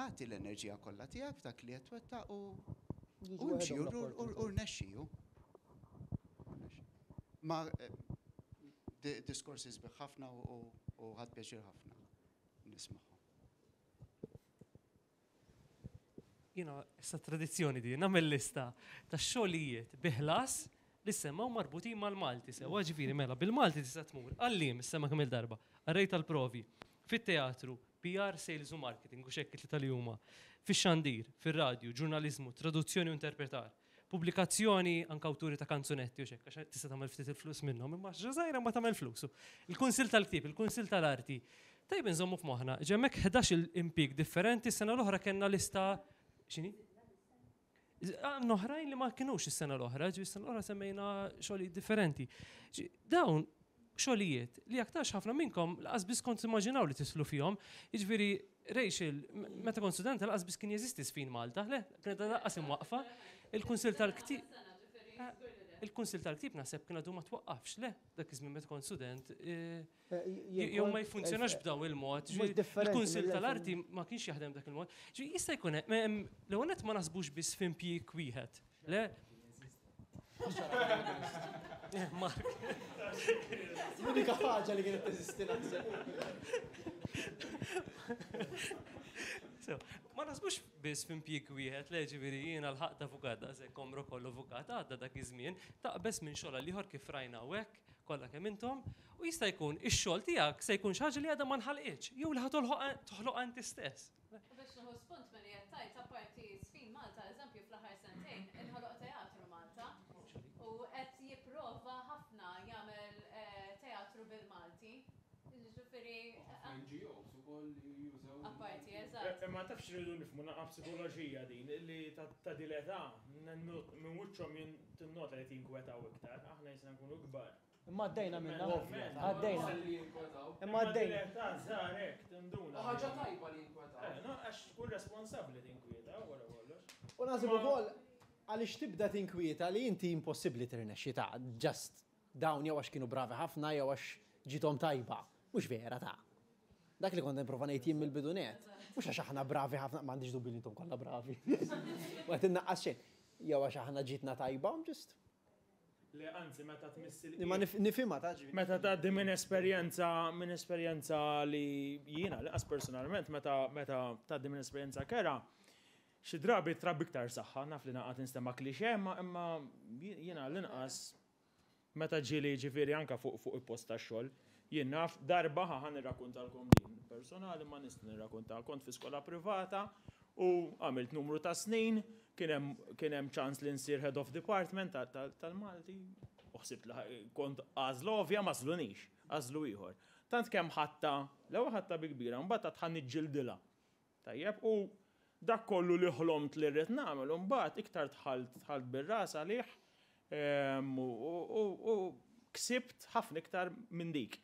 Agħti l-enerġija kollha tiegħek f'dak li qed twettaq u u imxi u rnexxi hu. Ma diskorsi sbieħ ħafna u ħadt pjaċir ħafna nismagħhom. Jiena issa tradizzjoni di, nagħmel lista ta' xogħlijiet bi ħlas li semmaw marbutin mal-Malti sewwa ġifieri mela bil-Malti tista' tmur għalliem semma kemm il-darba, qarrej tal-provi, fit-teatru, PR, sales u marketing, u xekk it-tlieta li huma, fix-xandir, fir-radju, ġurnaliżmu, traduzzjoni u interpretar, pubblikazzjoni anke awturi ta' kanzunetti u xekk, għax tista' tagħmel ftit il-flus minnhom, imma xi żgħira ma tagħmel flus. Il-Kunsill tal-Ktieb, il-Kunsill tal-Arti. Tajjeb inżommu f'moħħna, ġemmek 11 impjieg differenti, s-sena l-oħra kellna lista x'inhi? Għandna oħrajn li ma kinux is-sena l-oħra, ġi s-sena l-oħra semmejna xogħlijiet differenti. Dawn xogħlijiet li aktarx ħafna minnkom laqas biss kont immaġinaw li tislu fihom. Jiġifieri Rachel, meta kont studenta laqas biss kien jeżisti sfin Malta, le, kienet laqas imwaqfa. Il-Kunsill tal-Ktieb. il-Kunsill tal-Ktieb naħseb kien għadu ma twaqqafx, le, dak iż-żmien meta kont student. Jew ma jfunzjonax b'daw il-mod. Il-Kunsill tal-Arti ma kienx jaħdem dak il-mod. Jista' jkun hemm l-ewwel nett ma naħsbux biss f'impjieg wieħed. Le? Mark. L-unika ħaġa li kienet teżisti naħseb. Ma naħsbux biss f'impjieg wieħed, le ġifieri jiena lħaqt avukat daqshekk għomru kollu avukat għadda dak iż-żmien, taqbeż minn xogħol għal ieħor kif rajna hawnhekk kollha kemm intom, u jista' jkun ix-xogħol tiegħek se jkun xi ħaġa li għadha ma nħalqitx jew li ħa toħloqha inti stess. U biex nieħu spunt milli qed tgħid, apparti Żfin Malta, eżempju fl-aħħar sentejn inħoloq Teatru Malta u qed jipprova ħafna jagħmel teatru bil-Malti. Jiġifieri. Ħafna NGOs ukoll li jużaw. Apparti, eżatt. Imma taf x'irridu nifhmu naqra psikoloġija din, li ta' din l-età minn wiċċhom tinnota li qed jinkwetaw iktar, aħna jisna nkunu kbar. Imma għaddejna minnha. Għaddejna. Imma għaddejna. Imma żgħar hekk tinduna. Ħaġa tajba li jinkwetaw. Eh, no, għax tkun responsabbli tinkwieta wara kollox. U naħseb ukoll għaliex tibda tinkwieta li inti impossibbli tirnexxi ta' just dawn jew għax kienu bravi ħafna jew għax ġiethom tajba. Mhux vera ta'. Dak li kont nipprova ngħid jien mill-bidu nett. Mhux għax aħna bravi ħafna, m'għandix dubju li intom kollha bravi. Ma qed innaqqas xejn. Jew għax aħna ġietna tajba, just Le, anzi, meta tmiss il Imma nifhimha ta' ġifieri. Meta tgħaddi minn esperjenza minn esperjenza li jiena lanqas personalment meta meta tgħaddi minn esperjenza kerha, xi drabi trabbi iktar saħħa, naf li naqgħad ninstema' cliché imma imma jiena l-inqas meta ġieli jiġifieri anke fuq fuq il-post tax-xogħol, jien naf darba ħa ħa nirrakkuntalkom din personali ma nista' nirrakkuntaha, kont fi skola privata U għamilt numru ta' snin, kien hemm kien hemm ċans li nsir head of department tal-Malti, u ħsibt li kont għażla ovvja ma għażlunix, għażlu ieħor. Tant kemm ħadtha, l-ewwel ħadtha bi kbira, mbagħad għad ħa niġġildilha. Tajjeb, u dak kollu li ħlomt li rrid nagħmel, u mbagħad iktar dħalt dħalt bir-ras għalih u ksibt ħafna iktar minn dik.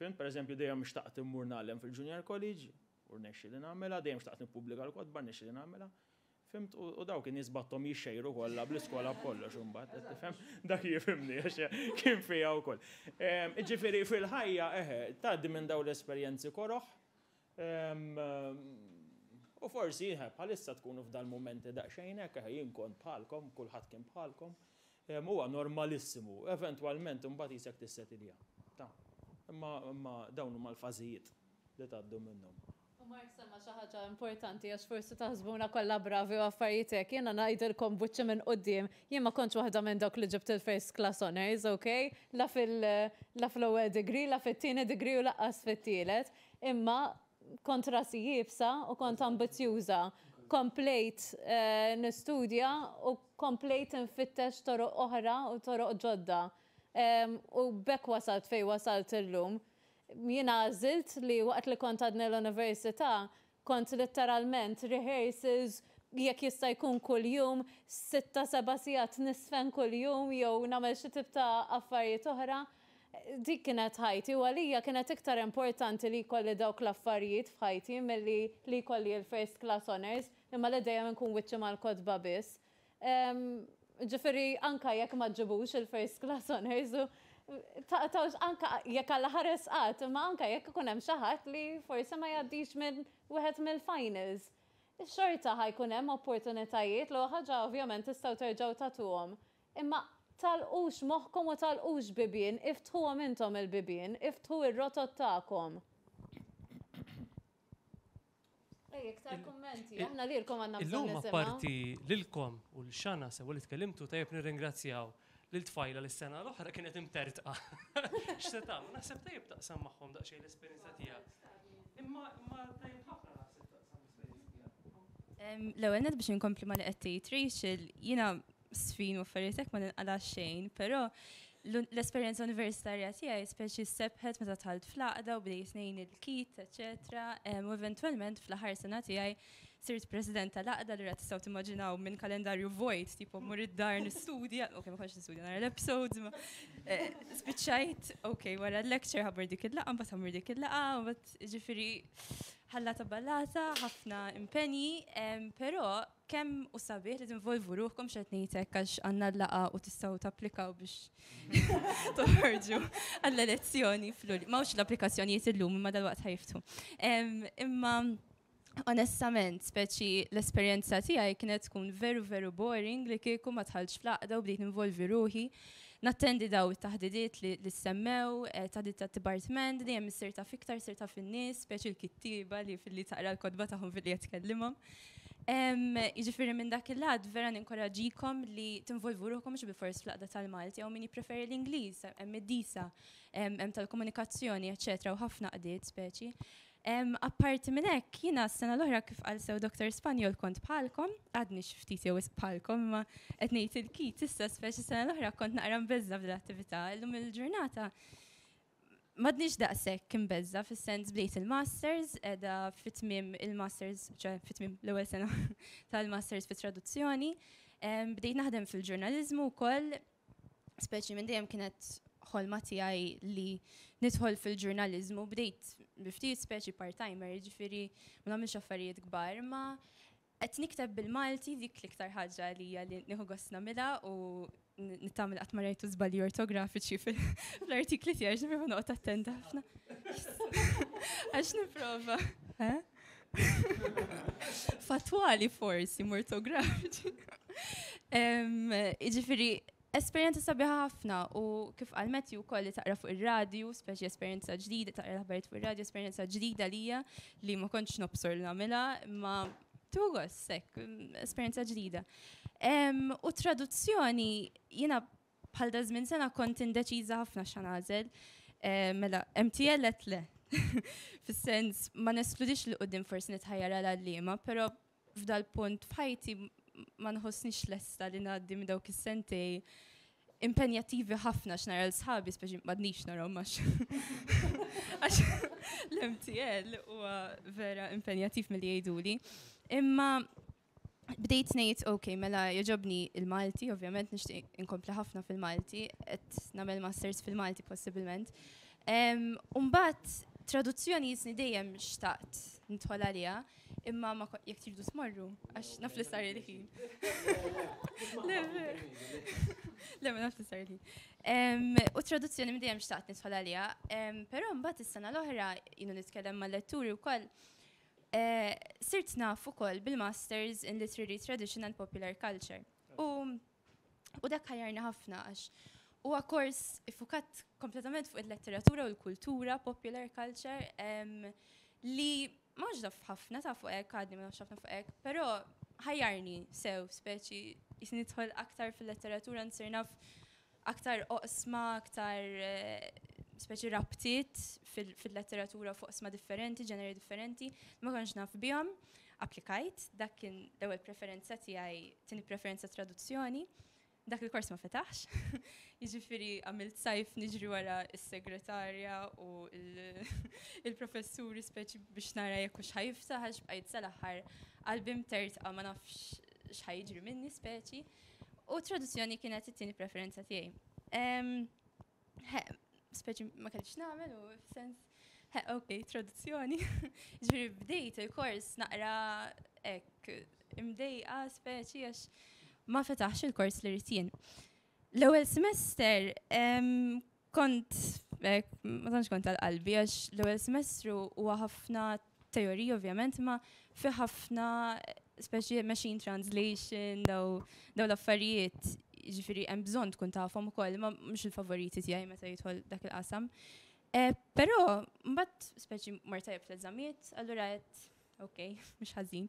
Fhimt? Per eżempju, dejjem xtaqt immur ngħallem fil-Junior College, u rnexxieli nagħmilha, dejjem xtaqt nippubblika l-kotba, rnexxieli nagħmilha. Fhimt? U dawk in-nies batthom jixxejru kollha bl-iskola b'kollox imbagħad, qed tifhem? Dak jifhimni għax kien fija wkoll. Jiġifieri fil-ħajja, eħe, tgħaddi minn dawn l-esperjenzi koroh, u forsi, eħe, bħalissa tkunu f'dal-mumenti daqsxejn hekk, eħe, jien kont bħalkom, kulħadd kien bħalkom. Huwa normalissimu, eventwalment imbagħad qisek tissetilja. Ta. Imma imma dawn huma l-fażijiet li tgħaddu minnhom. U Mark semma xi ħaġa importanti għax forsi taħsbuna kollha bravi u affarijiet hekk, jiena ngħidilkom b'wiċċi minn quddiem, jien ma kontx waħda minn dawk li ġibt il-first class honours, ok? La fil la fl-ewwel degree, la fit-tieni degree u lanqas fit-tielet. Imma kont rasi iebsa u kont ambizzjuża. Komplejt nistudja u komplejt infittex toroq oħra u toroq ġodda. U b'hekk wasalt fejn wasalt illum. Jiena għażilt li waqt li kont għadni l-università, kont litteralment rehearsals jekk jista' jkun kuljum, sitta seba' sigħat niżfen kuljum jew nagħmel xi tip ta' affarijiet oħra. Dik kienet ħajti u għalija kienet iktar importanti li jkolli dawk l-affarijiet f'ħajti milli li jkolli l-first class honours imma li dejjem inkun wiċċi mal-kotba biss. Ġifieri anke jekk ma ġġibux il-first class honours u taqtgħux anke jekk Alla ħares qatt imma anke jekk ikun hemm xi ħadd li forsi ma jgħaddix minn wieħed mill-finals. Xorta ħa jkun hemm opportunitajiet, l-ewwel ħaġa ovvjament tistgħu terġgħu tagħtuhom Imma tagħlqux moħħkom u tagħlqux bibien, iftħuhom intom il-bibien, iftħu r-rotot tagħkom. Ej, iktar kummenti, aħna lilkom għandna bżonn Illum nisimgħu. apparti lilkom u l Xana sewwa li tkellimtu tajjeb nirringrazzjaw lil tfajla li s-sena l-oħra kienet imtertqa. X'se tagħmel? Naħseb tajjeb taqsam magħhom daqsxejn l-esperjenza tiegħek. Imma imma tajjeb ħafna naħseb taqsam l-esperjenza tiegħek. L-ewwel nett biex inkompli ma li qed tgħid Rachel, jiena sfin u affarijiet hekk ma ninqala' xejn, però l-esperjenza universitarja tiegħi speċi sebħet meta dħalt fl-għaqda u bdejt ngħin il-kit, eċetera, u eventwalment fl-aħħar sena tiegħi sirt president tal-għaqda li tistgħu timmaġinaw minn kalendarju vojt, tipo mmur id-dar nistudja, ok, ma kontx nistudja nara l-episodes, ma eh, spiċċajt, ok, wara l-lecture ħabbur dik il-laqgħa, mbagħad ħammur dik il-laqgħa, mbagħad ġifieri ħallata ballata, ħafna impenji, però kemm hu sabiħ li tinvolvu ruħkom x'qed ngħid hekk għax għandna l-laqgħa u tistgħu tapplikaw biex toħorġu għall-elezzjoni fl M'hawnx l-applikazzjonijiet illum imma dalwaqt ħa jiftħu. Imma onestament, speċi l-esperjenza tiegħi kienet tkun veru veru boring li kieku ma dħaltx fl-għaqda u bdejt ninvolvi ruħi. Nattendi daw it-taħdidiet li semmew, taħdidiet tat-dipartiment, dejjem issir taf iktar, issir taf in-nies, speċi l-kittieba li filli taqra l-kotba tagħhom filli qed tkellimhom. Jiġifieri minn dak il-lat vera ninkoraġikom li tinvolvu ruħkom mhux bilfors fl-għaqda tal-Malti jew min jippreferi l-Ingliż, hemm id-DISA, hemm tal-komunikazzjoni, eċċetera, u ħafna għaqdiet speċi. Apparti minn hekk, jiena s-sena l-oħra kif qal sew Dr. Spanjol kont bħalkom, għadni xi ftit jew wisq bħalkom, imma qed ngħid il-kit issa speċi s-sena l-oħra kont naqra mbeżża' f'dil-attività, illum il-ġurnata m'għadniex daqshekk imbeżża' fis-sens bdejt il-masters, qiegħda fi tmiem il-masters, ċe fi tmiem l-ewwel sena tal-masters fit-traduzzjoni. Bdejt naħdem fil-ġurnaliżmu wkoll, speċi minn dejjem kienet ħolma tiegħi li nidħol fil-ġurnaliżmu, bdejt bi ftit speċi part-timer, jiġifieri ma nagħmilx affarijiet kbar, imma qed nikteb bil-Malti dik l-iktar ħaġa li hija li nieħu gost nagħmilha u nittama li qatt ma rajtu żbalji ortografiċi fl-artikli tiegħi għax nipprova noqgħod attenta ħafna. Għax nipprova. Eh? Fatwali forsi, mortografiċi. Jiġifieri, esperjenza sabiħa ħafna u kif qal Matthew wkoll li taqra fuq ir-radju, speċi esperjenza ġdida, taqra l-aħbarijiet fuq ir-radju, esperjenza ġdida lija li ma kontx nobsor li nagħmilha, imma tieħu gost hekk, esperjenza ġdida. U traduzzjoni jiena bħal da żmien sena kont indeċiża ħafna x'ħa nagħżel. Mela, MTL qed le. Fis-sens ma neskludix li quddiem forsi nitħajjar għal għalliema, però f'dal-punt f'ħajti ma nħossnix lesta li ngħaddi minn dawk is-sentej impenjattivi ħafna x'nara l-sħabi, speċi m'għadnix narahom għax għax l-MTL huwa vera impenjattiv milli jgħiduli. Imma bdejt ngħid, ok, mela jogħġobni il-Malti, ovvjament nixtieq inkompli ħafna fil-Malti, qed nagħmel masters fil-Malti possibilment. U mbagħad traduzzjoni jisni dejjem xtaqt nidħol għaliha, imma ma jekk tridu tmorru, għax naf li sar il-ħin. Le, le, ma naf li sar il-ħin. U traduzzjoni minn dejjem xtaqt nidħol għaliha, però mbagħad is-sena l-oħra jienu nitkellem mal-letturi wkoll, sirt naf ukoll bil-Masters in Literary Tradition and Popular Culture. U dak ħajjarni ħafna għax huwa kors iffukat kompletament fuq il-letteratura u l-kultura, popular culture, li ma nafx naf ħafna ta' fuq hekk, għadni ma nafx ħafna fuq hekk, però ħajjarni sew speċi jisni nidħol aktar fil-letteratura, nsir naf aktar oqsma, aktar speċi rabtiet fil-letteratura fuq oqsma differenti, ġeneri differenti, ma kontx naf bihom. Applikajt, dak kien l-ewwel preferenza tiegħi, tieni preferenza traduzzjoni. Dak il-kors ma fetaħx. Jiġifieri għamilt sajf niġri wara s-segretarja u il-professuri speċi biex nara jekk hux ħa jiftaħ għax bqajt sal-aħħar qalbi mtertqa ma nafx x'ħa jiġri minni speċi. U traduzzjoni kienet it-tieni preferenza tiegħi. Speċi ma kellix nagħmel u sens, ok, traduzzjoni. Ġifieri bdejt il-kors naqra hekk imdejqa speċi għax ma fetaħx il-kors li rrid jien. L-ewwel semester kont ma tantx kont għal-qalbi għax l-ewwel semestru huwa ħafna teorija ovvjament, ma fi ħafna speċi machine translation, daw l-affarijiet, ġifieri hemm bżonn tkun tafhom ukoll, ma mhux il-favoriti tiegħi meta jidħol dak il-qasam. Però mbagħad speċi mort tajjeb fl-eżamijiet, allura qed ok, mhux ħażin.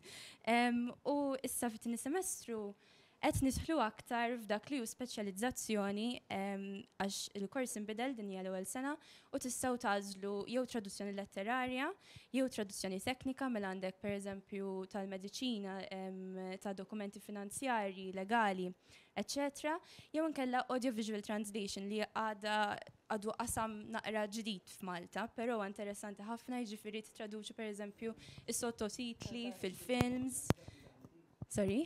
U issa fit-tieni semestru qed nidħlu aktar f'dak li hu speċjalizzazzjoni għax il-kors inbidel din hija l-ewwel sena u tistgħu tagħżlu jew traduzzjoni letterarja jew traduzzjoni teknika mela għandek pereżempju tal-mediċina, ta' dokumenti finanzjarji, legali, eċċetera, jew inkella audiovisual translation li għadha għadu qasam naqra ġdid f'Malta, però huwa interessanti ħafna, jiġifieri titraduċi pereżempju is-sottotitli fil-films. Sorry?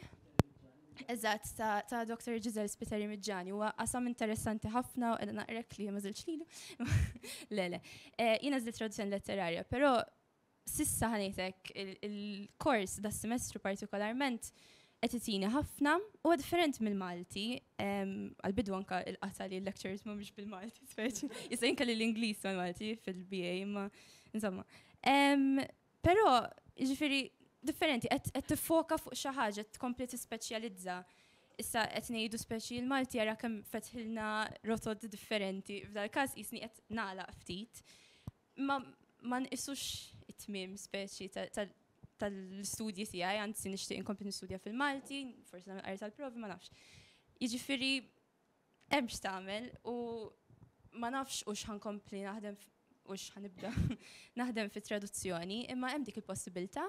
Eżatt, ta' Dr. Giselle Spiteri Miġġani. Huwa qasam interessanti ħafna u qiegħda naqrek li ma żiltx lilu. Le, le. Jiena żilt traduzzjoni letterarja, però sissa ħanejtek il-kors da semestru partikolarment Qed itini ħafna, huwa differenti mill-Malti, għall-bidu anke il-qata' li l-lectures mhumiex bil-Malti speċi. Issa jien kelli l-Ingliż mal-Malti fil-BA, imma insomma. Però, jiġifieri, differenti, qed tiffoka fuq xi ħaġa, qed tkompli tispeċjalizza. Issa qed ngħidu speċi l-Malti ara kemm fetħilna rotot differenti, f'dal-każ qisni qed nagħlaq ftit. Ma ma nqisux it-tmiem speċi tal-istudji tiegħi, anzi nixtieq inkompli nistudja fil-Malti, forsi nagħmel qari tal-provi, ma nafx. Jiġifieri hemm x'tagħmel u ma nafx hux ħa nkompli naħdem hux ħa nibda naħdem fit-traduzzjoni, imma hemm dik il-possibilità,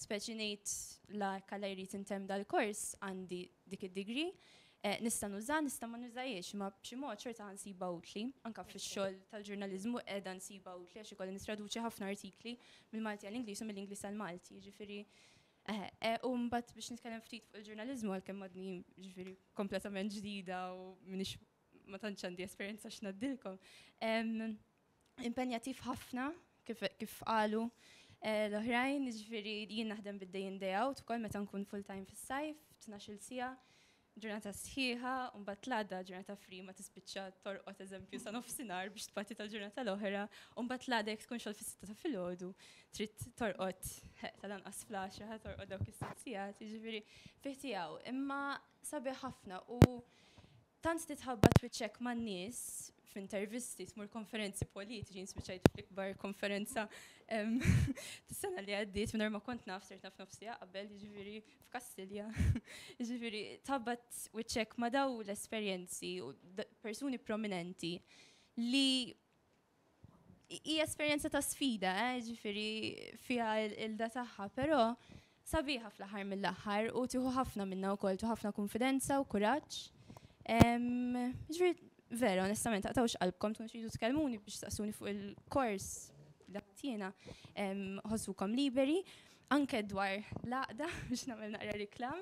speċi ngħid la hekk Alla jrid intemm dal-kors għandi dik id-degree, nista' nuża, nista' ma nużahiex, imma b'xi mod xorta ħa nsibha utli, anke fix-xogħol tal-ġurnaliżmu qiegħda nsibha utli għax ikolli nittraduċi ħafna artikli mill-Malti għall-Ingliż u mill-Ingliż għall-Malti, jiġifieri u mbagħad biex nitkellem ftit fuq il-ġurnaliżmu għalkemm għadni jiġifieri kompletament ġdida u m'iniex ma tantx għandi esperjenza x'ngħaddilkom. Impenjattiv ħafna kif, kif qalu l-oħrajn, jiġifieri jien naħdem bid-day in day out ukoll meta nkun full time fis-sajf, 12-il siegħa, ġurnata sħiħa, u mbagħad l-għada ġurnata free ma tispiċċa torqod eżempju sa nofsinhar biex tbati tal-ġurnata l-oħra, u mbagħad l-għada jekk tkun xogħol fis-sitta ta' filgħodu, trid torqod tal-anqas fl-għaxra, torqod dawk is-sitt sigħat, jiġifieri fih tiegħu. Imma sabiħ ħafna u tant titħabbat wiċċek man-nies f'intervisti, tmur konferenzi politiċi, jien spiċċajt fl-ikbar konferenza tas-sena li għaddiet mingħajr ma kont naf, sirt naf nofs siegħa qabel, jiġifieri f'Kastilja. Jiġifieri tħabbat wiċċek ma' daw l-esperjenzi u persuni prominenti li hija esperjenza ta' sfida, eh, ġifieri fiha il-da tagħha, però sabiħa fl-aħħar mill-aħħar u tieħu ħafna minna wkoll, tieħu ħafna konfidenza u kuraġġ. Ġifieri vera, onestament, taqtgħux qalbkom tkunu tridu tkellmuni biex taqsuni fuq il-kors li jiena, ħossukom liberi. Anke dwar l-għaqda, biex nagħmel naqra riklam,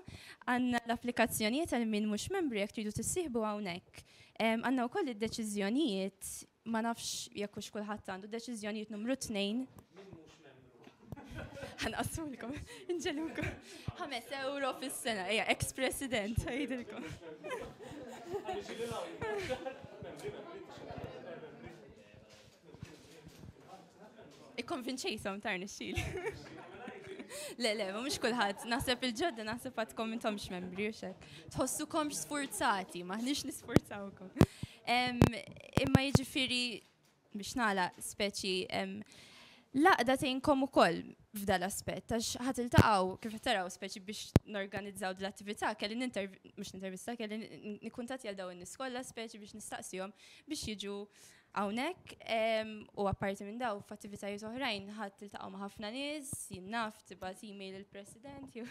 għandna l-applikazzjonijiet għal min mhux membri jekk tridu tissieħbu hawnhekk. Għandna wkoll id-deċiżjonijiet, ma nafx jekk hux kulħadd għandu deċiżjonijiet numru 2. Ħanqassulkom, inġelukom. 5 euro fis-sena, ejja, ex-president, għidilkom. Ikkonvinċejthom tar nixxil. Le, le, ma mhux kulħadd, naħseb il-ġodda naħseb għadkom intomx membri u xek. Tħossukomx sfurzati, maħniex nisfurzawkom. Imma jiġifieri biex nagħlaq speċi l-għaqda tgħinkom ukoll f'dal aspett, għax ħa tiltaqgħu kif qed taraw speċi biex norganizzaw dl-attività, kelli mhux nintervista, kelli nikkuntatti għal dawn in-nies kollha speċi biex nistaqsihom biex jiġu hawnhekk. U apparti minn daw f'attivitajiet oħrajn ħadd tiltaqgħu ma' ħafna nies, jien naf tibgħat email il-President jew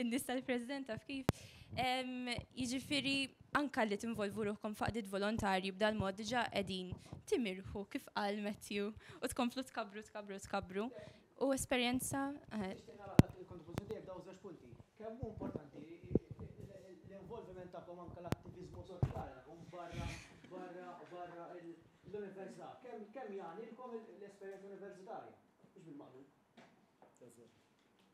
in-nies tal-President taf kif. Jiġifieri anka li tinvolvu ruħkom f'għaqdiet volontarji b'dal mod diġà qegħdin timirħu kif qal Matthew u tkomplu tkabbru tkabbru tkabbru u esperjenza. Il-kontribuzzjoni tiegħek dawn żewġ punti. Kemm hu importanti l-involviment tagħkom anke l-attiviżmu soċjali tagħkom barra barra barra l-università. Kemm kemm jagħnilkom l-esperjenza universitarja? Mhux bil-maqlub.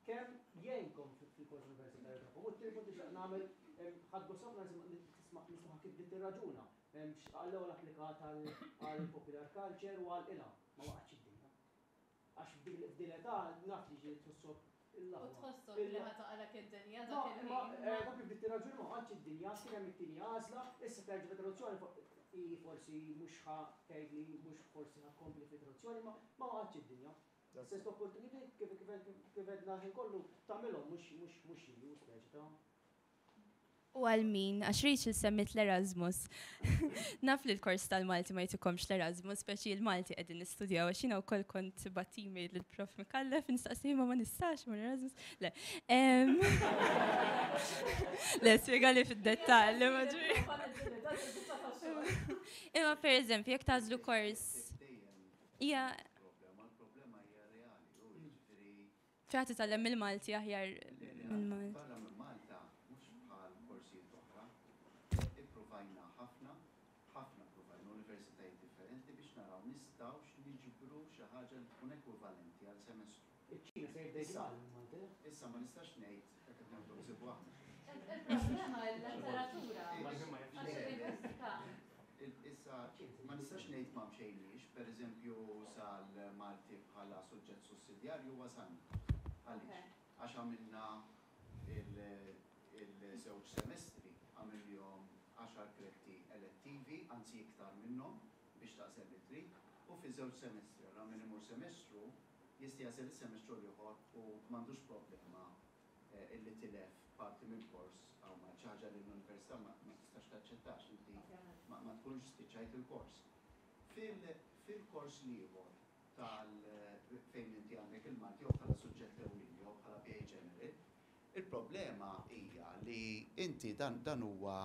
Kemm jgħinkom fil-kors universitarju tagħkom? U t-tieni punt nixtieq nagħmel ħadt gost ħafna nisma' nisma' kif bdiet tirraġuna. Għall-ewwel applikat għall-popular culture u għal ilha ma waqgħetx id-dinja. Għax f'din l-età naf li ġieli tħossok il-aħwa. U tħossok li ħa taqalek id-dinja dak il-ħin. Ma kif bdiet tirraġuna ma waqgħetx id-dinja, kien hemm it-tieni għażla, issa terġa' fit-traduzzjoni hi forsi mhux ħa tgħidli mhux forsi ħa tkompli fit-traduzzjoni ma ma waqgħetx id-dinja. Sens ta' opportunity kif kif għedna l-ħin kollu tagħmilhom mhux mhux mhux jiġu speċi ta' U għal min, għax Rachel semmiet l-Erasmus. Naf li l-kors tal-Malti ma jtikomx l-Erasmus, speċi l-Malti qegħdin nistudjaw, għax jiena wkoll kont bat email lill-Prof Micallef nistaqsi ma ma nistax ma Erasmus. Le. Le, spjegali fid-dettall. Imma per eżempju, jekk tagħżlu kors hija Fejn ħa titgħallem il-Malti aħjar minn Malta. Barra minn Malta mhux bħal korsijiet oħra. Ippruvajna ħafna, ħafna ppruvajna universitajiet differenti biex naraw nistgħux niġbru xi ħaġa li tkun ekwivalenti għal semestru. Iċ-Ċina se jibda jitgħallem il-Malti. Issa ma nistax ngħid hekk qed nagħmlu ħsibu aħna. Il-problema il-letteratura. Għax il-lingwistika. Issa, ma nistax ngħid ma mxejniex, pereżempju sal-Malti bħala suġġett sussidjarju wasalna. Għaliex? Għax għamilna il-żewġ semestri, għamilnihom għaxar kredti elettivi, anzi iktar minnhom, biex tagħżel li trid, u fi żewġ semestri. Allura min imur semestru jista' jagħżel is-semestru l-ieħor u m'għandux problema illi tilef parti minn kors hawn Malta, xi ħaġa li l-università ma tistax taċċetta għax inti ma tkunx spiċċajt il-kors. Fil-kors l-ieħor tal fejn inti għandek il-Malti jew bħala suġġett ewlieni jew bħala BA General, il-problema hija li inti dan dan huwa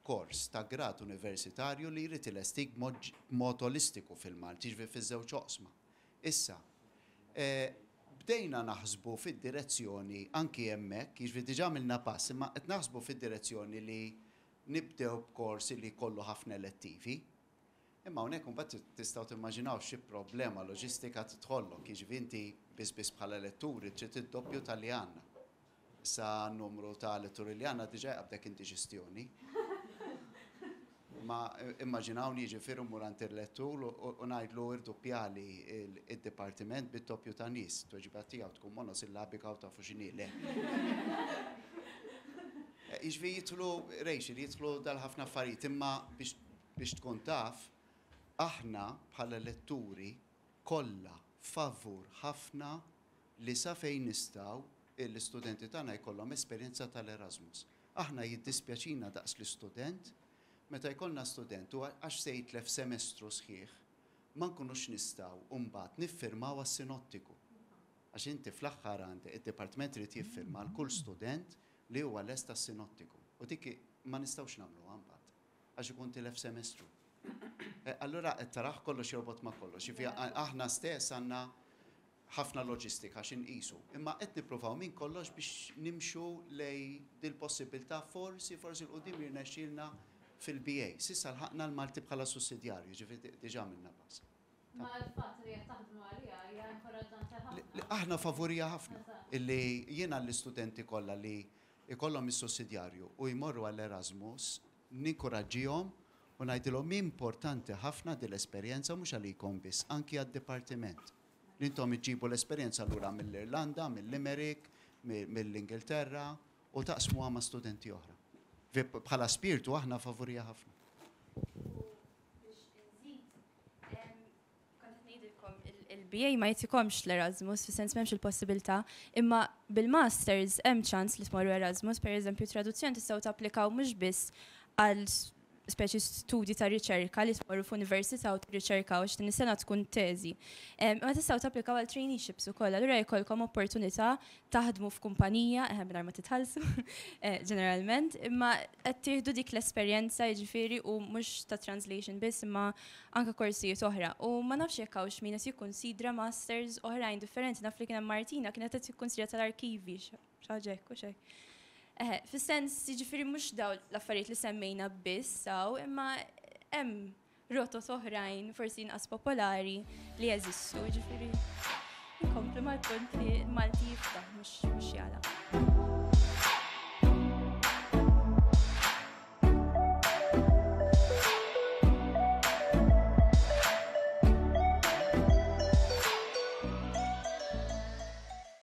kors ta' grad universitarju li jrid ilestik b'mod olistiku fil-Malti, jiġifieri fiż-żewġ oqsma. Issa, bdejna naħsbu fid-direzzjoni anki hemmhekk, jiġifieri diġà għamilna pass, imma qed naħsbu fid-direzzjoni li nibdew b'kors li jkollu ħafna elettivi. Imma hawnhekk imbagħad tistgħu timmaġinaw xi problema loġistika tidħollok, jiġifieri inti biss biss bħala letturi trid id-doppju ta' li għandna. Issa n-numru ta' letturi li għandna diġà jqabbdek indiġestjoni. Ma immaġinawni jiġifieri mmur għand il-lettur u ngħidlu irduppjali id-dipartiment bid-doppju ta' nies. Tweġiba tiegħu tkun monosillabika u tafu x'inhi le. Jiġifieri jidħlu, Rachel, jidħlu dal-ħafna affarijiet imma biex Biex tkun taf, aħna bħala letturi kollha favur ħafna li sa fejn nistgħu l-istudenti tagħna jkollhom esperjenza tal-Erasmus. Aħna jiddispjaċina daqs l-istudent meta jkollna student u għax se jitlef semestru sħiħ ma nkunux nistgħu mbagħad niffirmaw għas-sinottiku. Għax inti fl-aħħar għandek id-dipartiment irid jiffirma għal kull student li huwa lest għas-sinottiku. U dik ma nistgħux nagħmluha mbagħad. Għax ikun tilef semestru. Allura qed tarah kollox jorbot ma' kollox. Jiġifieri aħna stess għandna ħafna loġistika xi nqisu. Imma qed nippruvaw minn kollox biex nimxu lejn dil-possibbiltà forsi, forsi 'l quddiem jirnexxielna fil-BA. S'issa lħaqna l-Malti bħala sussidjarju, jiġifieri diġà għamilna pass. Ma l-fatt li qed taħdmu għaliha hija inkoraġġanti ħafna. Aħna favuriha ħafna. Illi jiena l-istudenti kollha li jkollhom is-sussidjarju u jmorru għall-Erasmus ninkuraġġihom u ngħidilhom importanti ħafna din l-esperjenza mhux għalikom biss, anki għad-dipartiment. Li intom iġġibu l-esperjenza lura mill-Irlanda, mill-Limerick, mill-Ingilterra u taqsmuha ma' studenti oħra. Bħala spirtu aħna favuriha ħafna. U biex inżid, kont qed ngħidilkom il-BA ma jtikomx l-Erasmus, fis-sens m'hemmx il-possibilità, imma bil-masters hemm ċans li tmorru Erasmus, pereżempju traduzzjoni tistgħu tapplikaw mhux biss għal speċi studji ta' riċerka li tmorru f'università u tirriċerkaw għax din is-sena tkun teżi. Imma tistgħu tapplikaw għal traineeships ukoll, allura jkollkom opportunità taħdmu f'kumpanija, eħe mingħajr ma titħallsu, eh, ġeneralment, imma qed tieħdu dik l-esperjenza jiġifieri u mhux ta' translation biss imma anke korsijiet oħra. U ma nafx jekk hawnx min qed jikkunsidra masters oħrajn differenti, naf li kien hemm Martina kienet qed tikkunsidra tal-arkivi xi ħaġa hekk u x'hekk. Eħe, fis-sens jiġifieri mhux dawn l-affarijiet li semmejna biss hawn, imma hemm rotot oħrajn forsi inqas popolari li jeżistu, ġifieri nkomplu mal-punt li Malti jiftaħ.